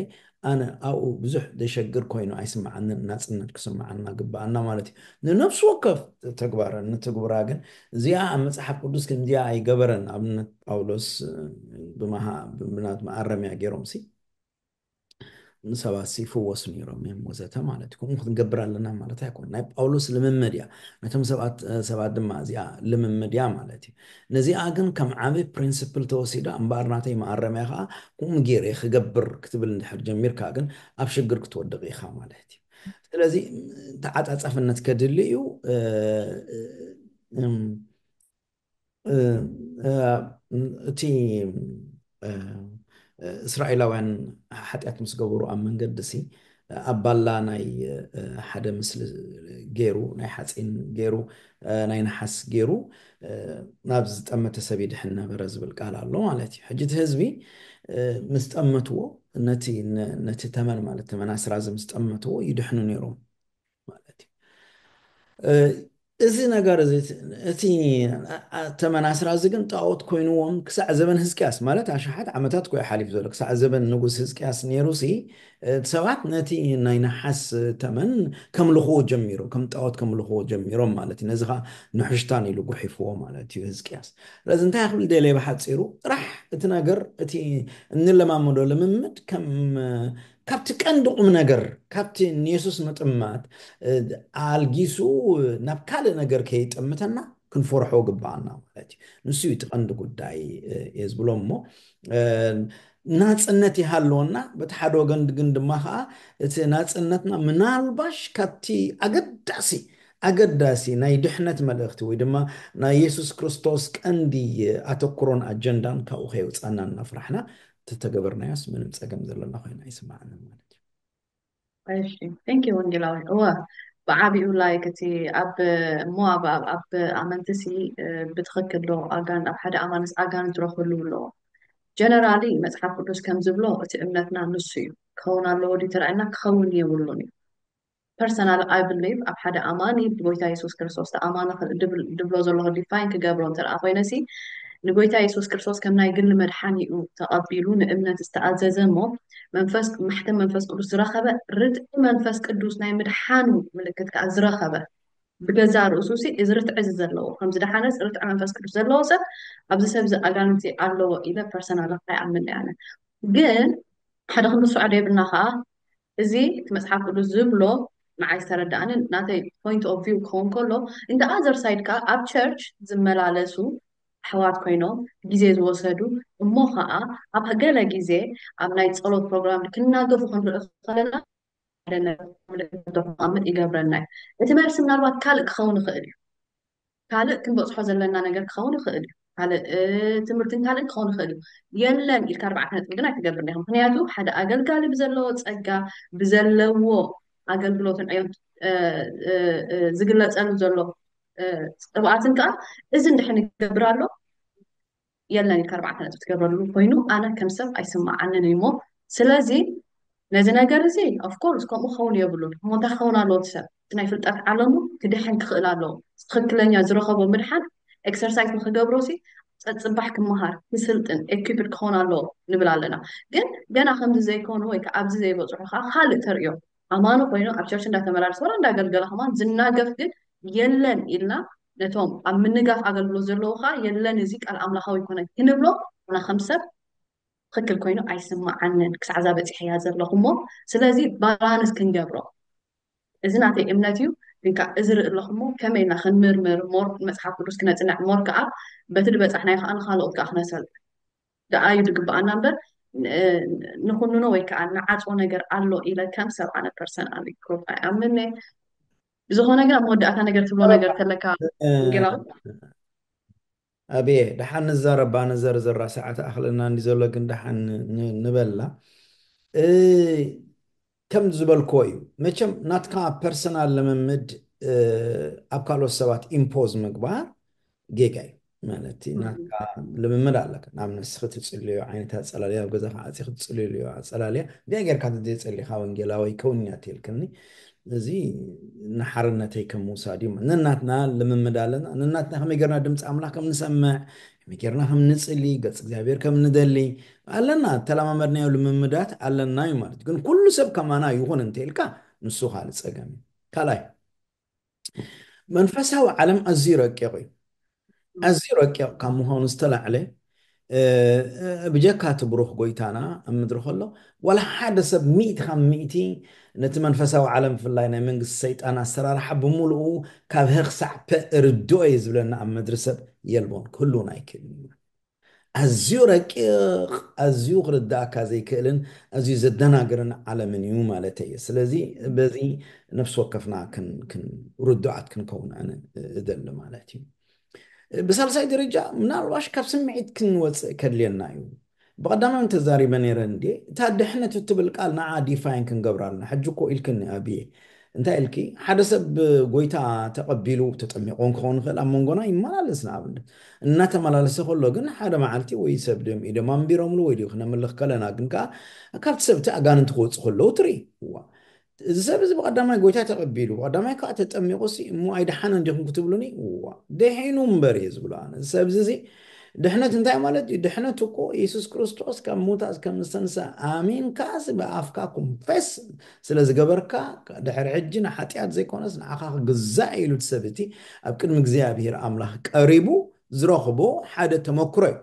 ኣነ ኣብኡ ብዙሕ ዘሸግር ኮይኑ ኣይስምዓንን። ናጽነት ክስምዓና ግብኣና ማለት እዩ። ንነፍሲ ወከፍ ተግባር ንትግብራ ግን፣ እዚኣ ኣብ መጽሓፍ ቅዱስ ከምዚኣ ኣይገበረን። ኣብነት ጳውሎስ ብመሃ ብናት መኣረምያ ገይሮም ሲ ንሰባት ይፍወሱ ነይሮም እዮም ወዘተ ማለት እዩ። ከምኡ ክንገብር ኣለና ማለት ኣይኮን። ናይ ጳውሎስ ልምምድ እያ። ነቶም ሰባት ሰባት ድማ እዚኣ ልምምድ እያ ማለት እዩ። ነዚኣ ግን ከም ዓቢ ፕሪንስፕል ተወሲዳ፣ እምበኣር ናተይ መኣረምያ ከዓ ከምኡ ገይረ ክገብር ክትብል እንድሕር ጀሚርካ ግን ኣብ ሽግር ክትወድቕ ኢኻ ማለት እዩ። ስለዚ ተዓጻጻፍነት ከድሊ እዩ። እቲ እስራኤላውያን ሓጢኣት ምስ ገበሩ ኣብ መንገዲ ሲ ኣብ ባላ ናይ ሓደ ምስሊ ገይሩ፣ ናይ ሓፂን ገይሩ፣ ናይ ነሓስ ገይሩ ናብ ዝጠመተ ሰብ ይድሕን ነበረ ዝብል ቃል ኣሎ ማለት እዩ። ሕጂ እቲ ህዝቢ ምስ ጠመትዎ፣ ነቲ ተመን ማለት ተመን ኣስራዚ ምስ ጠመትዎ ይድሕኑ ነይሮም ማለት እዩ። እዚ ነገር እዚ፣ እቲ ተመን ኣስራዚ ግን ጣዖት ኮይንዎም ክሳዕ ዘበን ህዝቅያስ፣ ማለት ኣሽሓት ዓመታት ኮ ሓሊፉ ዘሎ፣ ክሳዕ ዘበን ንጉስ ህዝቅያስ ነይሩ ሲ ሰባት ነቲ ናይ ነሓስ ተመን ከምልኽዎ ጀሚሮም፣ ከም ጣዖት ከምልኽዎ ጀሚሮም ማለት እዩ። ነዚ ኸዓ ንሕሽታን ኢሉ ጉሒፍዎ ማለት እዩ ህዝቅያስ። ስለዚ እንታይ ክብል ደልየ ብሓፂሩ፣ ጥራሕ እቲ ነገር፣ እቲ እንለማመዶ ልምምድ ከም ካብቲ ቀንዲ ቁም ነገር፣ ካብቲ ንየሱስ ምጥማት ኣልጊሱ ናብ ካልእ ነገር ከይጠምተና ክንፈርሖ ግባኣና ማለት እዩ። ንሱ እዩ እቲ ቀንዲ ጉዳይ እየ ዝብሎ። እሞ ናፅነት ይሃለወና፣ በቲ ሓደ ወገን ግን ድማ ከዓ እቲ ናፅነትና ምናልባሽ ካብቲ ኣገዳሲ ኣገዳሲ ናይ ድሕነት መልእኽቲ ወይ ድማ ናይ የሱስ ክርስቶስ ቀንዲ ኣተኩሮን ኣጀንዳን ካብኡ ከየውፃና እናፍራሕና ተተገበርናዮስ ምንም ፀገም ዘለና ኮይና ኣይስማዓንን ማለት እዩ። እሺ፣ thank you ወንጌላዊ። እወ፣ ብዓቢኡ ላይክ እቲ ኣብ ሞ ኣብ ኣብ ኣመንቲ ሲ ብትኽክል ዶ ኣጋን ኣብ ሓደ ኣማንስ ኣጋን ዝረኽብሉ ኣለዎ። ጀነራሊ መጽሓፍ ቅዱስ ከም ዝብሎ እቲ እምነትና ንሱ እዩ። ክኸውን ኣለዎ ድዩ ተራእና? ክኸውን የብሉን እዩ። ፐርሰናል ኣይ ብሊቭ ኣብ ሓደ ኣማኒ ብጎይታ የሱስ ክርስቶስ ተኣማኒ ድብሎ ዘለኹ ዲፋይን ክገብሮ እንተ ኮይነ ሲ ንጎይታ የሱስ ክርስቶስ ከም ናይ ግሊ መድሓኒኡ ተቐቢሉ ንእምነት ዝተኣዘዘ እሞ መንፈስ ማሕተም መንፈስ ቅዱስ ዝረኸበ ርትዒ መንፈስ ቅዱስ ናይ ምድሓኑ ምልክት ከዓ ዝረኸበ ብገዛ ርእሱ ሲ እዚ ርትዒ እዚ ዘለዎ ከምዚ ደሓነስ ርትዒ መንፈስ ቅዱስ ዘለዎ ሰብ ኣብዚ ሰብ እዚ ኣጋንንቲ ኣለዎ ኢለ ፐርሰናል ኣይኣምን ኣነ ግን ሓደ ክንርስዖ ደይብና ከዓ እዚ እቲ መፅሓፍ ቅዱስ ዝብሎ ንዓይ ዝተረዳእንን ናተይ ፖይንት ኦፍ ቪው ክኸውን ከሎ እንደ ኣዘር ሳይድ ከዓ ኣብ ቸርች ዝመላለሱ ኣሕዋት ኮይኖም ግዜ ዝወሰዱ እሞ ከዓ ኣብ ገለ ግዜ ኣብ ናይ ፀሎት ፕሮግራም ክናገፉ ክንርኢ ከለና ሓደ ነገር ምልክት ክቐምጥ ይገብረና እዩ። እቲ መልሲ ምናልባት ካልእ ክኸውን ይኽእል እዩ። ካልእ ክንበፅሖ ዘለና ነገር ክኸውን ይኽእል እዩ። ካልእ ትምህርትን ካልእን ክኸውን ይኽእል እዩ። የለን ኢልካ ኣርባዕተ ነጥቢ ግን ኣይትገብርን ኢኻ። ምክንያቱ ሓደ ኣገልጋሊ ብዘለዎ ፀጋ ብዘለዎ ኣገልግሎትን ዕዮን ዝግለፀሉ ዘሎ ቅብኣትን ከዓ እዚ እንድሕን ይገብር ኣሎ የለን ኢልካ ኣርባዕተ ነጥቢ ትገብረሉ ኮይኑ ኣነ ከም ሰብ ኣይስማዓንን እዩ እሞ ስለዚ ነዚ ነገር እዚ ኦፍኮርስ ከምኡ ክኸውን የብሉን እሞ እንታይ ክኸውን ኣለዎ እቲ ሰብ እቲ ናይ ፍልጠት ዓለሙ ክድሕን ክኽእል ኣለዎ ትኽክለኛ ዝረኸቦ ምድሓን ኤክሰርሳይዝ ንክገብሮ ሲ ፀፅባሕ ክመሃር ክስልጥን ኤኪፕድ ክኸውን ኣለዎ ንብል ኣለና ግን ገና ከምዚ ዘይኮኑ ወይ ከዓ ኣብዚ ዘይበፅሑ ከዓ ካልእ ተርእዮ ኣማኒ ኮይኑ ኣብ ቸርች እንዳተመላለስ ወላ እንዳገልገለ ከማን ዝናገፍ ግን የለን ኢልና ነቶም ኣብ ምንጋፍ ኣገልግሎት ዘለዉ ከዓ የለን እዚ ቃል ኣምላኻዊ ይኮነ ክንብሎ ኣና ከም ሰብ ትክክል ኮይኑ ኣይስማዓንን ክሳዕ እዛ በፂሐያ ዘለኹ እሞ ስለዚ ባላንስ ክንገብሮ እዚ ናተይ እምነት እዩ ግን ከዓ እዚ ርኢ ኣለኹ እሞ ከመይ ኢልና ክንምርምር ሞር መፅሓፍ ቅዱስ ክነፅንዕ ሞር ከዓ በቲ ዝበፃሕናዮ ከዓ ንካልኦት ከዓ ክነሰል ደኣዩ ዝግብኣና እምበር ንኩንኖ ወይ ከዓ ንዓፅዎ ነገር ኣሎ ኢለ ከም ሰብ ኣነ ፐርሰናል ግሩፕ ኣይኣምን ብዝኾነ ግን ኣብ መወዳእታ ነገር ትብሎ ነገር ተለካ ወንጌላዊ ኣብየ ደሓን ንዛረባ ንዘርዘራ ሰዓት ኣኽለና እንዲ ዘሎ ግን ደሓን ንበላ ከም ዝበልክዎ እዩ መቸም ናትካ ፐርሰናል ልምምድ ኣብ ካልኦት ሰባት ኢምፖዝ ምግባር ጌጋ እዩ ማለት እዩ። ናትካ ልምምድ ኣለካ። ናብ ነስኺ ትጽልዮ ዓይነት ኣጸላልያ፣ ኣብ ገዛኻ ዓጺኺ ትጽልዮ ኣጸላልያ፣ እንታይ ጌርካ እንተዘይጸሊኻ ወንጌላዊ ከውንኛ ትልክኒ። እዚ ንሓርነተይ ከም ምውሳድ እዩ። ነናትና ልምምድ ኣለና። ነናትና ከመይ ጌርና ድምፂ ኣምላኽ ከም ንሰምዕ፣ ከመይ ጌርና ከም ንጽሊ፣ ገጽ እግዚኣብሔር ከም ንደሊ ኣለና። ተለማመድናዮ ልምምዳት ኣለና እዩ ማለት እዩ። ግን ኩሉ ሰብ ከማና ይኹን እንተኢልካ ንሱ ካልእ ጸገም እዩ። ካልኣይ መንፈሳዊ ዓለም ኣዝዩ ረቂቕ እዩ። ኣዝዩ ረቂቕ ካብ ምዃኑ ዝተላዕለ ብጀካ እቲ ብሩኽ ጎይታና ኣብ ምድሪ ከሎ ዋላ ሓደ ሰብ ሚእቲ ካብ ሚእቲ ነቲ መንፈሳዊ ዓለም ብፍላይ ናይ መንግስቲ ሰይጣን ኣሰራርሓ ብምሉኡ ካብ ሀ ክሳዕ ፐ ርድኦ እየ ዝብለና ኣብ ምድሪ ሰብ የልቦን ክህልውን ኣይክእልን እዩ። ኣዝዩ ረቂቕ ኣዝዩ ክርዳእካ ዘይክእልን ኣዝዩ ዘደናግርን ዓለምን እዩ ማለት እዩ። ስለዚ በዚ ነፍሲ ወከፍና ርዱዓት ክንከውን ኣነ እደሊ ማለት እዩ። ብሳልሳይ ደረጃ ምናልባሽ ካብ ስምዒት ክንወፅእ ከድልየና እዩ። ብቐዳማይ ተዛሪበ ነይረ እንዴ እታ ድሕነት እትብል ቃል ንዓ ዲፋይን ክንገብራ ኣለና። ሕጂ እኮ ኢልክኒ ኣብየ እንታይ ኢልኪ ሓደ ሰብ ጎይታ ተቐቢሉ ተጠሚቑ ክኸውን ይኽእል ኣብ መንጎና ይመላለስ ንኣብነት እናተመላለሰ ከሎ ግን ሓደ መዓልቲ ወይ ሰብ ድም ኢዶም ኣንቢሮምሉ ወይ ድዩ ክነምልኽ ከለና ግን ከዓ ካብቲ ሰብቲ ኣጋንንቲ ክወፁ ከለዉ ትርኢ እዋ እዚ ሰብ እዚ ብቐዳማይ ጎይታ ተቐቢሉ ብቐዳማይ ከዓ ተጠሚቑ ሲ እሞ ኣይደሓነን ዲኹም ክትብሉኒ እዋ ደሒኑ እምበር እየ ዝብሎ ኣነ እዚ ሰብ እዚ ድሕነት እንታይ ማለት እዩ ድሕነት እኮ የሱስ ክርስቶስ ካብ ሙታት ከም ዝተንሳ ኣሚንካ ብኣፍካ ኮንፌስ ስለ ዝገበርካ ድሕሪ ሕጂ ንሓጢኣት ዘይኮነስ ንዓኻ ክግዛእ ኢሉ እቲ ሰብ እቲ ኣብ ቅድሚ እግዚኣብሔር ኣምላኽ ቀሪቡ ዝረኽቦ ሓደ ተመክሮ እዩ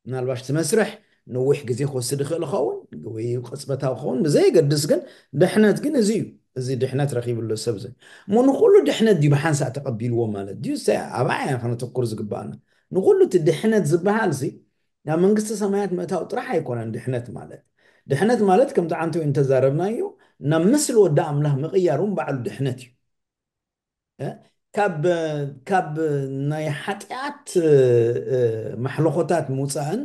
ምናልባሽ እቲ መስርሕ ነዊሕ ግዜ ክወስድ ይኽእል ይኸውን ወይ ቅፅበታዊ ክኸውን ብዘየገድስ ግን ድሕነት ግን እዚ እዩ እዚ ድሕነት ረኪብሉ ሰብ እዚ እሞ ንኩሉ ድሕነት ድዩ ብሓንሳእ ተቀቢልዎ ማለት ድዩ ኣባይ ከነተኩር ዝግባኣና ንኩሉ እቲ ድሕነት ዝበሃል ሲ ናብ መንግስቲ ሰማያት ምእታው ጥራሕ ኣይኮነን ድሕነት ማለት ድሕነት ማለት ከምቲ ዓንተ እንተዛረብናዮ ናብ ምስሊ ወዲ ኣምላኽ ምቕያር እውን ባዕሉ ድሕነት እዩ ካብ ካብ ናይ ሓጢኣት ማሕለኾታት ምውፃእን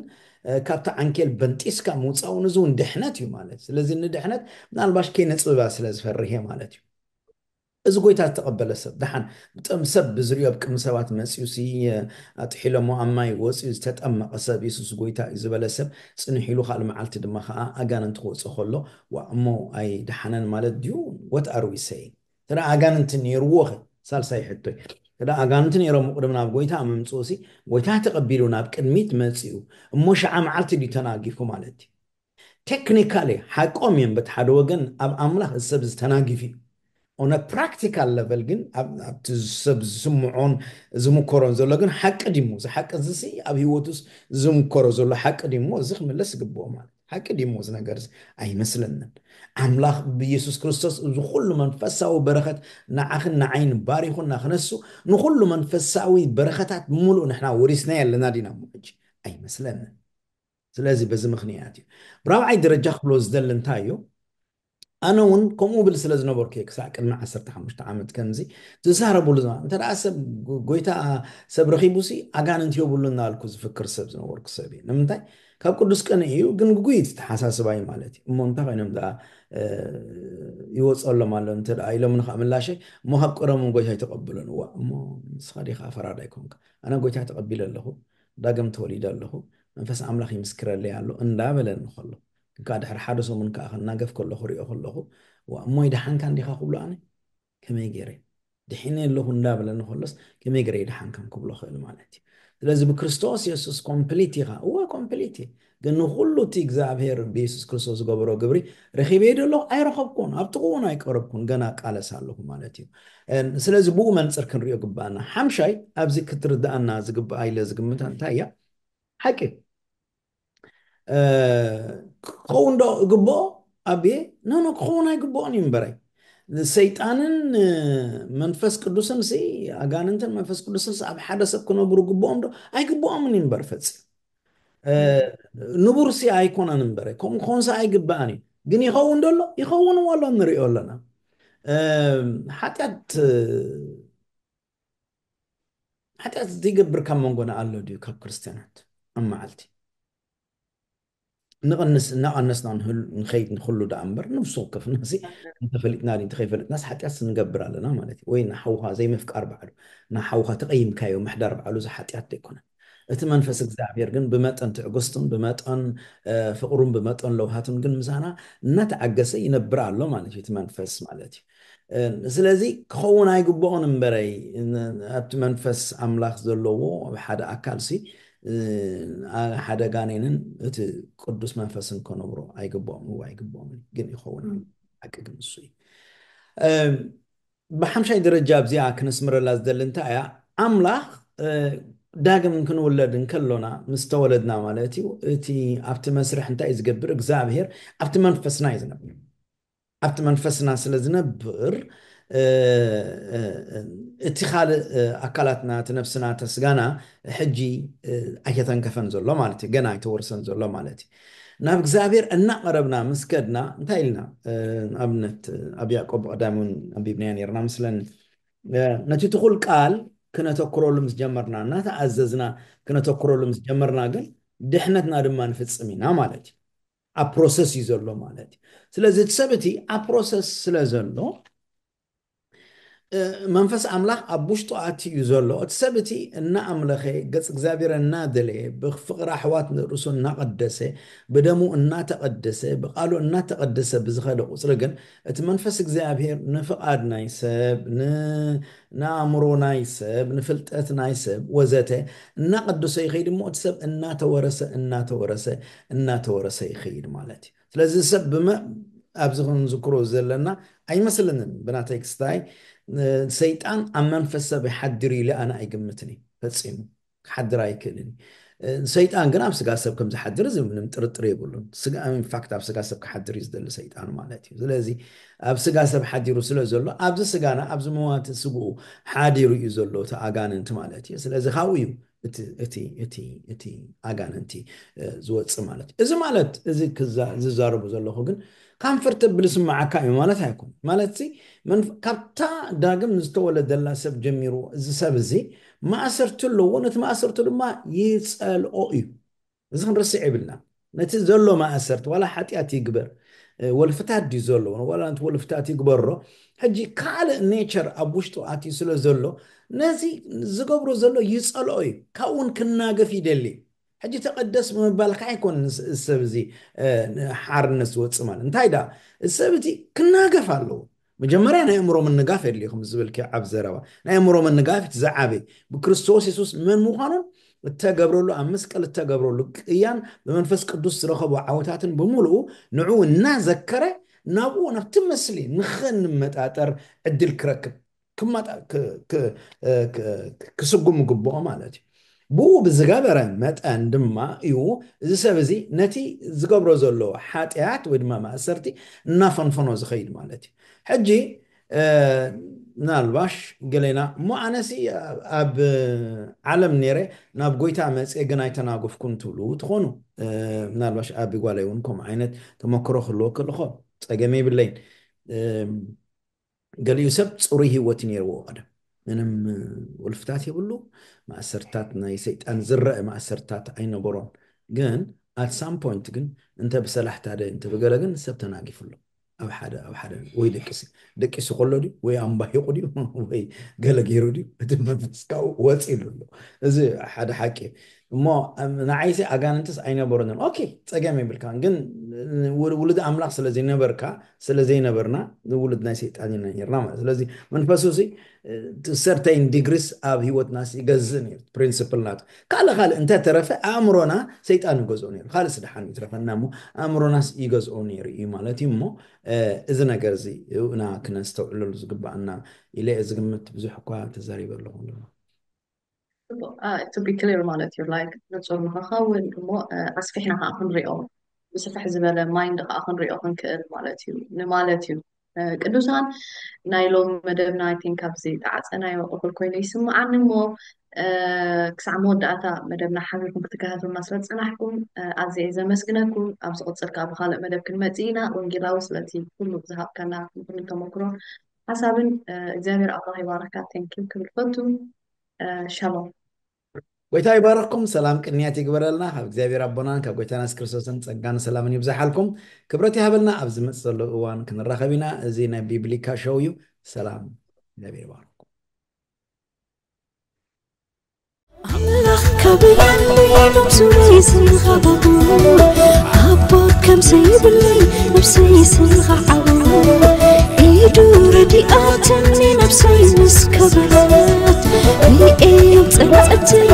ካብቲ ዓንኬል በንጢስካ ምውፃውን እዚ እውን ድሕነት እዩ ማለት ስለዚ ንድሕነት ምናልባሽ ከይነፅብባ ስለ ዝፈርህ ማለት እዩ እዚ ጎይታ ዝተቐበለ ሰብ ደሓን ብጥም ሰብ ብዝሪኦ ኣብ ቅድሚ ሰባት መፅዩ ሲ ኣጥሒሎሞ ኣብ ማይ ወፅዩ ዝተጠመቐ ሰብ የሱስ ጎይታ እዩ ዝበለ ሰብ ፅንሕ ኢሉ ካልእ መዓልቲ ድማ ከዓ ኣጋንንቲ ክወፅእ ከሎ ዋ እሞ ኣይደሓነን ማለት ድዩ what are we saying ተዳ ኣጋንንቲ ነይርዎ ኸ ሳልሳይ ሕቶይ ተዳ ኣጋንንቲ ነይሮም ቅድሚ ናብ ጎይታ ምምፅኡ ሲ ጎይታ ተቐቢሉ ናብ ቅድሚት መፅኡ እሞ ሸዓ መዓልቲ ድዩ ተናጊፉ ማለት እዩ ቴክኒካሊ ሓቆም እዮም በቲ ሓደ ወገን ኣብ ኣምላኽ እዚ ሰብ ዝተናጊፉ እዩ ኦነ ፕራክቲካል ለቨል ግን ኣብቲ ሰብ ዝስምዖን ዝምከሮን ዘሎ ግን ሓቂ ዲሞ እዚ ሓቂ እዚ ኣብ ህይወቱስ ዝምከሮ ዘሎ ሓቂ ዲሞ እዚ ክምለስ ዝግብኦ ማለት ሓቂ ዲሞ እዚ ነገር ኣይመስለንን ኣምላኽ ብኢየሱስ ክርስቶስ እዚ ኩሉ መንፈሳዊ በረኸት ንዓኽን ንዓይን ባሪኹና ክነሱ ንኩሉ መንፈሳዊ በረኸታት ብምሉእ ንሕና ወሪስናዮ ኣለና ዲና እሞ ሕጂ ኣይመስለንን ስለዚ በዚ ምኽንያት እዩ ብራብዓይ ደረጃ ክብሎ ዝደሊ እንታይ እዩ ኣነ እውን ከምኡ ብል ስለ ዝነበርኩ ክሳዕ ቅድሚ ዓሰርተ ሓሙሽተ ዓመት ከምዚ ዝዛረብሉ ዝማ እንተ ደኣ ሰብ ጎይታ ሰብ ረኺቡ ሲ ኣጋንንት የብሉን እናልኩ ዝፍክር ሰብ ዝነበርኩ ሰብ እዩ ንምንታይ ካብ ቅዱስ ቅን እዩ ግን ግጉይ ተሓሳስባይ ማለት እዩ እሞ እንታይ ኮይኖም ደኣ ይወፀሎም ኣሎ እንተ ደኣ ኢሎም ንካዕ ምላሸይ እሞ ካብ ቀደሞም ጎይታ ይተቐብሉን እዋ እሞ ንስኻ ዲኻ ፈራዳይ ኮንካ ኣነ ጎይታ ተቐቢለ ኣለኹ ዳግም ተወሊደ ኣለኹ መንፈስ ኣምላኽ ይምስክረለይ ኣሎ እንዳበለኒ ከሎ እንካ ድሕሪ ሓደ ሰሙን ከዓ ክናገፍ ከለኹ ሪኦ ከለኹ ዋ እሞ ይደሓንካ እንዲኻ ክብሎ ኣነ ከመይ ገይረ ድሒነ ኣለኹ እንዳበለኒ ከሎስ ከመይ ገይረ ይደሓንካን ክብሎ ክእል ማለት እዩ ስለዚ ብክርስቶስ የሱስ ኮምፕሊት ኢኻ እወ ኮምፕሊት እየ ግን ንኩሉ እቲ እግዚኣብሔር ብየሱስ ክርስቶስ ዝገበሮ ግብሪ ረኺበ ዶ ኣለኹ ኣይረኸብኩን ኣብ ጥቕኡ እውን ኣይቀረብኩን ገና ቃለስ ኣለኹ ማለት እዩ ስለዚ ብኡ መንፅር ክንሪኦ ግባኣና ሓምሻይ ኣብዚ ክትርዳኣና ዝግባኣ ኢለ ዝግምታ እንታይ እያ ሓቂ ክኸውን ዶ እግብኦ ኣብየ ኖኖ ክኸውን ኣይግብኦን እዩ እምበረይ ሰይጣንን መንፈስ ቅዱስን ሲ ኣጋንንትን መንፈስ ቅዱስን ኣብ ሓደ ሰብ ክነብሩ ግብኦም ዶ ኣይግብኦምን እዩ እምበር ፈፂም ንቡር ሲ ኣይኮነን እምበረ ከምኡ ክኾን ሲ ኣይግባእን እዩ ግን ይኸውን ደሎ ይኸውን ዋሎ ንሪኦ ኣለና ሓጢኣት ሓጢኣት ዘይገብር ካብ መንጎና ኣሎ ድዩ ካብ ክርስትያናት ኣብ መዓልቲ ንቐንስ እናቐነስና ንኸይድ ንኽሉ ደኣ እምበር ነፍሲ ወከፍና ሲ እንተፈሊጥና እንተኸይፈለጥናስ ሓጢኣት ንገብር ኣለና ማለት እዩ ወይ ንሓውኻ ዘይምፍቃር ባዕሉ ንሓውኻ ተቐይምካዮ ምሕዳር ባዕሉ እዚ ሓጢኣት ዘይኮነ እቲ መንፈስ እግዚኣብሔር ግን ብመጠን ትዕግስቱን ብመጠን ፍቅሩን ብመጠን ለውሃቱን ግን ምሳና እናተዓገሰ ይነብር ኣሎ ማለት እዩ። እቲ መንፈስ ማለት እዩ። ስለዚ ክኸውን ኣይግብኦን እምበረይ ኣብቲ መንፈስ ኣምላኽ ዘለዎ ኣብ ሓደ ኣካል ሲ ሓደ ጋኔንን እቲ ቅዱስ መንፈስን ከነብሮ ኣይግብኦም፣ እዋ ኣይግብኦም። ግን ይኸውን ኣሎ። ሓቂ ግን እሱ እዩ። ብሓምሻይ ደረጃ ኣብዚኣ ክነስምረላ ዝደሊ እንታይ እያ? ኣምላኽ ዳግም ክንውለድ እንከሎና፣ ምስ ተወለድና ማለት እዩ፣ እቲ ኣብቲ መስርሕ እንታይ እዩ ዝገብር? እግዚኣብሔር ኣብቲ መንፈስና እዩ ዝነብር። ኣብቲ መንፈስና ስለ ዝነብር እቲ ካልእ ኣካላትና፣ እቲ ነፍስና፣ እቲ ስጋና ሕጂ ኣይተተንከፈን ዘሎ ማለት እዩ። ገና ኣይተወርሰን ዘሎ ማለት እዩ። ናብ እግዚኣብሔር እናቐረብና ምስ ከድና እንታይ ኢልና? ኣብነት ኣብ ያዕቆብ ቀዳሚ እውን ኣንቢብናዮ ነርና ምስለኒ። ነቲ ትኹል ቃል ክነተኩረሉ ምስ ጀመርና፣ እናተኣዘዝና ክነተኩረሉ ምስ ጀመርና ግን ድሕነትና ድማ ንፍጽም ኢና ማለት እዩ። ኣብ ፕሮሰስ እዩ ዘሎ ማለት እዩ። ስለዚ እቲ ሰብ እቲ ኣብ ፕሮሰስ ስለ ዘሎ መንፈስ ኣምላኽ ኣብ ውሽጡ ኣትዩ እዩ ዘሎ። እቲ ሰብ እቲ እናኣምለኸ፣ ገጽ እግዚኣብሔር እናደለየ፣ ብፍቕሪ ኣሕዋት ንርእሱ እናቐደሰ፣ ብደሙ እናተቐደሰ፣ ብቓሉ እናተቐደሰ ብዝኸደ ቁጽሪ ግን እቲ መንፈስ እግዚኣብሔር ንፍቓድ ናይ ሰብ፣ ንኣእምሮ ናይ ሰብ፣ ንፍልጠት ናይ ሰብ ወዘተ እናቐደሶ ይኸይድ እሞ እቲ ሰብ እናተወረሰ እናተወረሰ እናተወረሰ ይኸይድ ማለት እዩ። ስለዚ ሰብ ብመ ኣብዚ ክንዝክሮ ዘለና ኣይመስለንን። ብናተይ ክስታይ ሰይጣን ኣብ መንፈስ ሰብ ይሓድር ኢለ ኣነ ኣይግምትን እዩ። ፈጺሙ ክሓድር ኣይክእልን እዩ። ሰይጣን ግን ኣብ ስጋ ሰብ ከም ዝሓድር እዚ ምንም ጥርጥር የብሉን። ስጋ ኢንፋክት ኣብ ስጋ ሰብ ክሓድር እዩ ዝደሊ ሰይጣን ማለት እዩ። ስለዚ ኣብ ስጋ ሰብ ሓዲሩ ስለ ዘሎ ኣብዚ ስጋና ኣብዚ መዋቲ ስግኡ ሓዲሩ እዩ ዘሎ እቲ ኣጋንንቲ ማለት እዩ። ስለዚ ካብኡ እዩ እቲ ኣጋንንቲ ዝወፅእ ማለት እዩ። እዚ ማለት እዚ ዝዛረቡ ዘለኹ ግን ካምፈርተብል ስማዓካ እዩ ማለት ኣይኮን። ማለት ካብታ ዳግም ዝተወለደላ ሰብ ጀሚሩ እዚ ሰብ እዚ ማእሰርቲ ኣለዎ፣ ነቲ ማእሰርቲ ድማ ይፀልኦ እዩ። እዚ ክንርስዕ የብልና። ነቲ ዘሎ ማእሰርቲ ዋላ ሓጢኣት ይግበር ወልፍታት ድዩ ዘለዎ ዋላ ነቲ ወልፍታት ይግበሮ፣ ሕጂ ካልእ ኔቸር ኣብ ውሽጡ ኣትዩ ስለ ዘሎ ነዚ ዝገብሮ ዘሎ ይፀልኦ እዩ። ካብኡ እውን ክናገፍ ይደሊ። ሕጂ ተቐደስ ብምባልካ ኣይኮን ሰብ እዚ ሓርነት ዝወፅእ ማለት እንታይ ዳ ሰብ እቲ ክናገፍ ኣለዎ። መጀመርያ ናይ ኣእምሮ ምንጋፍ የድልዩ። ከም ዝብልኪ ኣብ ዘረባ ናይ ኣእምሮ ምንጋፍ እቲ ዝዓበይ ብክርስቶስ የሱስ መን ምዃኑን እተገብረሉ ኣብ መስቀል እተገብረሉ ቅያን ብመንፈስ ቅዱስ ዝረኸቦ ዓወታትን ብምሉኡ ንዕኡ እናዘከረ ናብኡ ናብቲ ምስሊ ንኽንመጣጠር ዕድል ክረክብ ክስጉም ግብኦ ማለት እዩ። ብኡ ብዝገበረ መጠን ድማ እዩ እዚ ሰብ እዚ ነቲ ዝገብሮ ዘሎ ሓጢኣት ወይ ድማ ማእሰርቲ እናፈንፈኖ ዝኸይድ ማለት እዩ። ሕጂ ምናልባሽ ገሌና እሞ ኣነሲ ኣብ ዓለም ነይረ ናብ ጎይታ መፅየ ግን ኣይተናገፍኩን ትብሉ ትኾኑ። ምናልባሽ ኣብ ጓለይ እውን ከምኡ ዓይነት ተመክሮ ክህልወ ክልኾ ፀገም የብለይን። ገሊኡ ሰብ ፅሩይ ህይወት ነይርዎ ቀደም ምንም ወልፍታት የብሉ። ማእሰርታት ናይ ሰይጣን ዝረአ ማእሰርታት ኣይነበሮን። ግን ኣት ሳም ፖይንት ግን እንተ ብሰላሕታ ደ እንተ ብገለ ግን ሰብ ተናጊፉ ኣሎ። ኣብ ሓደ ኣብ ሓደ ወይ ደቂሲ ደቂሱ ከሎ ድዩ ወይ ኣንባሂቑ ድዩ ወይ ገለ ገይሩ ድዩ እቲ መንፈስ ካብኡ ወፂሉ ኣሎ። እዚ ሓደ ሓቂ እዩ። እሞ ንዓይሲ ኣጋንንትስ ኣይነበሩንን። ኦኬ ፀገም የብልካን። ግን ውሉድ ኣምላኽ ስለ ዘይነበርካ ስለ ዘይነበርና ንውሉድ ናይ ሰይጣን ኢና ነርና ማለት። ስለዚ መንፈሱ ሲ ሰርተይን ዲግሪስ ኣብ ህይወትና ይገዝእ ነይሩ ፕሪንስፕል ናቱ። ካልእ ካልእ እንተተረፈ ኣእምሮና ሰይጣን ይገዝኦ ነይሩ። ካልእ ስደሓን ይትረፈና እሞ ኣእምሮናስ ይገዝኦ ነይሩ እዩ ማለት እዩ። እሞ እዚ ነገር እዚ እና ክነስተውዕለሉ ዝግባኣና ኢለ ዝግምት። ብዙሕ እኳ ተዛሪበ ኣለኹ። to be clear ማለት እዩ። ላይክ ንፁር ንክኸውን እሞ ኣስፊሕና ከዓ ክንሪኦ ብስፍሕ ዝበለ ማይንድ ከዓ ክንሪኦ ክንክእል ማለት እዩ ንማለት እዩ። ቅዱሳን ናይ ሎም መደብና ኣይ ቲንክ ኣብዚ ጣዕፀናዮ እኩል ኮይኑ ይስምዓኒ እሞ ክሳዕ መወዳእታ መደብና ሓቢርኩም ክትከታተሉና ስለ ዝፀናሕኩም ኣዝየ ዘመስግነኩም። ኣብ ዝቕፅል ከዓ ብካልእ መደብ ክንመፅእ ኢና። ወንጌላዊ ስለቲ ኩሉ ዝሃብካና ኩሉ ተመክሮ ሓሳብን እግዚኣብሔር ኣምላኽ ይባርካ። ቴንኪዩ ክብል ፈቱ። ሻሎም። ጎይታ ይባረክኩም። ሰላም ቅንያት ይግበረልና። ካብ እግዚኣብሔር ኣቦናን ካብ ጎይታና የሱስ ክርስቶስን ጸጋን ሰላምን ይብዛሓልኩም። ክብረት ይሃበልና። ኣብ ዝመጽእ ዘሎ እዋን ክንራኸብ ኢና። እዚ ናይ ቢብሊካ ሾው እዩ። ሰላም እግዚኣብሔር ይባርክኩም። ኣምላኽ ካብ የለይ ሎም ዙረይ ስንኻ ባቡ ኣቦት ከም ዘይብለይ ነፍሰይ ስንኻ ዓቡ ኢዱ ረዲኣትኒ ነፍሰይ ምስ ከበረት ርእዮም ጸልጸተይ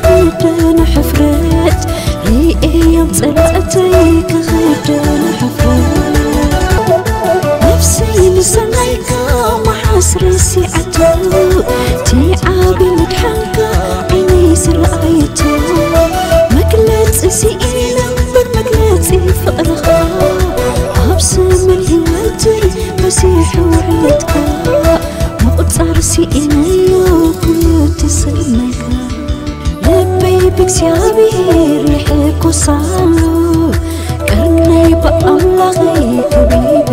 ክኽደን ሕፍረት ርእዮም ጸልጸተይ ክኽደን ሕፍረት ነፍሰይ ንሰናይካ መሓስ ረሲዓቶ እቲ ዓቢ ምድሓንካ ዓይነይ ዝረኣየቶ መግለጺ ስኢነ እምበር መግለጺ ፍቕርኻ ኣብ ዘመን ህይወተይ በዚሑ ውዕለትካ ምቑጻር ስኢነዮ ኩሉ ተሰነካ ልበይ ብእግዚኣብሔር ይሕጎሳሉ ቀርነይ ብኣምላኸይ ከቢበ